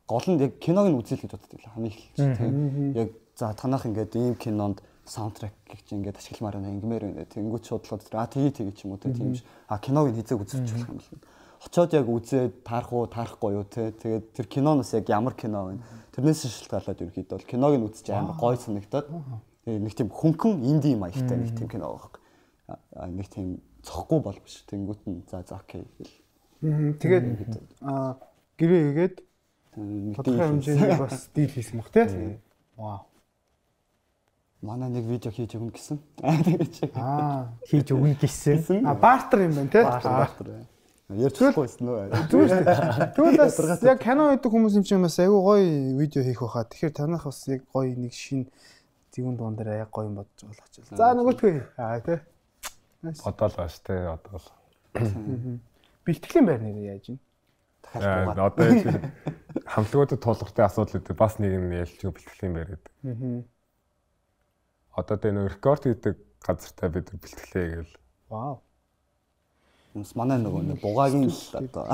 гол нь яг киног нь үзэл гэж боддог л хамгийн их тийм. Яг за танах ингээд ийм кинонд саундтрек гэж ингээд ашигламаар байна, ингмээр байна. Тэнгүүт шуудлага дотор а тгий тгий ч юм уу тийм. А киног нь хизээг үзүүлж болох юм л. очоод яг үзээд таарах уу, таарахгүй юу те. Тэгээд тэр киноноос яг ямар кино вэ? Тэрнээс шалтгаалаад ерөөхдөө бол киног нь үзэж амар гоё санагдаад тэгээд нэг тийм хөнгөн инди маягтай нэг тийм кино байгаа. Нэг тийм цохгүй бол биш. Тэнгүүт нь за за окей гэл. Тэгээд аа гэрээ хийгээд тодорхой хэмжээний бас дийл хийсэн баг те. Вау. Манай нэг видео хийж өгнө гэсэн. Аа хийж өгнө гэсэн. А бартер юм байна те. Бартер. Ярьчихгүйсэн нөө. Зүгээр. Тэгвэл яг кино хийдэг хүмүүс юм чинь бас айгүй гоё видео хийх байхаа. Тэгэхээр танах бас яг гоё нэг шин зүүн дуун дээр яг гоё юм бодож байгаа ч. За нөгөөтгөө. Аа тий. Одоо л бааш те одоо л. Бэлтгэлийн байр нэр яаж юм? Дахиад одоо яг хамтлагуудад тулгартай асуудал үүдээ бас нэг нь ялч бэлтгэлийн байр гэдэг. Аа. Одоо тэ нөө рекорд хийдэг газартай бид бэлтгэлээ гээл. Вау. Хүмүүс манай нөгөө нэг бугаагийн л одоо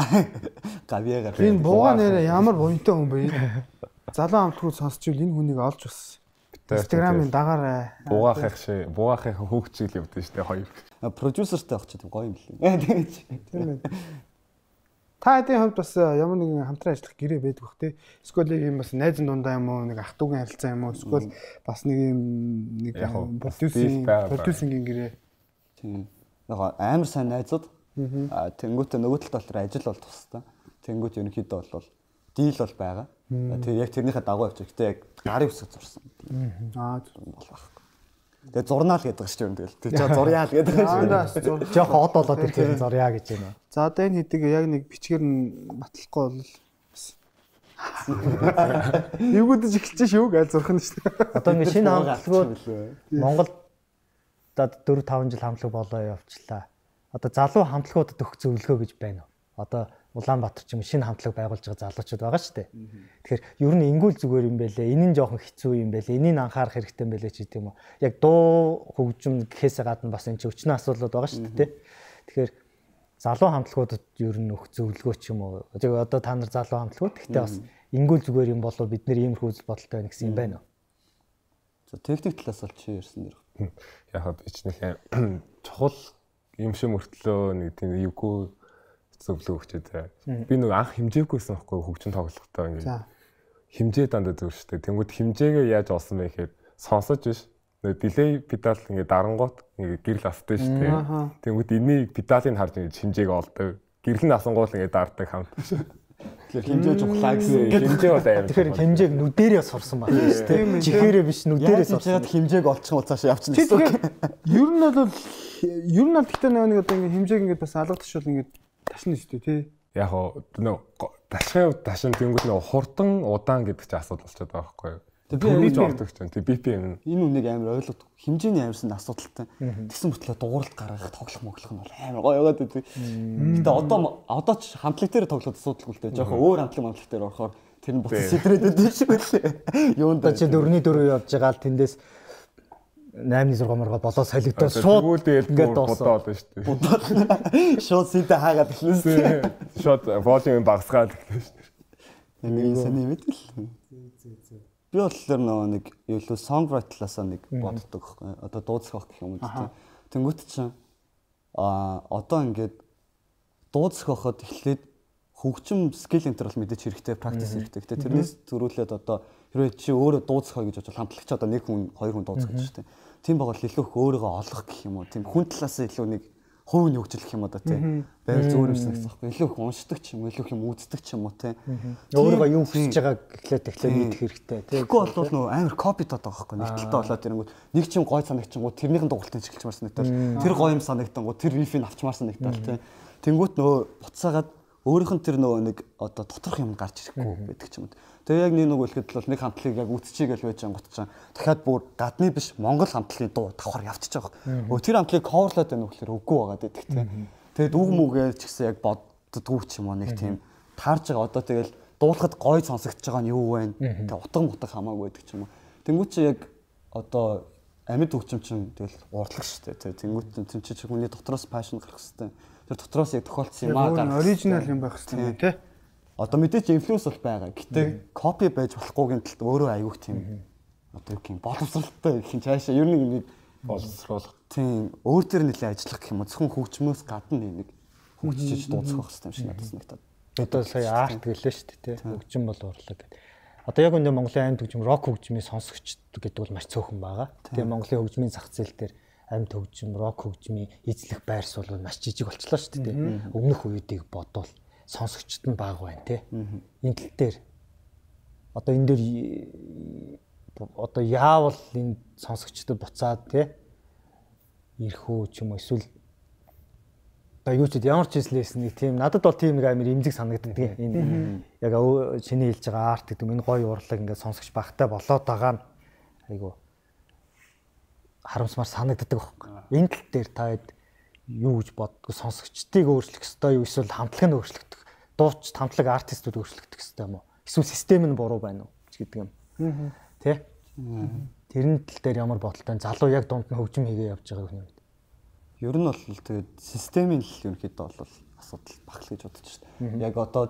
гавьяагаар. Энэ бугаа нэрээ ямар буянтай хүн бэ? Залуу амтгууд сонсчвол энэ хүнийг олж бас Instagram-ын дагаарай. Бугаахыг шээ, бугаахыг хөөгчил явдсан шүү дээ хоёр. Продюсертэй авч тийм гоё юм лээ. Тийм ээ. Та хэдийн хамт бас ямар нэгэн хамтран ажиллах гэрээ байдаг бах те. Эсвэл юм бас найз дундаа юм уу, нэг ах トゥ угийн харилцаа юм уу, эсвэл бас нэг юм нэг продюсерийн продюсерийн гэрээ. Тийм. Яг амар сайн найзууд. Аа тэнгуүтэ нөгөө талд дотор ажил бол тустай. Тэнгуүт ерөнхийдөө бол дийл бол байгаа. Тэгээ яг тэрнийхээ дагуу явчих. Гэтэ яг гарын үсэг зурсан. Аа бол баг. Тэгээ зурнаал гэдэг шүү дээ. Тэгэл. Тэр жоо зуряал гэдэг шүү. Жохон од болоод ирэхээр зурья гэж байна. За одоо энэ хэдийг яг нэг бичгээр нь батлахгүй бол Юугдж эхэлж шүү гээл зурх нь шүү дээ. Одоо ингэ шинэ хамтлагууд Монголд дөрв таван жил хамтлаг болоо явчлаа. Одоо залуу хамтлагуудад өгөх зөвлөгөө гэж байна уу? Одоо Улаанбаатар ч юм шинэ хамтлаг байгуулж байгаа залуучууд байгаа шүү дээ. Тэгэхээр ер нь ингүүл зүгээр юм байлээ. Энэ нь жоохон хэцүү юм байлээ. Энийг анхаарах хэрэгтэй юм байлээ ч гэдэг юм уу. Яг дуу хөгжим гэхээс гадна бас энэ ч өчнөө асуудлууд байгаа шүү дээ. Тэгэхээр залуу хамтлагуудад ер нь өгөх зөвлөгөө ч юм уу. Тэгээ одоо та нар залуу хамтлагууд гэхдээ бас ингүүл зүгээр юм болов бид нэр иймэрхүү үзэл бодолтой байна гэсэн юм байна уу? За техник талаас бол чи ярьсан дэр. Яг бичнэхээ чухал юм шиг мөртлөө нэг тийм эвгүй зөвлөгөө өгчээ. Би нэг анх хэмжээгүйсэн байхгүй хөгжин тоглохтой ингээд хэмжээ дандаа зөв шүү дээ. Тэнгүүд хэмжээгээ яаж олсон бэ гэхээр сонсож биш. Нэг дилей педал ингээд дарангуут ингээд гэрэл авдаг шүү дээ. Тэнгүүд энийг педалыг харж ингээд хэмжээг олдог. Гэрэл нь асангуул ингээд даардаг хамт. Тэгэхээр хэмжээ жухлаа гэсэн. Хэмжээ бол аим. Тэгэхээр хэмжээг нүдэрээ сурсан байна шүү дээ. Чихээрээ биш нүдэрээ сурсан. Яг хэмжээг олчих бол цааш явчихна гэсэн. Ер нь бол ер нь бол гэхдээ нэг одоо ингээд хэмжээг ингээд бас алгадчихвал ингээд ташна шүү дээ тий. Яг нөө ташхын ташин тэнгууд нөө хурдан удаан гэдэг чинь асуудал болчиход байгаа байхгүй юу? Тэгээ би ордог ч юм. Тэг би пи юм. Энэ үнийг амар ойлгох хэмжээний амарсан асуудалтай. Тэгсэн мэтлээ дууралт гаргах тоглох моглох нь бол амар гоё яваад байдаг. Гэтэ одоо одоо ч хамтлаг дээр тоглоход асуудалгүй л дээ. Жохон өөр хамтлаг хамтлаг дээр орохоор тэр нь буцаж сэтрээд байдаг шиг байлээ. Юунд чи дөрөвний дөрөв явж байгаа л тэндээс наймны зураг маргаа болоо солигдоод шууд ингээд бодоо болно шүү дээ. Шууд сэтэ хаагаад эхлэсэн. Шууд волюм багасгаад эхлэв шүү дээ. Нэг саний мэдэл. Би бол тэр нэг юу л songwriter талаасаа нэг боддог байхгүй. Одоо дууцах гэх юм уу тийм. Тэнгүүт чинь а одоо ингээд дууцахад эхлээд хөгжим скил энтер бол мэдээж хэрэгтэй, практис хэрэгтэй. Гэтэ тэрнээс зөрүүлээд одоо хэрвээ чи өөрөө дууцах гэж бодвол хамтлагч одоо нэг хүн, хоёр хүн дууцах гэж шүү дээ. Тийм байгаа л илүү их өөрийгөө олох гэх юм уу. Тийм хүн талаас илүү нэг хувь нь хөгжих юм одоо тийм. Байр зөөр юмсан гэсэн байхгүй. Илүү их уншдаг ч юм уу, илүү их юм үздэг ч юм уу тийм. Өөрийгөө юу хийж байгааг эхлээд эхлээд мэдэх хэрэгтэй тийм. Тэгэхгүй бол нөө амар копи таад байгаа байхгүй. Нэг талтай болоод ирэнгүүт нэг ч юм гой санагчингууд тэрнийхэн дугуултыг чиглэж марсан нэгтэл тэр гоё юм санагтангууд тэр рифийг авчмаарсан нэгтэл тийм. Тэнгүүт нөө буцаагаад өөрийнх нь тэр нөгөө нэг одоо доторх юм гарч ирэхгүй байдаг ч юм. Тэгээ яг нэг нэг үлгэд бол нэг хамтлагийг яг үтчихээл байж ангутчаа. Дахиад бүр гадны биш Монгол хамтлагийн дуу давхар явчихж байгаа. Өө тэр хамтлагийг coverлоод байна уу гэхээр үгүй байгаа гэдэг тийм. Тэгээд үг мүгээ ч гэсэн яг боддгоо ч юм уу нэг тийм таарж байгаа. Одоо тэгэл дуулахад гоё сонсогдож байгаа нь юу вэ? Тэгээ утга мутаг хамаагүй байдаг ч юм уу. Тэнгүүт чи яг одоо амьд хөгжим чинь тэгэл урдлах шүү дээ. Тэнгүүт чинь чи хүний дотроос passion гарах хэрэгтэй. Тэр дотроос яг тохиолдсон юм аа гарах. Оригинал юм байх хэрэгтэй тий. Одоо мэдээч инфлюенс бол байгаа. Гэтэ копи байж болохгүйгийн талд өөрөө аягүй тийм одоо юу юм боловсралтай гэх юм цаашаа ер нь нэг боловсруулах. Тийм өөр төр нэлээ ажиллах гэх юм уу. Зөвхөн хөгжмөөс гадна нэг хөгжиж дууцах байх юм шиг надад санагдаад. Одоо сая арт гэлээ шүү дээ тий. Хөгжим бол урлаг гэдэг. Одоо яг үндэ Монголын амьд хөгжим, рок хөгжмийн сонсогч гэдэг бол маш цөөхөн байгаа. Тэгээ Монголын хөгжмийн зах зээл дээр амьд хөгжим, рок хөгжмийн эзлэх байрс бол маш жижиг болчихлоо шүү дээ. Өмнөх үеийг бодвол сонсогчд нь бага байна тий. Энэ тал дээр одоо энэ дээр одоо яавал энэ сонсогчдод буцаад тий ирэх үү ч юм уу эсвэл одоо юу ч ямар ч хэлсэн нэг тийм надад бол тийм нэг амар имзэг санагддаг энэ яг чиний хэлж байгаа арт гэдэг энэ гоё урлаг ингээд сонсогч багтай болоод байгаа нь айгу харамсмаар санагддаг байхгүй. Энэ тал дээр та юу гэж боддог сонсогчдыг өөрчлөх ёстой юу эсвэл хамтлаг нь өөрчлөгдөх дууч хамтлаг артистууд өөрчлөгдөх ёстой юм уу эсвэл систем нь буруу байна уу гэдэг юм тий тэрний тал дээр ямар бодолтой залуу яг дунд нь хөгжим хийгээ явж байгааг нь ер нь бол тэгээд системийн л ерөнхийдөө бол асуудал багт гэж бодож байна. Яг одоо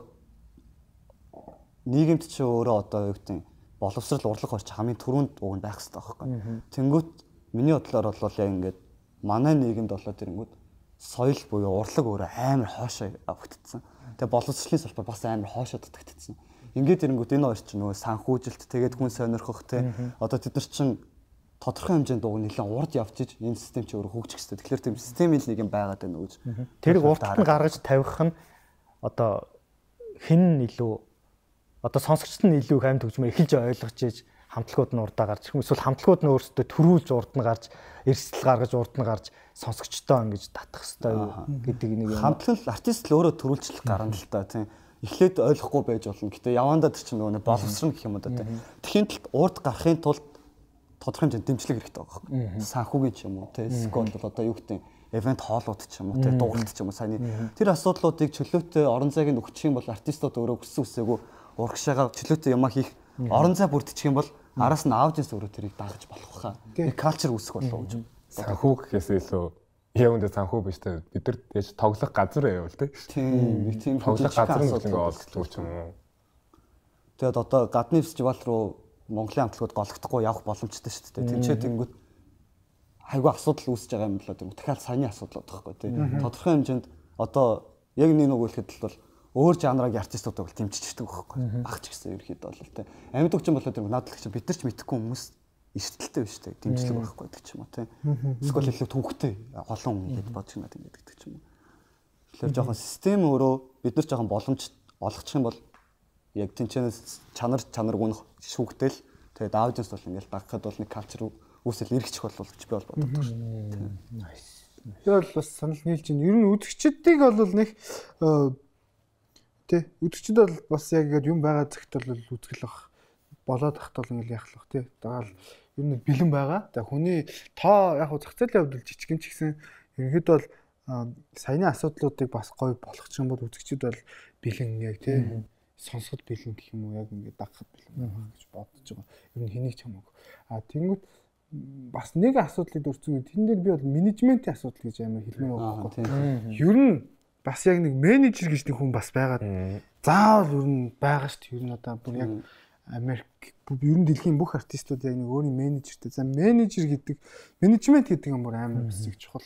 нийгэмд ч өөрөө одоо юу гэдэг боловсрал урлаг орч хамгийн түрүүнд уг нь байх хэрэгтэй байхгүй. Тэнгүүт миний бодлоор бол яг ингээд манай нийгэмд болоо тэрэнгүүд соёл буюу урлаг өөрөө амар хоошоо авагдсан. Тэгээ боловсролын салбар бас амар хоошоо дутагдсан. Ингээд тэрэнгүүд энэ хоёр ч нөгөө санхүүжилт тэгээд хүн сонирхох те одоо тэд нар чинь тодорхой хэмжээнд уг нэлээд урд явж иж энэ систем чи өөрөө хөгжих хэрэгтэй. Тэгэхээр тийм системийн нэг юм байгаад байна гэж. Тэрийг урд нь гаргаж тавих нь одоо хэн илүү одоо сонсогчд нь илүү их амьд хөгжмөө эхэлж ойлгож иж хамтлагууд нь урдаа гарч эсвэл хамтлагууд нь өөрсдөө төрүүлж урд нь гарч эрсдэл гаргаж урд нь гарч сонсогчдоо ингэж татах хэрэгтэй гэдэг нэг юм. Хамтлаг л артист л өөрөө төрүүлжлэх гарна л та тийм. Эхлээд ойлгохгүй байж болно. Гэтэ явандаа тэр чинь нөгөө боловсрон гэх юм да тийм. Тэхийн талд урд гарахын тулд тодорхой хэмжээнд дэмжлэг хэрэгтэй байгаа байхгүй. Санхүүгийн ч юм уу тийм. Скол бол одоо юу гэдэг эвент хоолууд ч юм уу тийм. Дууралт ч юм уу саяны тэр асуудлуудыг чөлөөтэй орон зайг нь өгчих юм бол артистууд өөрөө хүссэн үсээгүй урагшаага чөлөөтэй юмаа хийх орон зай бүрдчих юм бол араас нь аудиенс өөрөө тэрийг дагаж болох хаа. Нэг калчер үүсэх болов уу. Санхүү гэхээс илүү явандаа санхүү биш те бид нар тэгж тоглох газар байвал те. Тийм нэг тийм тоглох газар нь ингээ олддог ч юм уу. Тэгэд одоо гадны фестивал руу Монголын хамтлагууд голөгдохгүй явах боломжтой шүү дээ. Тинчээ тэнгүүд хайгуу асуудал үүсэж байгаа юм болоо тийм дахиад саяны асуудал байхгүй тийм. Тодорхой хэмжээнд одоо яг нэг нэг үлэхэд бол өөр жанрын артистууд бол дэмжиждэг байхгүй. Багч гэсэн ерөөхдөө бол тийм. Амьд хөгжим болоо тийм надад л чинь бид нар ч мэдхгүй хүмүүс эрсдэлтэй биш үү дэмжлэг байхгүй гэдэг ч юм уу тийм. Эсвэл илүү төвхтэй олон хүн ингэж бодож байна гэдэг ч юм уу. Тэгэхээр жоохон систем өөрөө бид нар жоохон боломж олгочих юм бол яг тэнцэнэс чанар чанаргүй нь шүүгтэл тэгээд аудиенс бол ингээл дагахад бол нэг калчер үүсэл эргэчих болов гэж би бол боддог шүү. Nice. Тэр бол бас санал нийлж байна. Ер нь үзэгчдийг бол нэг тий үзэгчд бол бас яг ингээд юм байгаа цагт бол үзгэл бах болоод тахт бол ингээл яхах тий. Дагаал ер нь бэлэн байгаа. За хүний тоо яг зах зээлийн хувьд жижигэн ч гэсэн ерөнхийдөө бол саяны асуудлуудыг бас гоё болгочих юм бол үзэгчд бол бэлэн яг тий сонсоход бэлэн гэх юм уу яг ингээд дагахад бэлэн байх гэж бодож байгаа. Ер нь хэнийг ч хамаагүй. А тэнгүүт бас нэг асуудлыг өрцөн. Тэн дээр би бол менежментийн асуудал гэж амар хэлмээр байгаа байхгүй. Ер нь бас яг нэг менежер гэж нэг хүн бас байгаад заавал ер нь байгаа шүү дээ. Ер нь одоо бүр яг Америк ер нь дэлхийн бүх артистууд яг нэг өөрийн менежертэй. За менежер гэдэг менежмент гэдэг юм бүр амар бас их чухал.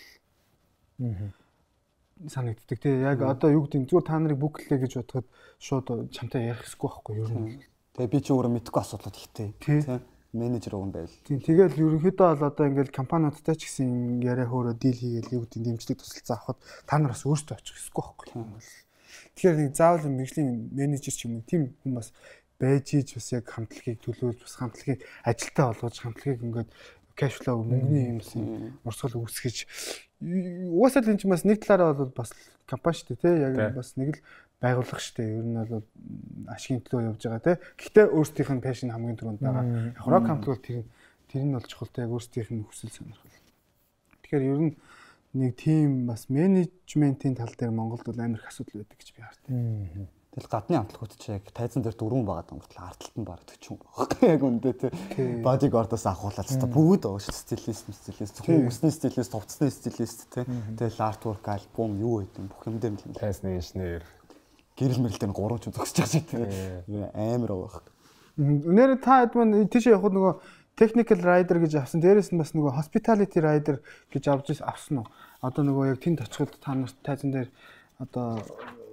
Санагддаг тий. Яг одоо юу гэдэг зүгээр та нарыг бүклээ гэж бодоход шууд чамтай ярих хэсгүй байхгүй юу юм. Тэгээ би ч өөрөө мэдгүй асуудлууд ихтэй тий. Менежер уг юм байл. Тийм тэгэл ерөнхийдөө бол одоо ингээл компаниудтай ч гэсэн яриа хөөрөө дийл хийгээл юу гэдэг дэмжлэг тусалцаа авахд та нар бас өөрсдөө очих хэсгүй байхгүй юу. Тэгэхээр нэг заавал мэржлийн менежер ч юм уу тийм хүн бас байж ийж бас яг хамтлагийг төлөөлж бас хамтлагийг ажилтаа болгож хамтлагийг ингээд кэш флоу мөнгөний юмсан урсгал үүсгэж угаасаа л энэ ч бас нэг талаараа бол бас компани шүү дээ тий яг бас нэг л байгууллага шүү дээ ер нь бол ашигын төлөө явж байгаа тий гэхдээ өөрсдийнх нь пашн хамгийн түрүүнд байгаа яг рок хамтлаг тэр тэр нь бол чухалтай яг өөрсдийнх нь хүсэл сонирхол тэгэхээр ер нь нэг тийм бас менежментийн тал дээр Монголд бол амар их асуудал байдаг гэж би хардаг. Тэгэл гадны хамтлагууд ч яг тайзан дээр дөрвөн байгаа гомтлоо арталт нь бараг төчөн байгаа. Яг үндэ тий. Бодигордоос ахуулаад та бүгд ууш стилист, стилист, хүмүүсний стилист, товцсны стилист тий. Тэгэл артворк альбом юу гэдэг бүх юм дээр л тайзны инженер гэрэл мэрэлтэй гурван ч зогсож байгаа шүү тий. Амар байгаа. Нэр та хэд мань тийш явахд нөгөө technical rider гэж авсан. Дээрээс нь бас нөгөө hospitality rider гэж авч авсан уу? Одоо нөгөө яг тэнд очиход та нарт тайзан дээр одоо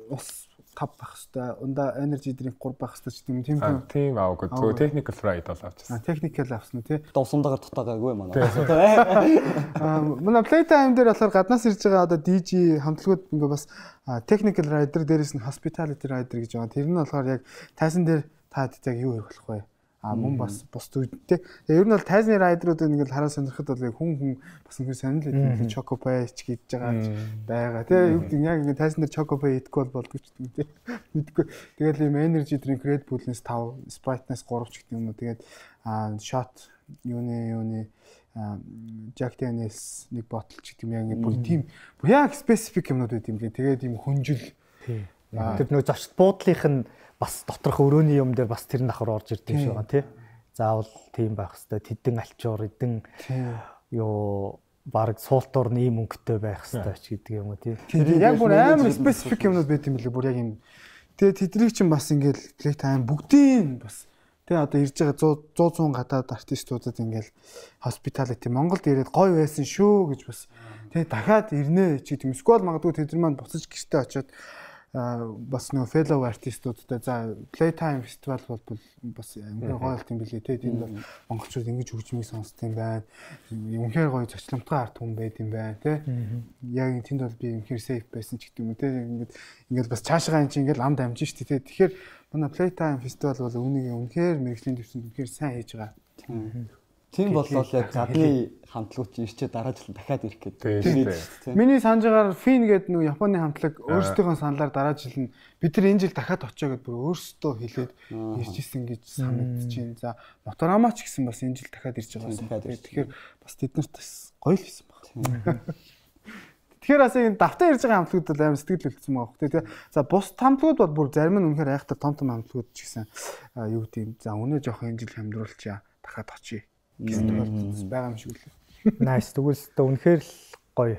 ус тав байх хэвээр ундаа energy drink гур байх хэвээр ч тийм тийм тийм аагүй зөв technical fried бол авчихсан. Technical авсан үү тий. Дусамдагаар дутаагаагүй манай. Аа манай playtime дээр болохоор гаднаас ирж байгаа одоо ди джи хамтлагууд ингээ бас technical rider дээрээс нь hospitality rider гэж байгаа. Тэр нь болохоор яг тайсан дээр та яг юу хийх болох вэ? А мөн бас бус төвдтэй. Тэгээ ер нь бол тайзны райдеруудыг ингээл хараа сонирхоход бол яг хүн хүн бас ингээл сонирхол идэв чоко пай ч гэж байгаа байгаа. Тэгээ юу гэдэг яг ингээд тайзан дээр чоко пай идэх бол болдгоо ч гэдэг мэдгүй. Тэгэл ийм energy drink Red Bull-нээс five, Sprite-наас three ч гэдэг юм уу. Тэгээд shot юуны юуны Jack Daniels нэг ботл ч гэдэг юм яг бүр тийм яг specific юмнууд байт юм лээ. Тэгээд ийм хүнжил. Тэр нөө зочд буудлынх нь бас доторх өрөөний юм дээр бас тэр нь давхар орж ирдэг юм шиг байгаа тий. Заавал тийм байх хэвээр тэдэн альчуур эдэн ёо баг суултуур нэм өнгөтэй байх хэвээр ч гэдэг юм уу тий. Тэр яг бүр амар специфик юмнууд байт юм билээ бүр яг юм. Тэгээ тэднийг чинь бас ингээл playtime бүгдийн бас тэгээ одоо ирж байгаа one hundred гадаад артистуудад ингээл hospitality Монголд ирээд гоё байсан шүү гэж бас тэгээ дахиад ирнэ ч гэдэг юм. Сквал магадгүй тэд нар маань буцаж гэртээ очиод бас нөө fellow артистуудтай за playtime festival бол бас үнэхээр гоё болт юм билээ те тийм бол монголчууд ингэж хөгжмийг сонсд юм байна. Үнэхээр гоё зочломтгой арт хүн байд юм байна те. Яг тэнд бол би үнэхээр safe байсан ч гэдэг юм те. Ингээд ингээд бас цаашгаа эн чинь ингээд ам дамжин шүү дээ те. Тэгэхээр манай playtime festival бол үүнийг үнэхээр мэрэгжлийн дэвсэнд үнэхээр сайн хийж байгаа. Тийм боллоо яг гадны хамтлагууд ирчээ дараа жил дахиад ирэх гэдэг. Миний санаж байгаагаар Фин гэдэг нэг Японы хамтлаг өөрсдийнхөө саналаар дараа жил нь бид нар энэ жил дахиад очоо гэдээ бүр өөрсдөө хэлээд ирж исэн гэж санагдаж байна. За Моторама ч гэсэн бас энэ жил дахиад ирж байгаа. Тэгэхээр бас тэднэрт бас гоё л хийсэн байна. Тэгэхээр бас энэ давтаа ирж байгаа хамтлагууд бол амар сэтгэл хөдлөсөн байгаа хөөхтэй тий. За бус хамтлагууд бол бүр зарим нь үнэхээр айхтар том том хамтлагууд ч гэсэн юу гэдэг юм. За өнөө жоох энэ жил хамдруулчаа дахиад очие гэсэн тохиолдол байгаа юм шиг үлээ. Nice. Тэгвэл тэ үнэхээр л гоё.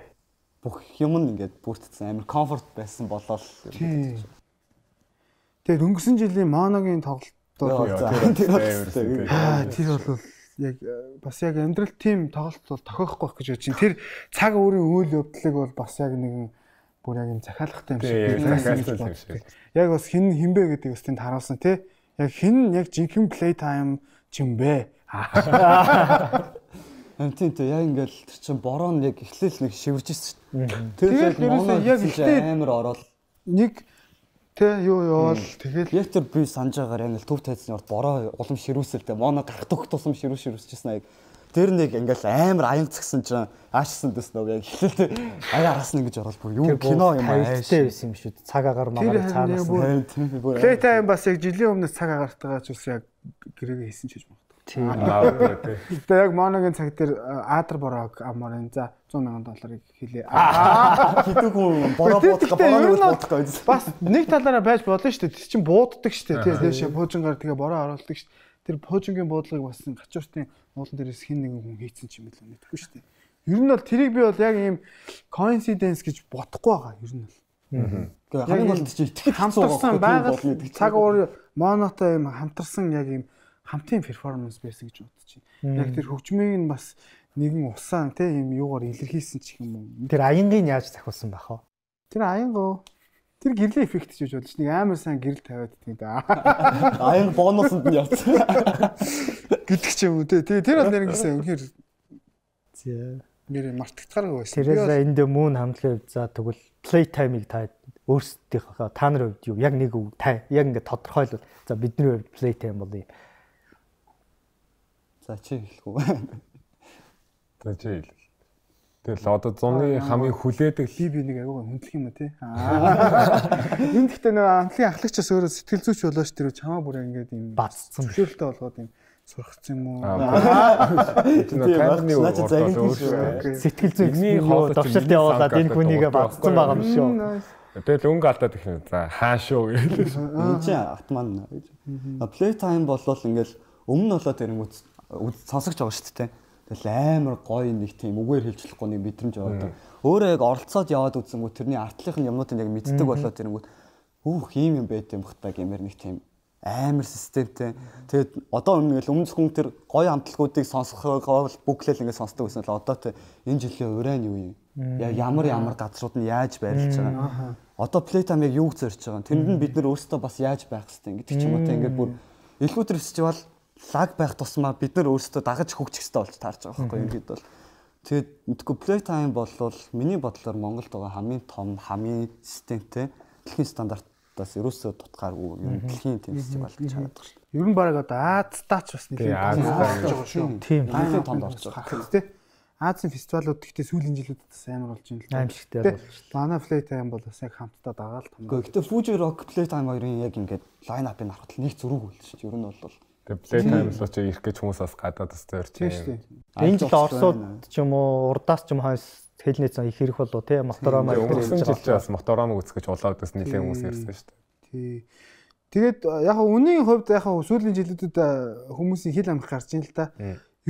Бүх юм нь ингээд бүрдсэн амар комфорт байсан болол. Тэгээд өнгөрсөн жилийн Моногийн тоглолт тэр бол яг бас яг амьдрал тим тоглолт бол тохиохгүй байх гэж бодож чинь. Тэр цаг өөрийн үйл явдлыг бол бас яг нэгэн бүр яг юм захиалгатай юм шиг. Яг бас хин хинбэ гэдэг бас тэнд харуулсан тий. Яг хин яг жинхэнэ playtime ч юм бэ. Амтэн тэ яг ингээл тэр чин бороо нь яг эхлээл нэг шивэрж ирсэн. Тэгээд ерөөсөө яг эхлээд амар ороод нэг тэ юу яваал тэгээд яг тэр би санаж байгаагаар ингээл төв тайзны урд бороо улам ширүүсэлтэй моно гарах төгт тусам ширүү ширүүсчихсэн аяг. Тэр нэг ингээл амар аян цгсэн чинь аашсан дэс нөө яг эхлээд аяа араас нь ингэж ороод бүр юу кино юм ааштай байсан юм шүү. Цаг агаар магаар цаанаас нь. Playtime бас яг жилийн өмнөөс цаг агартайгаа ч үс яг гэрээгээ хийсэн ч гэж байна. Тийм. Тэгээ яг Моногийн цаг дээр Адар бороо амар энэ за one hundred мянган долларыг хэлээ. Хэдүүг хүн бороо буудах бороо буудах гэж. Бас нэг талаараа байж болно шүү дээ. Тэр чинь бууддаг шүү дээ. Тийш пуужингаар тэгээ бороо оруулдаг шүү дээ. Тэр пуужингийн буудлагыг бас гачууртын уулан дээрээс хин нэгэн хүн хийцэн ч юм билээ мэдэхгүй шүү дээ. Ер нь бол тэрийг би бол яг ийм coincidence гэж бодохгүй байгаа ер нь бол. Аа. Хамгийн гол чинь итгэж хамтарсан байгаль цаг уур монотой юм хамтарсан яг ийм хамтын перформанс байсан гэж бодож байна. Яг тэр хөгжмийг нь бас нэгэн усаан тийм юм юугаар илэрхийлсэн ч юм уу. Тэр аянгийн яаж захиулсан байх вэ? Тэр аянгоо тэр гэрлийн эффект гэж бодож нэг амар сайн гэрэл тавиад гэдэг да. Аян бонусанд нь явсан. Гэдэг ч юм уу тий. Тэр бол нэр гэсэн үнэхээр зэ нэр мартагдахааргүй байсан. Тэрээс энд мөн хамтлагийн хувьд за тэгвэл playtime-ыг та өөрсдийнхөө та нарын хувьд юу яг нэг үг та яг ингээд тодорхойлвол за бидний хувьд playtime бол юм. За чи хэлэхгүй. За чи хэл. Тэгэл одоо зуны хамгийн хүлээдэг би би нэг аюугаа хүндлэх юм уу те. Энд гэхдээ нэг хамтлагийн ахлагчаас өөрөө сэтгэл зүйч болооч тэр чамаа бүр ингээд юм бацсан зөвшөөрөлтөй болгоод юм сурахсан юм уу? Сэтгэл зүйчний довшилт явуулаад энэ хүнийгээ бацсан байгаа юм шүү. Тэгэл өнгө алдаад их юм. За хаа шүү гээл. Энэ чи автоман гэж. Playtime болвол ингээл өмнө болоод ирэнгүүт сонсогч байгаа шүү дээ. Тэгэл амар гоё нэг тийм үгээр хэлжлэхгүй нэг мэдрэмж яваад. Өөрөө яг оролцоод яваад үзсэнгүү тэрний артлынхын юмнуудыг яг мэддэг болоод ирэнгүүт өөх ийм юм байт юм бахтаа гэмээр нэг тийм амар системтэй. Тэгээд одоо ингээл өмнө хүн тэр гоё хамтлагуудыг сонсохоо бүглээл ингээд сонсдог байсан л одоо тэ энэ жилийн урайн юу юм? Яг ямар ямар газрууд нь яаж байрлаж байгаа. Одоо Playtime яг юу зорж байгаа. Тэнд нь бид нэр өөрсдөө бас яаж байх хэвтэй гэдэг ч юм уу те ингээд бүр Илгүүтер фестивал лаг байх тусмаа бид нар өөрсдөө дагаж хөгжих хэвтэй болж таарч байгаа байхгүй юм гээд бол. Тэгээд мэдгүй Playtime болвол миний бодлоор Монголд байгаа хамгийн том, хамгийн системтэй дэлхийн стандартаас ерөөсөө тутгааргүй юм дэлхийн тийм фестивал гэж хараад байна. Ер нь баг одоо Азтаач бас нэг юм болж байгаа шүү. Тийм. Хамгийн томд орж байгаа. Тэ. Азийн фестивалууд гэхдээ сүүлийн жилүүдэд бас амар болж байна л да. Аимшигтэй болж байна. Манай Playtime бол бас яг хамтдаа дагаал том. Гэхдээ Fuji Rock Playtime хоёрын яг ингээд лайн апыг харахад нэг зүрэг үлдэж шүү. Ер нь бол Тэгээ Playtime л ч ирэх гэж хүмүүс бас гадаад бас зорж байна. Энэ жил Оросууд ч юм уу урдаас ч юм хойс хэлний цан их ирэх болов тий мотороо маяг өнгөрсөн жил ч бас мотороо үзэх гэж улаад бас нэлээд хүмүүс ирсэн шүү дээ. Тий. Тэгээд яг үнийн хувьд яг сүүлийн жилүүдэд хүмүүсийн хил амх гарч ийн л та.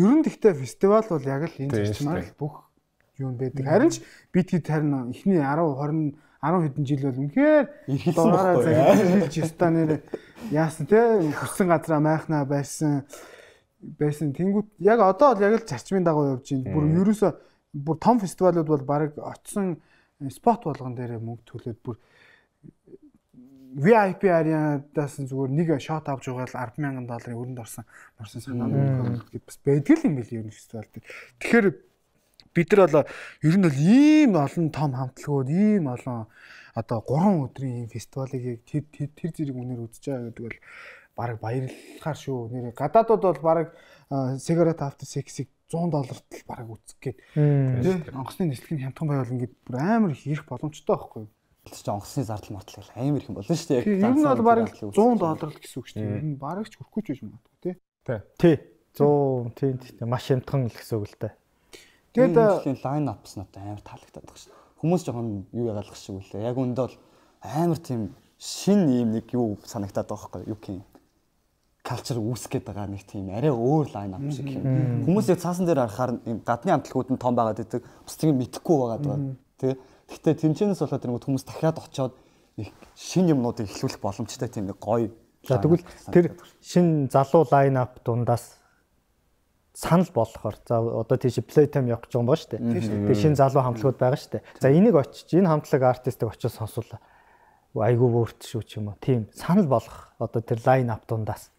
Ер нь тэгтээ фестивал бол яг л энэ зарчмаар бүх юу байдаг. Харин ч бид хэд харин эхний десять тwenty десять хэдэн жил бол үнэхээр ирхэлсэн байхгүй хэлж ястаа нэр яасан те хүссэн газраа майхнаа байсан байсан тэнгууд яг одоо бол яг л зарчмын дагуу явж байна. Бүр ерөөсө бүр том фестивалууд бол баг очсон спот болгон дээр мөнгө төлөөд бүр ви ай пи ариадаас зүгээр нэг шот авч байгаа л ten thousand долларын өрөнд орсон орсон санаа нь гэдээ бас байдаг юм билий ер нь фестивал дээр. Тэгэхээр бид нар бол ер нь бол ийм олон том хамтлагууд ийм олон одоо гурван өдрийн ийм фестивалыг яг тэр тэр зэрэг үнээр үзэж байгаа гэдэг бол баг баярлахаар шүү. Нэр гадаадууд бол баг cigarette after six-ийг one hundred долларт л баг үзэх гээд тий онгоцны нислэгийн хямдхан байвал ингээд бүр амар их ирэх боломжтой байхгүй юу? Чи онгоцны зардал мартал амар их юм болно шүү дээ. Яг ер нь бол баг one hundred доллар л гэсэн үг шүү дээ. Ер нь бараг ч хүрхгүй ч биш магадгүй тий. Тий. one hundred тий маш хямдхан л гэсэн үг л дээ. Тэгээд лайн апс надад амар таалагдаад байгаа шүү. Хүмүүс жоохон юу ягаалгах шиг үлээ. Яг үндэ бол амар тийм шин ийм нэг юу санагтаад байгаа байхгүй юу юм. Culture үүсгэж байгаа нэг тийм арай өөр лайн ап шиг юм. Хүмүүс яг цаасан дээр харахаар гадны амтлагууд нь том байгаад идэг. Бусдыг мэдэхгүй байгаад байгаа. Тэ. Гэхдээ тэнцэнээс болоод тэр хүмүүс дахиад очиод их шин юмнуудыг эхлүүлэх боломжтой тийм нэг гоё. За тэгвэл тэр шин залуу лайн ап дундаас санал болохоор за одоо тийш Playtime явах гэж байгаа юм ба штэ. Тэгээ шинэ залуу хамтлагууд байгаа штэ. За энийг очиж энэ хамтлаг артистыг очиж сонсвол айгүй өөрт шүү ч юм уу. Тийм санал болгох одоо тэр лайн ап дундаас.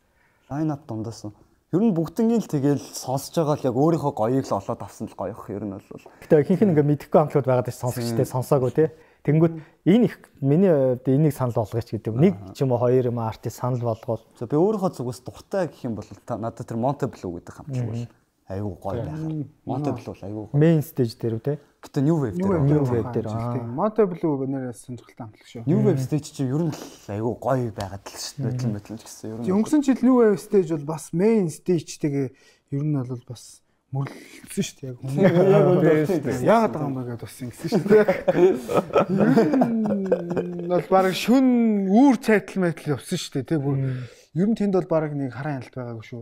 Лайн ап дундаас ер нь бүгднийг л тэгэл сонсож байгаа л яг өөрийнхөө гоёыг л олоод авсан л гоёх ер нь бол. Гэтэ ихэнх нь ингээ мэдэхгүй хамтлагууд байгаад ш сонсогчтой сонсоогүй тий. Тэнгүүд энэ их миний энийг санал болгооч гэдэг. Нэг ч юм уу хоёр юм артист санал болгоол. За би өөрийнхөө зүгээс дуртай гэх юм бол надад тэр Monte Blue гэдэг хамтлаг бол айгүй гоё байх. Monte Blue айгүй гоё. Main stage дээр үү те? Гэтэ New Wave дээр. New Wave дээр. Monte Blue нэрээс сонирхолтой хамтлаг шүү. New Wave stage чи ер нь айгүй гоё байгаад л шүү. Мэдлэн мэдлэн гэсэн ер нь. Өнгөрсөн жил New Wave stage бол бас main stage-тэйгээ ер нь бол бас мөрлөлдсөн шүү дээ яг. Яагаад байгаа юм бэ гэдээ бас ингэсэн шүү дээ. Бол баг шүн үүр цайтал мэтл явсан шүү дээ тий бүр ер нь тэнд бол баг нэг хараа хяналт байгаагүй шүү.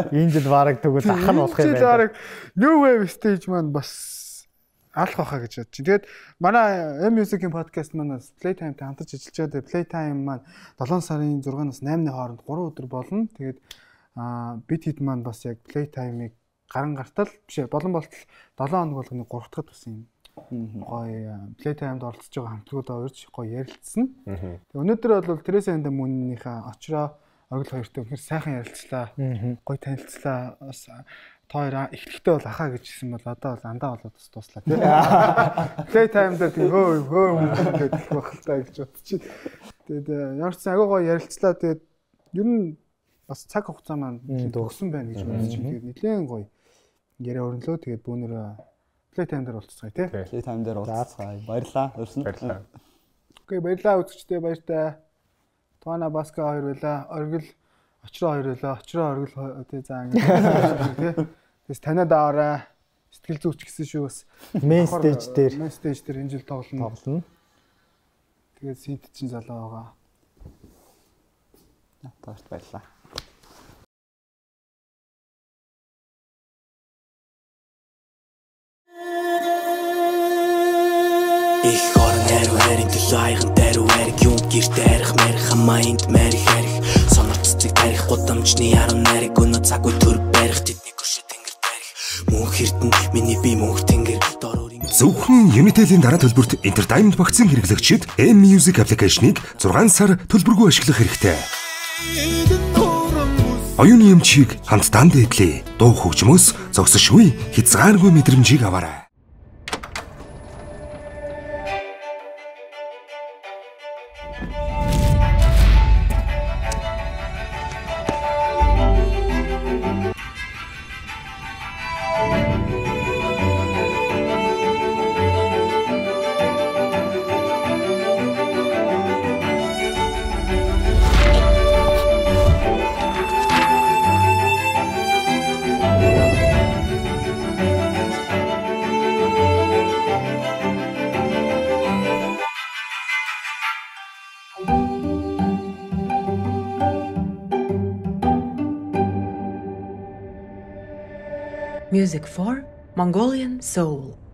Энэ жил баг тэгвэл ах нь болох юм байна. Энэ жил баг New Wave stage маань бас алах байхаа гэж бодчих. Тэгээд манай M Music-ийн подкаст маань Playtime-тай хамтарч ажиллаж байгаа. Playtime маань seven сарын six-наас eight-ны хооронд three өдөр болно. Тэгээд аа бид хэд маань бас яг Playtime-ыг гаран гартал биш болон болтол seven хоног болгоны three дахь бас юм гоё Playtime-д оролцож байгаа хамтлагуудаа урьж гоё ярилцсан. Тэгээ өнөөдөр бол Teresa and the Moon-ийнхаа очроо Оргил хоёртой үнэхээр сайхан ярилцлаа. Гоё танилцлаа. Бас тоороо эхлэхдээ бол ахаа гэж хэлсэн бол одоо бол андаа болоод бас дуслаа тийм. Playtime дээр тийм хөө хөө гэдэг байх л та гэж бодчих. Тэгээд ямар ч агуу гоё ярилцлаа. Тэгээд ер нь бас цаг хугацаа маань дууссан байна гэж бодож байна. Тэгээд нэлээд гоё яриа өрнөлөө. Тэгээд бүүнээр Playtime дээр уулзцгаая тий. Playtime дээр уулзцгаая. Баярлаа. Өрсөн. Баярлаа. Окей, баярлаа үзэгчдээ баяртай. Туана Баска хоёр байлаа. Оргил очроо хоёр байлаа. Очроо оргил тий за ингэ тий. Тэс танад аваарай. Сэтгэл зүйч гэсэн шүү бас. Main stage дээр. Main stage дээр энэ жил тоглоно. Тоглоно. Тэгээд синт чин залуу байгаа. Таарт баярлаа. Ich horn herw herring төлөө айган даруй хэрэг юм гэрт арих мэрх хамаанд мэрх хэрэг сонорццыг тарих гудамжны яруу нариг өнөө цаггүй төр барих тэдний гүшэ тэнгэр тарих мөнх эрдэн миний би мөнх тэнгэр дороор ингэ Зөвхөн Unitel-ийн дараа төлбөрт Entertainment багцын хэрэглэгчид M-Music аппликейшнийг зургаан сар төлбөргүй ашиглах хэрэгтэй. Оюуны эмчийг хамтдаа дээдлээ. Дуу хөгжмөөс зогсошгүй хязгааргүй мэдрэмжийг аваарай. Music for Mongolian Soul.